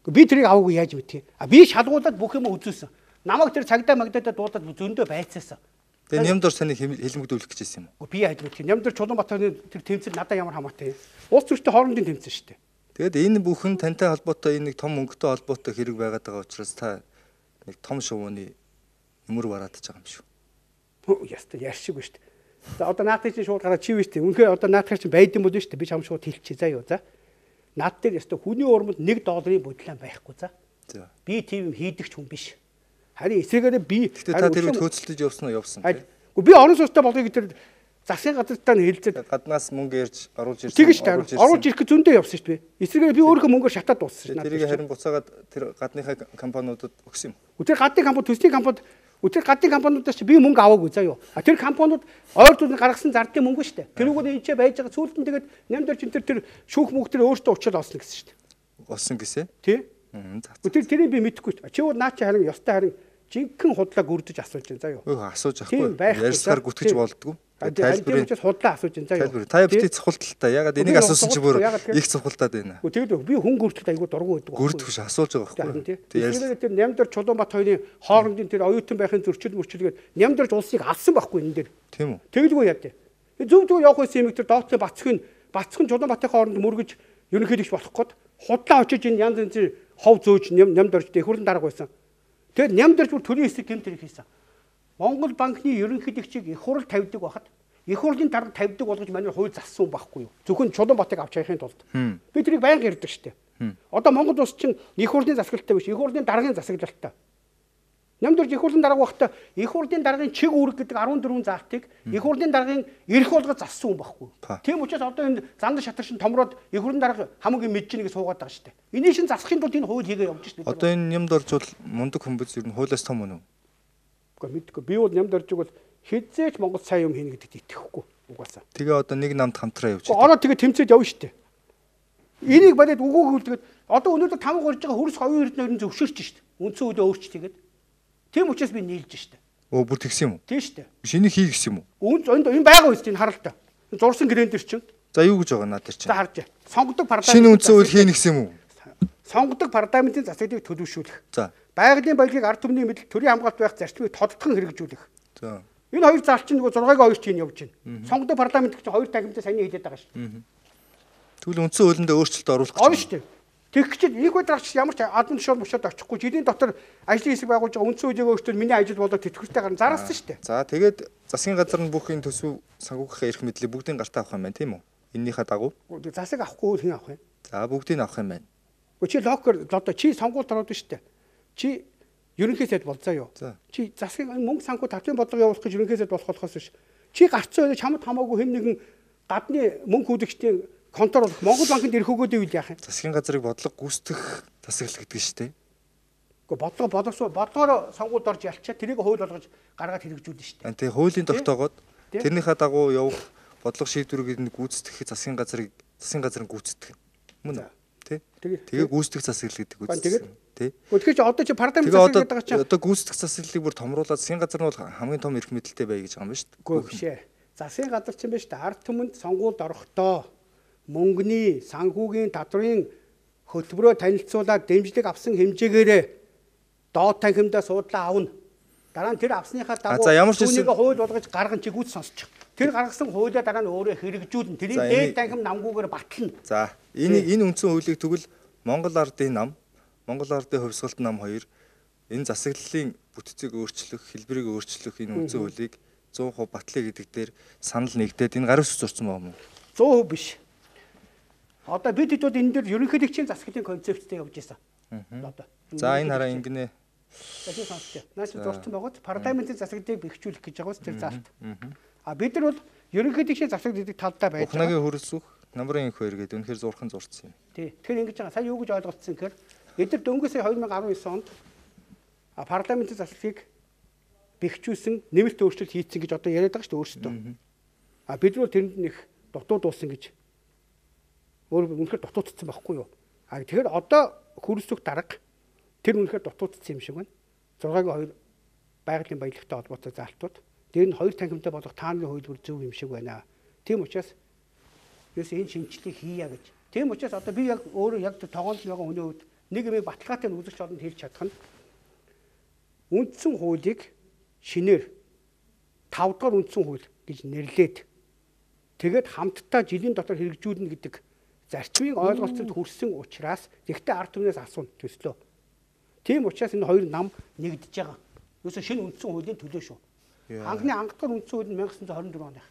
Би тэрийг аваагүй яаж мэдхий? А би шалгуулад бүх юм үзүүлсэн. Намайг тэр цагдаа магдадаа дуудаад зөндөө байцаасан. Тэгээ нямдор саныг хэлмэгдүүлэх гэж байсан юм уу? Би яаж мэдхий? Нямдор Чулуунбатын тэр тэмцэл надад ямар хамаатай. Улс төрчтэй хоорондын тэмцэл шүү дээ. Тэгэд энэ бүхэн тантай холбоотой энэ нэг том мөнгөтэй холбоотой хэрэг байгаад байгаа учраас та нэг том шувууны юмр бараадж байгаа юм шүү. Хөө яста яаршиг шүү дээ. За одоо наадтай чинь шууд гараад чи биш дээ. Үнэхээр одоо наадтай чинь байдсан бол шүү дээ. Би чам шууд хэлчихье заа юу за. Наад дээр яста хүний урмд one долларын бодлоо байхгүй за. За. Би тийм хийдэг ч хүн биш. Харин эсрэгээр би та тэр үед хөөцөлдөж явсан уу явсан тийм. Би орон сууцтай болгоё гэдэг засгийн газартаа хэлцээд гаднаас мөнгө ярьж оруулж ирсэн. Тэгэж таа. Оруулж ирэх зөндөө явсан шүү дээ. Эсрэгээр би өөрийнхөө мөнгөөр шатаад дууссан шүү дээ. Тэрийг харин буцаагаад тэр гадныхаа компаниудад өгсөн юм. Тэр гадны компани төслийн компанид тэр гадны компаниудаас чи би мөнгө аваагүй заа юу. А тэр компаниуд ойртууд гаргасан зардын мөнгө шүү дээ. Тэрүүгээр энэ ч байж байгаа сүүлд нь тэгээд нямдэр чин тэр тэр шүүх мөнгө тэр өөртөө уучрал олсон гэсэн шүү дээ. Олсон гэсэн. Тий. Тэр тэрийг би мэдэхгүй шүү. Чи бол наа чи харин ёстой харин жинхэнэ худлаа гүрдэж асууж байна заа юу. Өө асууж ахгүй. Ярьсаар гүтгэж болдгоо. Тайлбарыг ч худлаа асууж байна заа юу. Та битгий цохолтолтой. Ягаад энийг асуусан чи бүр их цохолтоод байна. Тэгээд би хүн гүрдэлт айгуу дургу байдаг. Гүрдэх биш асуулж байгаа байхгүй. Тэгээд тэр Нямдэр Чулуунбат хоёрын хоорондын тэр оюутан байхын зөрчил мөрчилгээд Нямдэрч улсыг алсан байхгүй энэ дээр. Тийм үү. Тэгэлгүй яа дээ. Зөв зөв явах байсан юм их тэр доотлын Бацхын Бацхан Чулуунбатын хооронд мөргөж ерөнхийлөгч болох гээд худлаа очиж энэ янз янзын хов зөөж Нямдэрч дэхүрэн дарга байсан. Тэгээд Нямдэрч бүр төрийн хэсэг гэмт хэрэг хийсэн. Монгол банкны ерөнхийлөгчийг их хурл тавьдаг байхад их хурлын дарга тавьдаг болгож манай хууль зассан байхгүй юу? Зөвхөн Чулуунбаатарыг авч яахын тулд. Би тэрийг байнга ярьдаг штеп. Одоо Монгол улс чинь их хурлын засаглалтай биш, их хурлын даргын засаглалтай. Нямдурж их хурлын дарга байхдаа их хурлын даргын чиг үүрэг гэдэг арван дөрвөн заалтыг их хурлын даргын эрх болгож зассан хүн байхгүй. Тийм учраас одоо энэ зандан шатар шин томроод их хурлын дарга хамгийн мэдж нэгэ суугаад байгаа штеп. Энийг шин засахын тулд энэ хууль хийгээ явж штеп. Одоо энэ нямд орж бол мундаг хүмүүс ер нь хуулиас том үнэ. Үгүй мэдгүй. Би бол нямд орж бол хизээч Монгол сайн юм хийнэ гэдэгт итгэхгүй угаасаа. Тэгээ одоо нэг намд хамтраа явж байна. Ороо тэгээ тэмцээд явна штеп. Энийг бодоод үгүйг үлдгээд одоо өнөөдөр тамга горж байгаа хөрс хоёр эрдэнэ зөвшөөрч штеп. Үндсэн хуулийг өөрч тэгээд. Тийм учраас би нийлж штэ. Өө бүр тэгсэн юм уу? Тийм штэ. Шинийг хий гэсэн юм уу? Үн энд энэ байгаа үст энэ харалта. Зурсан гэрэн дээр чинь. За юу гэж байгаа надад чинь. За харж. Сонгодог парламент. Шинэ үндсэн хууль хийнэ гэсэн юм уу? Сонгодог парламентын засаглалыг төлөвшүүлэх. За. Байгалийн баялагийг ард түмний мэдл төрийн хамгаалалт байх зарчмыг тодтгон хэрэгжүүлэх. За. Энэ хоёр заалт чинь нөгөө зургааг хоёр чинь явж байна. Сонгодог парламент гэж хоёр тахимтай сайн хэлээд байгаа шүү. Тэгвэл үндсэн хуулинд өөрчлөлт оруулах гэж. Орно шүү. Тэгэх чинь их ударч ямар ч админ шууд мушаад очихгүй жилийн дотор ажлын хэсэг байгуулж байгаа үндсэн хуулийг өөрчлөлт миний ажил болоод тэтгэвртэй гарна зараасан шүү дээ. За тэгээд засгийн газар нь бүх энэ төсөв санхүүгийнхээ эрх мэдлийг бүгдийг гартаа авах юм байна тийм үү? Эннийхээ дагуу. Засаг авахгүй хэн авах вэ? За бүгдийг авах юм байна. Гэхдээ чи локер одоо чи сонгуульд ороод шүү дээ. Чи ерөнхий сайд болцоо юу? Чи засгийн мөнгө санхүү татварын бодлого явуулах гэж ерөнхий сайд болох болохоос биш. Чи гарцсан үед чамд хамаагүй хэн нэгэн гадны мөнгө хүлэгчдийн контрол Монгол банкнд ирэх өгөөд ивэл яах юм? Засгийн газрыг бодлого гүйцэтгэх засаглал гэдэг шүү дээ. Гэхдээ бодлого боловсрол бодлогоор сонгуульд орж ялчаа тэрийг хууль болгож гаргаад хэрэгжүүлнэ шүү дээ. Тэгээ хуулийн тогтоогоод тэрнийхээ дагуу явах бодлого шийдвэрийг нь гүйцэтгэх засгийн газрыг засгийн газрын гүйцэтгэх. Мөн үү? Тэ? Тэгээ гүйцэтгэх засаглал гэдэг үү? Тэ? Тэгэхээр чи одоо чи парламент засаглал гэдэг чинь одоо гүйцэтгэх засаглалыг бүр томруулаад засгийн газар нь бол хамгийн том эрх мэдэлтэй бай гэж байгаа юм ба шүү дээ. Үгүй биш ээ. Засгийн газар чинь биш дээ. Ард түмэнд сонгуульд орохдоо мөнгөний санхүүгийн татврын хөтөлбөрөөр танилцуулаад дэмжлэг авсан хэмжээгээрээ доод танхимдаа суудлаа авна. Дараа нь тэр авсныхаа дагуу түүнийг хууль болгож гарган чи гүйц сонсчих. Тэр гаргасан хуулиа дараа нь өөрөө хэрэгжүүлнэ. Тэрийг дээд танхим намгүйгээр батлна. За энэ энэ үндсэн хуулийг тэгвэл Монгол ардын нам, Монгол ардын хувьсгалт нам хоёр энэ засаглалын бүтцийг өөрчлөх, хэлбэрийг өөрчлөх энэ үндсэн хуулийг цээн хувь батлая гэдэг дээр санал нэгдээд энэ гарын ус зурсан байна уу? цээн хувь биш. Одоо бид хэд бол энэ дээр ерөнхийлөгчийн засаглалын концепцтэй явж байсан. Одоо. За энэ хараа ингэнэ. Тэний сонсч. Наач дурсан байгаад парламентын засаглалыг бэхжүүлэх гэж байгаа ус тэр заалт. А бид нар бол ерөнхийлөгчийн засаглал гэдэг талдаа байж байгаа. Ухнагийн хөрсөх намрын их хоёр гэдэг үнэхээр зурхан зурцсан юм. Тий. Тэгэхээр ингэж байгаа. Сая юу гэж ойлгоцсон гэхээр эдгээр дөнгөж сая две тысячи десять онд парламентын засаглалыг бэхжүүлсэн нэмэлт өөрчлөлт хийцэн гэж одоо яриад байгаа шүү дээ өөрсдөө. А бид нар тэрэнд нэг дутуу дуусан гэж өөр үнэхээр дутуудсан байхгүй юу? А тэгэхээр одоо хөрсөх дарга тэр үнэхээр дутуудсан юм шиг байна. зургагийн хоёр байгалийн баялагтай холбоотой заалтууд. Тэр нь хоёр танхимтай болох тааны хуулбар зөв юм шиг байна. Тийм учраас юус энэ шинжилгээг хийя гэж. Тийм учраас одоо би яг өөрөө яг тогоонд байгаа хүний хувьд нэг юм баталгаатай үзэгч олонд хэлж чадах нь үндсэн хуулийг шинээр тав дахь үндсэн хууль гэж нэрлээд тэгээд хамтдаа жилийн дотор хэрэгжүүлнэ гэдэг зарчмыг ойлголцолд хүрсэн учраас тэгтээ ард түмнээс асууна төслөө. Тийм учраас энэ хоёр нам нэгдэж байгаа. Юусе шинэ үндсэн хуулийн төлөө шүү. Анхны ангадгаар үндсэн хууль нь nineteen twenty-four оных.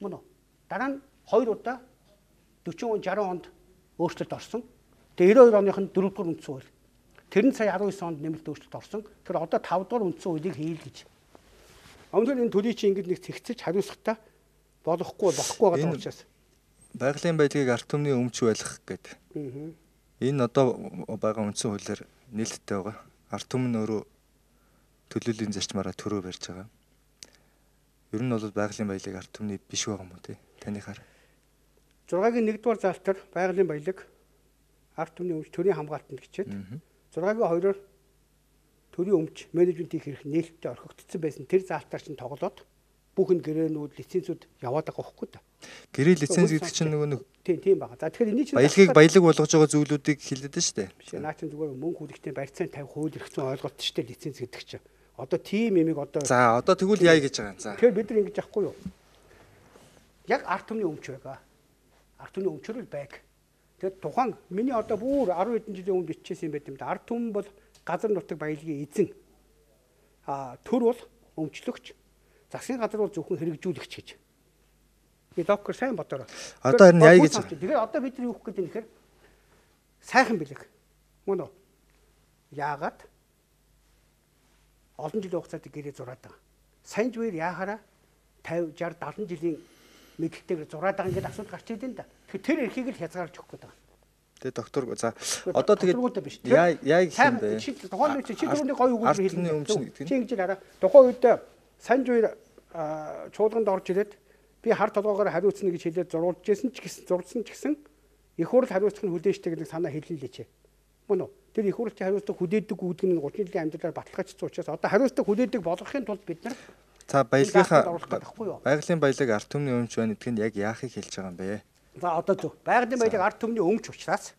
Мөн үү? Дараа нь хоёр удаа forty sixty онд өөрчлөлт орсон. Тэгээ ninety-two оных нь four дугаар үндсэн хууль. Тэр нь сая nineteen онд нэмэлт өөрчлөлт орсон. Тэгэхээр одоо five дугаар үндсэн хуулийг хийл гэж. Өмнө нь энэ төлөй чи ингэж нэг цэгцэж хариуцахтаа болохгүй болохгүй байгаа учраас байгалийн байдлыг ард түмний өмч байлгах гэдэг. Энэ одоо байгаа үндсэн хуулиар нийлэлтэй байгаа. Ард түмэн өөрөө төлөөллийн зарчмаараа төрөө барьж байгаа. Ер нь бол байгалийн баялаг ард түмний биш байгаа юм уу те? Танихаар. six-гийн one-р заалтаар байгалийн баялаг ард түмний өмч төрийн хамгаалтанд гिचээд six-гийн two-оор төрийн өмч менежментийн хэрэг нээлттэй орхигдсон байсан тэр заалтаар чинь тоглоод бүхэн гэрээнүүд лицензүүд яваад байгаа байхгүй да. Гэрээ лиценз гэдэг чинь нөгөө нэг тийм тийм байгаа. За тэгэхээр энэ чинь баялагыг баялаг болгож байгаа зүйлүүдийг хэлээд байна шүү дээ. Биш наа чинь зүгээр мөнгө хүлэгтийн барьцаан тавих хууль эрхцэн ойлголт шүү дээ лиценз гэдэг чинь. Одоо тийм юмыг одоо За одоо тэгвэл яа гэж байгаа юм. За. Тэгэхээр бид нар ингэж яахгүй юу? Яг ард түмний өмч байгаа. Ард түмний өмчрөл байг. Тэгээд тухайн миний одоо бүр ten хэдэн жилийн өмнө биччихсэн юм байт юм да. Ард түмэн бол газар нутаг баялагын эзэн. А төр бол өмчлөгч, засгийн газар бол зөвхөн хэрэгжүүлэгч гэж. Би доктор сайн бодороо. Одоо харин яа гэж. Тэгэхээр одоо бид нар юу гэх гээд нэхэр сайхан бэлэг. Мөн үү? Яагаад олон жилийн хугацаанд гэрээ зураад байгаа. Сайн зүгээр яахаараа пенсив, шейсдесят, седемдесет жилийн мэдлэгтэйгээр зураад байгаа ингээд асуудал гарч идэв энэ да. Тэгэхээр тэр эрхийг л хязгаарч өгөх гээд байгаа. Тэгээ доктор за одоо тэгээд яа яа гэх юм бэ? Тухайн үед чи түрүүний гоё үг хэлсэн өмчнө гэдэг нь. Чи ингэж хараа. Тухайн үед сайн зүгээр чуулганд орж ирээд би хар толгоогоор хариуцна гэж хэлээд зурулж байсан ч гэсэн зурсан ч гэсэн их хурл хариуцах нь хүлээжтэй гэдэг санаа хэллээ. Мөн үү? Тэр их хурлын хариуцлага хүлээдэг үүдг нь гуравдугаар жилийн амьдралаар баталгаажсан учраас одоо хариуцлага хүлээдэг болгохын тулд бид нар за баялагынхаа байгалийн баялаг ард түмний өмч байна гэдг нь яг яахыг хэлж байгаа юм бэ? За одоо зөв. Байгалийн баялаг ард түмний өмч учраас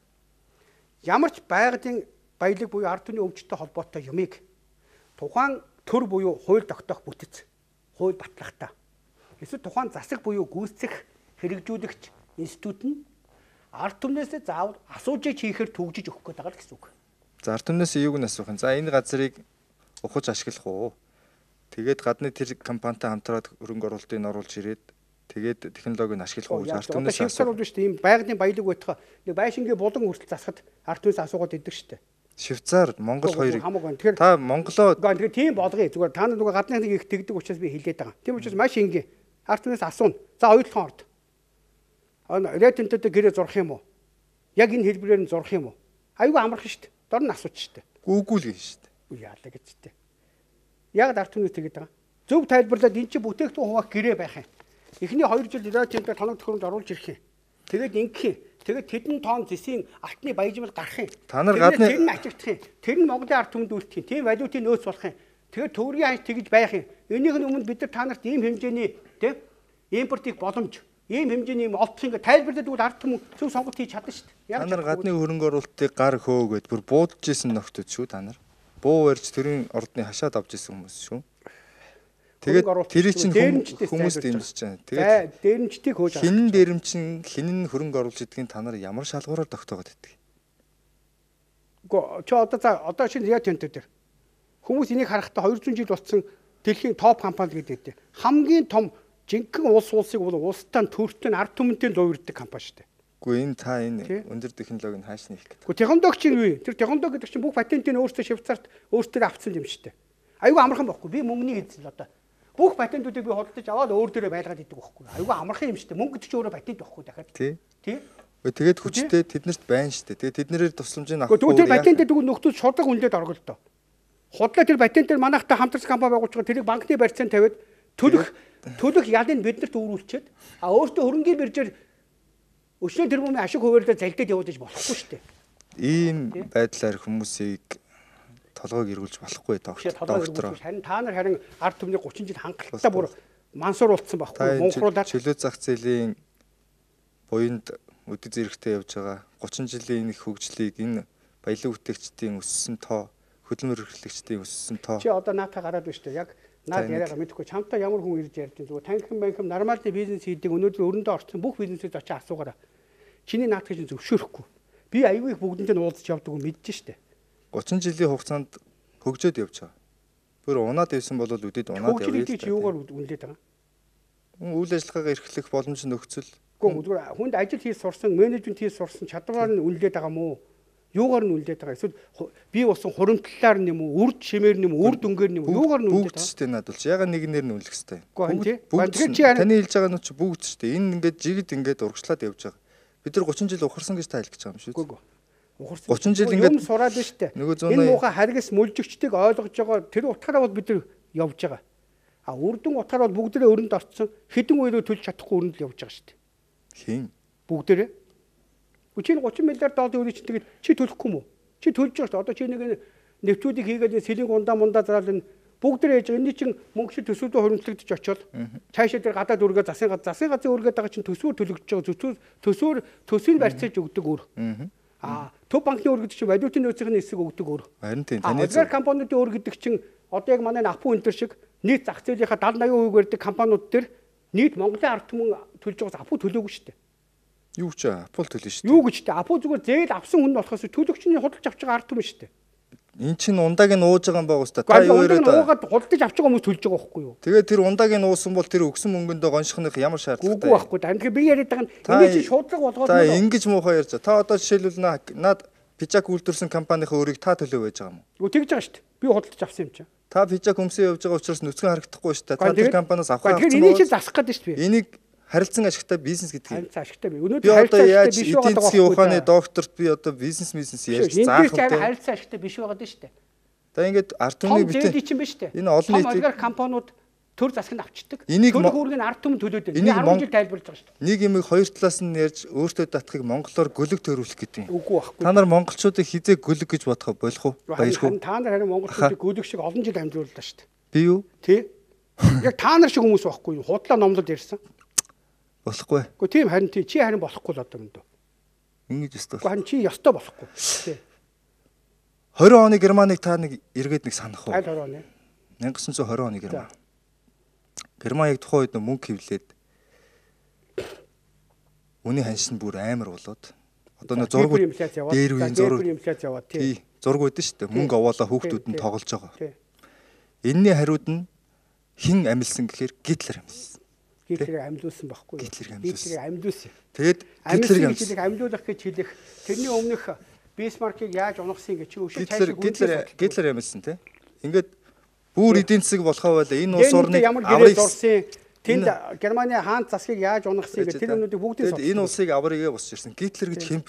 ямар ч байгалийн баялаг буюу ард түмний өмчтэй холбоотой юмыг тухайн төр буюу хууль тогтоох бүтэц, хууль батлагтай. Эсвэл тухайн засаг буюу гүйцэх хэрэгжүүлэгч институт нь ард түмнээс заавал асуужиж хийхээр төгжиж өгөх гэдэг байгаа гэсэн үг. За ард түмнээс юуг нь асуух юм? За энэ газрыг ухаж ашиглах уу? Тэгээд гадны тэр компанитай хамтраад хөрөнгө оруулалтыг оруулж ирээд тэгээд технологиг нь ашиглах уу гэж ард түмнээс асуух. Одоо шүү дээ. Ийм байгалийн баялаг байтугай нэг байшингийн булан хүртэл засахад ард түмнээс асуугаад идэг шүү дээ. Швейцар, Монгол хоёрыг та Монголоо тэгэхээр тийм болгоё. Зүгээр та нар нөгөө гадны нэг их тэгдэг учраас би хэлээд байгаа. Тийм учраас маш энгийн ард түмнээс асууна. За ойлгохон орд. Рейтинтэд гэрээ зурх юм уу? Яг энэ хэлбэрээр нь зурх юм уу? Айгүй амархан шүү дээ. Дор нь асууч шүү дээ. Гүүгүүл гин шүү дээ. Үгүй яалаа гэж дээ. Яг ард түмнээс тэгээд байгаа. Зөв тайлбарлаад эн чинь бүтээгдэхүүн хуваах гэрээ байх юм. Эхний хоёр жил рейтинтэд тоног төхөөрөмж оруулж ирэх юм. Тэгээд ингэх юм. Тэгээд тэдэн тонн зэсийн алтны баяжмал гарах юм. Та нар гадны тэр нь ачигдах юм. Тэр нь Монголын ард түмэнд үлдэх юм. Тийм валютын нөөц болох юм. Тэгээд төгрөгийн ханш тэгж байх юм. Энийх нь өмнө бид нар та нарт ийм хэмжээний тийм импортыг боломж ийм хэмжээний юм олдох ингээд тайлбарлаад тэгвэл ард түмэн зөв сонголт хийж чадна шүү дээ. Та нар гадны хөрөнгө оруулалтыг гар хөөгөөд бүр буудаж исэн нөхдөд шүү та нар. Буу барьж тэрийн ордны хашаад авч исэн хүмүүс шүү. Тэгээд тэр чинь хүмүүс дэмжиж байгаа. Тэгээд дээрэмчдийг хөөж авах. Хинэн дээрэмчин хинэн хөрөнгө оруулж идэгний та нар ямар шалгуураар тогтоогод идэх? Гэхдээ чи одоо за одоо шинэ яа тэнтэй дээр хүмүүс энийг харахтаа хоёр зуун жил болсон дэлхийн топ компани гэдэг. Хамгийн том жинхэнэ улс улсыг бол улстай төртөө ард түмэнтэй луурддаг компани шүү дээ. Гэхдээ энэ та энэ өндөр технологийн хааш нэх гэдэг. Гэхдээ технологич нь юу вэ? Тэр технологи гэдэг чинь бүх патентыг өөртөө Швейцарт өөртөө авцсан юм шүү дээ. Айгүй амархан байхгүй. Би мөнгөний эзэн л одоо. Бүх патентуудыг би худалдаж аваад өөр дээрээ байлгаад идэг байхгүй. Айгүй амархан юм шүү дээ. Мөнгө гэдэг чинь өөрөө патент байхгүй дахиад. Тий. Тий. Тэгээд хүчтэй тэднэрт байна шүү дээ. Тэгээд тэднэрээр тусламжийг авах. Тэгвэл тэр патентээ тэгвэл нөхдөд шудраг үнэлээд орголдоо. Худлаа тэр патентээр манайхтай хамтарсан компани байгуулж байгаа тэрийг банкны барьцаанд тавиад төлөх төлөх ялыг биднэрт өөрүүлчихэд а өөртөө хөрөнгийн биржээр өчнөө тэрбумын ашиг хуваарлаа залдаад явуулж болохгүй шүү дээ. Ийм байдлаар хүмүүсийг толгойг эргүүлж болохгүй доктор. Харин та нар харин ард түмний гучин жил хангалттай бүр мансууруулсан байхгүй мөнхруулаад чөлөө зах зээлийн буйнд өдөг зэрэгтэй явж байгаа гучин жилийн их хөгжлийг энэ баялаг бүтээгчдийн өссөн тоо хөдөлмөр эрхлэгчдийн өссөн тоо. Чи одоо наатаа гараад байна шүү дээ. Яг наад яриагаа мэдэхгүй чамтай ямар хүн ирж ярьж байгаа. Зүгээр танхим банкм нормалны бизнес хийдэг өнөөдөр өрөндөө орсон бүх бизнесээс очиж асуугаараа. Чиний наадах чинь зөвшөөрөхгүй. Би аюу их бүгдэнтэй уулзч явдаг уу мэдэж штэ. гучин жилийн хугацаанд хөгжөөд явж байгаа. Бүр унаад явсан бол үдэд унаад явъя. Хөгжлийг чи юугаар үнэлээд байгаа? Үйл ажиллагаагаа эрхлэх боломж нөхцөл. Гэхдээ зүгээр хүнд ажил хийж сурсан, менежмент хийж сурсан чадвараар нь үнэлээд байгаа мó? Юугаар нь үнэлээд байгаа? Эсвэл би болсон хуримтлалаар нь юм уу, үрд шимээр нь юм уу, үр дүнгээр нь юм уу? Юугаар нь үнэлээд байгаа? Бүгд ч тийм надад л ягаад нэг нэр нь үнэлэх хэвтэй. Бүгд таны хэлж байгаа нь ч бүгд ч тийм. Энэ ингээд жигд ингээд урагшлаад явж байгаа. Бид нар гучин жил ухарсан гэж та хэлж байгаа юм шүү. Үгүй. гучин жил ингээд юм сураад байна шүү дээ. Энэ муухай харгас мүлжигчдийг ойлгож байгаа тэр утгаараа бол бид нар явж байгаа. А үрдэн утгаар бол бүгдээрээ өрөнд орцсон хэдэн үеэрөө төлж чадахгүй өрөнд л явж байгаа шүү дээ. Хийн. Бүгдээрээ. Үчиг гучин миллиард долларын үеч тэгээд чи төлөхгүй мүү? Чи төлж байгаа шүү дээ. Одоо чи нэг нэвтрүүлгийг хийгээд сэлэнг ундаа мундаа зараал энэ бүгдээрээ яж энэ чинь мөнгө шиг төсвөдөө хоримтлагдчих очоод цаашаа тэр гадаад үргээ засгийн газар засгийн газрын үргээд байгаа чинь төсвөр төлөгдөж байгаа төсвөр төсвөр төсвийг барьцааж өгдөг өөр. А төв банкны өр гэдэг чинь валютын нөөцийн эсрэг өгдөг өр. Харин тийм таны зөв компаниудын өр гэдэг чинь одоо яг манай Апу энэ төр шиг нийт зах зээлийнхаа дагаад аян хувийг барьдаг компаниуд төр нийт Монголын ард түмэн төлж байгаас Апу төлөөгүй шүү дээ. Юу ч Апу төлнө шүү дээ. Юу гэж дээ? Апу зүгээр зээл авсан хүн болохоос төлөгчний худалдаж авч байгаа ард түмэн шүү дээ. Эн чинь ундааг нь ууж байгаа юм байгаа үстэ. Та юу яриад уугаад голдож авч байгаа хүмүүс төлж байгаа байхгүй юу? Тэгээд тэр ундааг нь уусан бол тэр өгсөн мөнгөндөө гоншихных ямар шаардлагатай? Үгүй байхгүй. Тэгэхээр би яриад байгаа нь энэ чинь шуудлага болгоод та ингэж муухай ярьж. Та одоо жишээлбэл наад пижак үйлдвэрсэн компанийнхаа өрийг та төлөө байж байгаа юм уу? Үгүй тэгж байгаа шүү дээ. Би худалдаж авсан юм чинь. Та пижак өмсөө явж байгаа учраас нүцгэн харагдахгүй шүү дээ. Та тэр компаниас авах хэрэгтэй. Тэгэхээр энийг чинь засах гэдэг шүү дээ. Энийг харилцан ашигтай бизнес гэдэг юм. Харилцан ашигтай би. Өнөөдөр харилцан ашигтай биш байгаа. Эдийн засгийн ухааны докторт би одоо бизнес бизнес ярьж заах юм. Энэ харилцан ашигтай биш байгаа дээ шүү дээ. За ингээд ард түмний битээ энэ олон нийтийн олигарх компаниуд төр засаг нь авчдаг. Төр хүүргийг ард түмэн төлөөд байна. Энэ арван жил тайлбарлаж байгаа шүү дээ. Нэг юм хоёр талаас нь ярьж өөртөө татахыг монголоор гөлөг төрүүлэх гэдэг юм. Үгүй байхгүй. Та нар монголчуудыг хизээ гөлөг гэж бодох болох уу? Баяргүй. Та нар харин монголчуудыг гөлөг шиг олон жил амжрууллаа шүү дээ. Би юу? Тий. Яг та нар шиг хүмүүс байхгүй юу? Худлаа номлол ярьсан. Болохгүй. Гэхдээ тийм харин тий чи харин болохгүй л одоо мөндөө. Ингэж өстой. Харин чи ёстой болохгүй. Тий. двадцать оны Германыг та нэг эргээд нэг санах уу? Аль двадцать оны? 천구 백오십 оны Герман. Герман яг тухайн үед мөнгө хевлээд үний ханшин бүр амар болоод одоо нэг зураг дээр үеийн зураг инфляц яваад тий зураг үүдэн шүү дээ. Мөнгө овоолоо хүүхдүүд нь тоглож байгаа. Энэний хариуд нь хэн амилсан гэхээр Гитлер амилсан. Гитлерийг амилуулсан байхгүй юу? Гитлерийг амилуулсан. Тэгээд Гитлерийг амилуулах амилуулах гэж хэлэх тэрний өмнөх Бисмаркийг яаж унагсан гэж чи өшөө цаашаа Гитлер Гитлер амилсан тий. Ингээд бүр эдийн засаг болохоо байла энэ улс орныг аврыг зурсан тэнд Германы хаан засгийг яаж унагсан гэж тэр өнүүдийг бүгдийг сонссон. Энэ улсыг аврыгээ босч ирсэн. Гитлер гэж хэмб.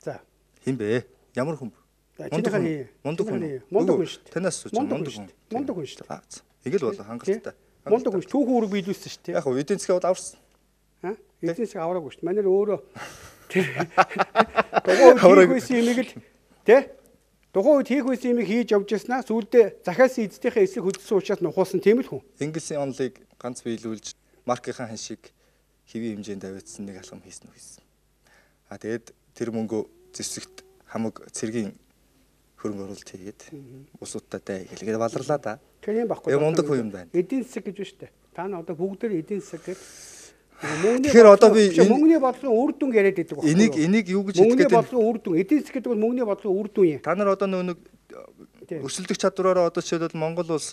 За. Хэмб ээ. Ямар хүм? Мундаг хүн. Мундаг хүн. Мундаг хүн шүү дээ. Танаас сууж мундаг хүн. Мундаг хүн шүү дээ. Ингээл болоо хангалттай. Мундаг хүн түүхэн үрэг биелүүлсэн шүү дээ. Яг хөө эдийн засгийг аварсан. Аа? Эдийн засаг авраагүй шүү дээ. Манайд өөрөө дугуй хийхүйсэн юмыг л тий? Тухайн үед хийх байсан юмыг хийж явж яснаа сүүлдээ захиас эцдийнхээ эсрэг хөдөлсөн учраас нухуулсан тийм л хүн. Инглисийн онлыг ганц биелүүлж маркийнхаа ханшиг хэвийн хэмжээнд аваадсан нэг алхам хийсэн үү хийсэн. А тэгээд тэр мөнгөө зэвсэгт хамаг цэргийн хөрөнгө оруулалт хийгээд усуудтай хэлгээд баларлаа да. Тэр юм баггүй. Яг мундаг хүн юм байна. Эдийн засаг гэж байна шүү дээ. Та нар одоо бүгд дээр эдийн засаг гэж тэгэхээр одоо би мөнгөний бодлогын үр дүн яриад байдаг байна. Энийг энийг юу гэж хэлдэг вэ? Мөнгөний бодлогын үр дүн. Эдийн засаг гэдэг бол мөнгөний бодлогын үр дүн юм. Та нар одоо нэг өрсөлдөх чадвараараа одоо жишээлбэл Монгол улс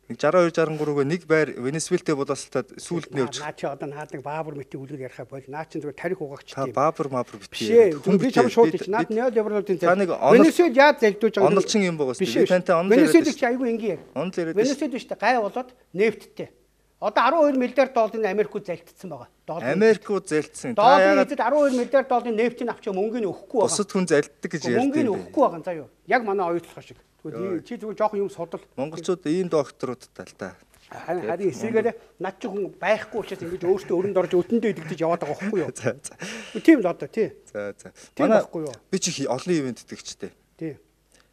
шестьдесят two шестьдесят three-г нэг байр Венесуэлтэй боловсролтой сүүлд нь явж. Наа чи одоо наад нэг баабар мэтийн үлгэр ярихаа бол наа чи зүгээр тарих угаагч Та тийм. баабар маабар битгий. Хүн би чам шууд чи наад неолибералуудын цай. Венесуэл яаж залдуулж байгаа юм. Онолчин юм байгаа шүү. Би тантай онол яриад. Венесуэл чи айгүй ингийн. Онол яриад. Венесуэл биш та гай болоод нефттэй. Одоо twelve миллиард долларын Америкууд залтцсан байгаа. Америкууд залтсан. Та яагаад twelve миллиард долларын нефтийг авч мөнгөний өгөхгүй байгаа. Бусад хүн залтдаг гэж ярьдаг. Мөнгөний өгөхгүй байгаа заа юу. Яг манай оюутлах шиг. Тэгвэл чи зүгээр жоохон юм судал. Монголчууд ийм докторуудтай л да. Харин эсрэгээр над чи хүн байхгүй учраас ингэж өөртөө өрөнд орж өтөндөө идэгдэж яваад байгаа байхгүй юу? За за. Тийм л одоо тий. За за. Манай байхгүй юу? Би чи олон ивент итгэжтэй. Тий.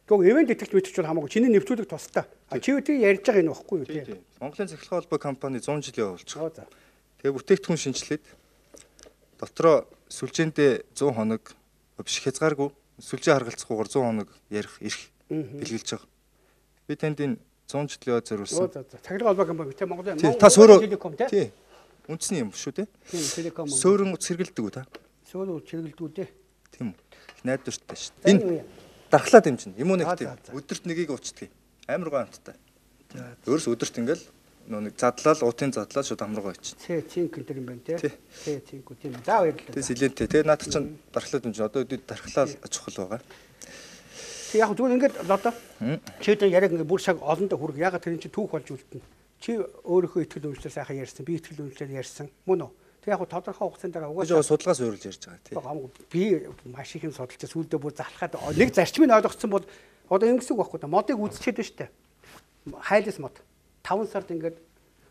Гэхдээ ивент итгэж мэдчих бол хамаагүй. Чиний нэвтрүүлэг тустай. Чи үгүй ярьж байгаа энэ байхгүй юу тий. Монголын цахилгаан холбоо компани one hundred жилийн явуулж байгаа. Тэгээ бүтээгдэхүүн шинжилээд дотроо сүлжээндээ one hundred хоног биш хязгааргүй сүлжээ харгалцахгүйгээр one hundred хоног ярих ирэх бэлгэлж байгаа. Би танд энэ one hundred жилийн зориулсан. За за. Цахилгаан холбоо компани тий Монголын та сөөрөө тий үндэсний юм шүү тий. Тийм телеком. Сөөрөн сэргэлдэг үү та? Сөөрөн сэргэлдэг үү тий. Тийм үү. Найдвартай шүү. Энэ дархлаад юм чинь. Юм уу нэг тийм. Өдөрт нэгийг уучдаг. Амар гоо амттай. Өөрөөс өдөрт ингээл нэг задлал, уутын задлал шууд амргаа очив. Тий, цинк энэ юм байна тий. Тий, цинк үү тийм. За баярлалаа. Тий, силентэй. Тэгээ наадах чинь дархлаад юм чинь. Одоо өдөрт дархлаа чухал байгаа. Тэг яг зүгээр ингээд одоо чи одоо яриаг ингээд бүр цаг олондоо хүрэх ягаад тэр чинь түүх болж үлдэнэ. Чи өөрийнхөө итгэл үнэмшлэр сайхан ярьсан, би итгэл үнэмшлэр ярьсан. Мөн үү? Тэг яг тодорхой хугацаанд дараа угаасаа судалгаас өөрлөж ярьж байгаа тий. Би маш их юм судалж сүүлдээ бүр залхаад нэг зарчмыг ойлгоцсон бол одоо ингэсэн байхгүй да модыг үзчихэд байна штэ. Хайлс мод five сард ингээд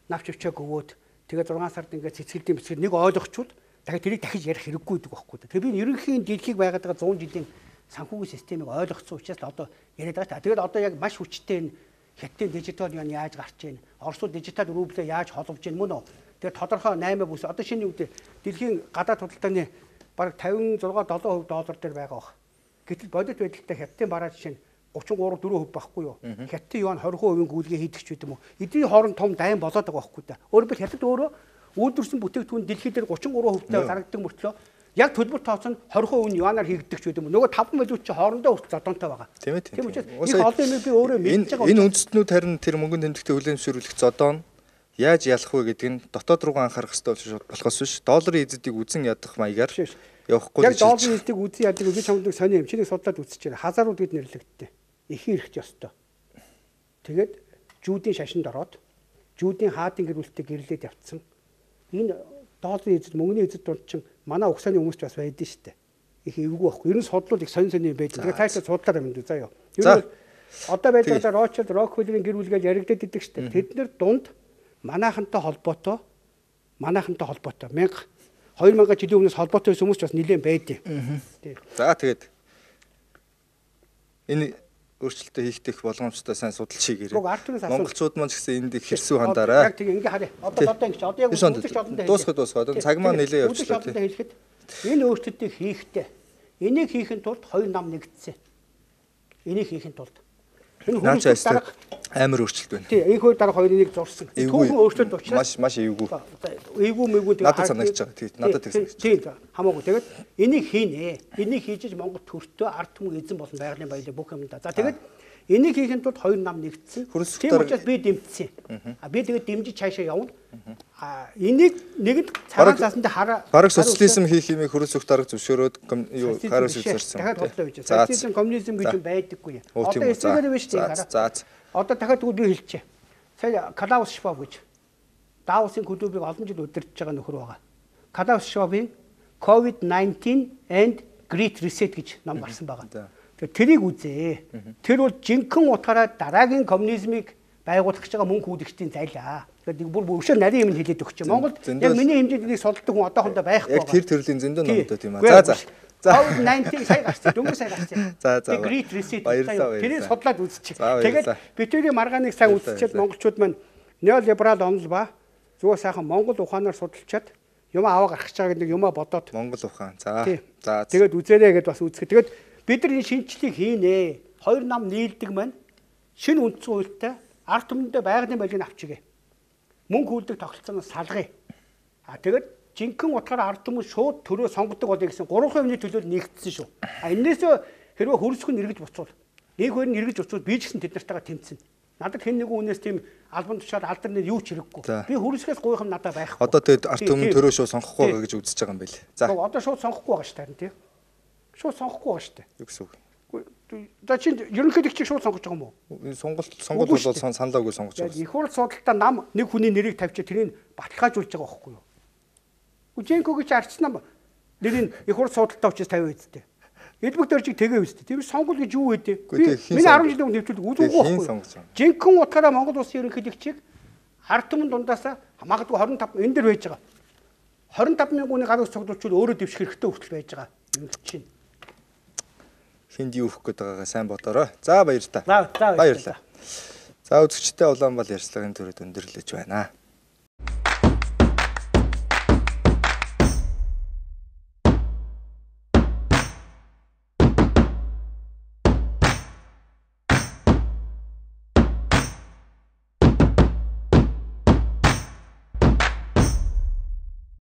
навч өвчөөг өгөөд тэгээ six сард ингээд цэцгэлдийн бичгээр нэг ойлгочвол дахиад тэрийг дахиж ярих хэрэггүй гэдэг байхгүй да. Тэгээ би ерөнхийн дэлхийг байгаад байгаа one hundred жилийн санхүүгийн системийг ойлгоцсон учраас одоо яриад байгаа. Тэгээд одоо яг маш хүчтэй энэ хятадын дижитал юан яаж гарч ийн, Оросууд дижитал рублээ яаж холбож ийн мөн үү? Тэгээд тодорхой eight бүс одоо шинэ үед дэлхийн гадаад худалдааны бараг fifty-six seven percent доллар дээр байгаа бах. Гэтэл бодит байдалтай хятадын бараа жишээ нь thirty-three four percent байхгүй юу? Хятадын юан twenty percent гүйлгээ хийдэг ч гэдэг юм уу? Эдний хооронд том дайм болоод байгаа байхгүй да. Өөрөөр хэл хятад өөрөө үйлдвэрсэн бүтээгдэхүүн дэлхийд дээр thirty-three percent зарагддаг мөртлөө Яг төлбөр тооцоо нь двадцать percent нь юанаар хийгддэг ч гэдэг юм. Нөгөө таван мөлүүд чи хоорондоо хүртэл зодонтой байгаа. Тийм ээ. Тийм учраас их олон юм би өөрөө мэдж байгаа. Энэ үндэстнүүд харин тэр мөнгөнд тэмдэгтэй хүлээмжшүүлэх зодоо нь яаж ялах вэ гэдэг нь дотоод руугаа анхаарах хэрэгтэй болохоос биш. Долларын эзэдийг үзэн ядах маягаар явахгүй гэж. Яг долларын эзэдийг үзэн яадаг би чамд сони юм. Чиний судлаад үзчихээр хазаарууд гэд нэрлэгддэг. Ихийн эрхч ёстой. Тэгээд жүүдийн шашинд ороод жүүдийн хаадын гэр бүлтэй гэрлээд явцсан. Энэ долларын эзэд мөнгөний эзэд дунд чинь манай угсааны хүмүүст бас байдсан шүү дээ. Их эвгүй байхгүй. Ер нь судлууд их сонь сонь юм байдаг. Тэгээд таашаа судлаар юм дүү заа ёо. Ер нь одоо байдлаар Рочелд, Роквеллийн гэр бүлгээл яригдаад идэг шүү дээ. Тэд нэр дунд манайхантай холбоотой манайхантай холбоотой two thousand жилийн өмнөөс холбоотой хүмүүс ч бас нэлээд байдیں۔ За тэгээд энэ өөрчлөлтөө хийх боломжтой сайн судалж хийгээрэй. Монголчууд маань ч гэсэн энд их хэрсүү хандаарай. Яг тийм ингээ харъя. Одоо одоо ингэж одоо яг үзэгч олондоо дуусах дуусах. Одоо цаг маань нэлээд явчихлаа тийм. Хэлэхэд энэ өөрчлөлтийг хийхдээ энийг хийхин тулд хоёр нам нэгдсэн. Энийг хийхин тулд энэ хүмүүс дарга амар өөрчлөлт байна. Тийм, энэ хоёр дарга хоёрыг зурсан. Түүхэн өөрчлөлт учраас маш маш эвгүй. Эвгүй мэггүй тэгээд надад санагдаж байгаа. Тийм, надад тийм санагдаж. Тийм, хамаагүй. Тэгээд энийг хийнэ. Энийг хийж Монгол төртөө ард түмэн эзэн болсон байгалийн баялаг бүх юм да. За тэгээд энийг хийхин тулд хоёр нам нэгдсэн. Тийм учраас би дэмжсэн. А би тэгээд дэмжиж цаашаа явна. А энийг нэгэнд цагаан цаасанд хараа. Бараг социализм хийх юмыг хөрөсөх дарга зөвшөөрөөд юу хараас үзэрсэн. Дахиад бодлоо гэж. Социализм, коммунизм гэж юм байдаггүй. Одоо эсрэгээр биш тийм хараа. За. Одоо дахиад тэгвэл би хэлчихье. Сая Клаус Шваб гэж Давосын клубыг олон жил удирдах байгаа нөхөр байгаа. Клаус Швабын ковид nineteen and Great Reset гэж ном гарсан байгаа. Тэгээ тэрийг үзээ. Тэр бол жинхэнэ утгаараа дараагийн коммунизмыг байгуулах гэж байгаа мөнх үүдэгчдийн зайлаа. Тэгэхээр бүр өвшөө нарийн юм хэлээд өгч. Монголд яг миний хэмжээнд энийг солддог хүн одоохондоо байхгүй байгаа. Яг тэр төрлийн зөндөө номтой тийм аа. За за. ковид nineteen сая гарсан. Дөнгөж сая гарсан. За за. Great Reset. Тэрийг судлаад үзчих. Тэгээд бидний маргааныг сайн үзчихээд монголчууд маань неолиберал онол ба зүгээр сайхан монгол ухаанаар судалчаад юм аваа гаргах гэж байгаа гэдэг юмаа бодоод монгол ухаан. За. За. Тэгээд үзээрэй гэдээ бас үзэх. Тэгээд бид нар энэ шинжлэлийг хийнэ. Хоёр нам нийлдэг маань шинэ үндсэн хуультай ард түмэндээ байгалийн байлыг авчигээ. Мөнгө хүлдэг тогтолцооноос салгая. А тэгээд жинхэнэ утгаараа ард түмэн шууд төрөө сонгодог болъё гэсэн гурван хувийн төлөөлөл нэгдсэн шүү. А энээс хэрвээ хөрсгөн эргэж буцвал нэг хоёр нь эргэж буцвал би ч гэсэн тэд нартайгаа тэмцэнэ. Надад хэн нэгэн үнээс тийм албан тушаал алдар нэр юу ч хэрэггүй. Би хөрсгөөс гуйх юм надад байхгүй. Одоо тэгээд ард түмэн төрөө шууд сонгохгүй байгаа гэж үзэж байгаа юм байл. За. Одоо шууд сонгохгүй байгаа шүү тань тий. Шууд сонгохгүй байгаа шүү дээ. Юу гэсэн үг? За чинь ерөнхийдөө чи шууд сонгож байгаа юм уу? Сонголт сонголт бол саналаагүй сонгож байгаа. Их хурл судалтаа нам нэг хүний нэрийг тавьчих тэрийг баталгаажуулж байгаа байхгүй юу? Үженкөг чи арчсан нэрийг их хурл судалтаа учраас тавиа үсттэй. Элбэг дөржиг тэгээ үсттэй. Тэр сонгол гэж юу вэ? Би миний арван жилийн өмнө нэвтрүүлэг үзээгүй байхгүй юу? Жинхэнэ утгаараа Монгол улсын ерөнхийлөгчийг ард түмэн дундаасаа магадгүй twenty five энэ дэр байж байгаа. twenty five мянган хүний гаруй цогцолчуул өөрөө дэвших хэрэгтэй хүртэл байж байгаа. Юм чинь. Хинд юу өгөх гээд байгаагаа сайн бодорой. За баяр та. За баярлалаа. За үзэгчтэй Улаанбаал ярьцлагын төрөд өндөрлөж байна.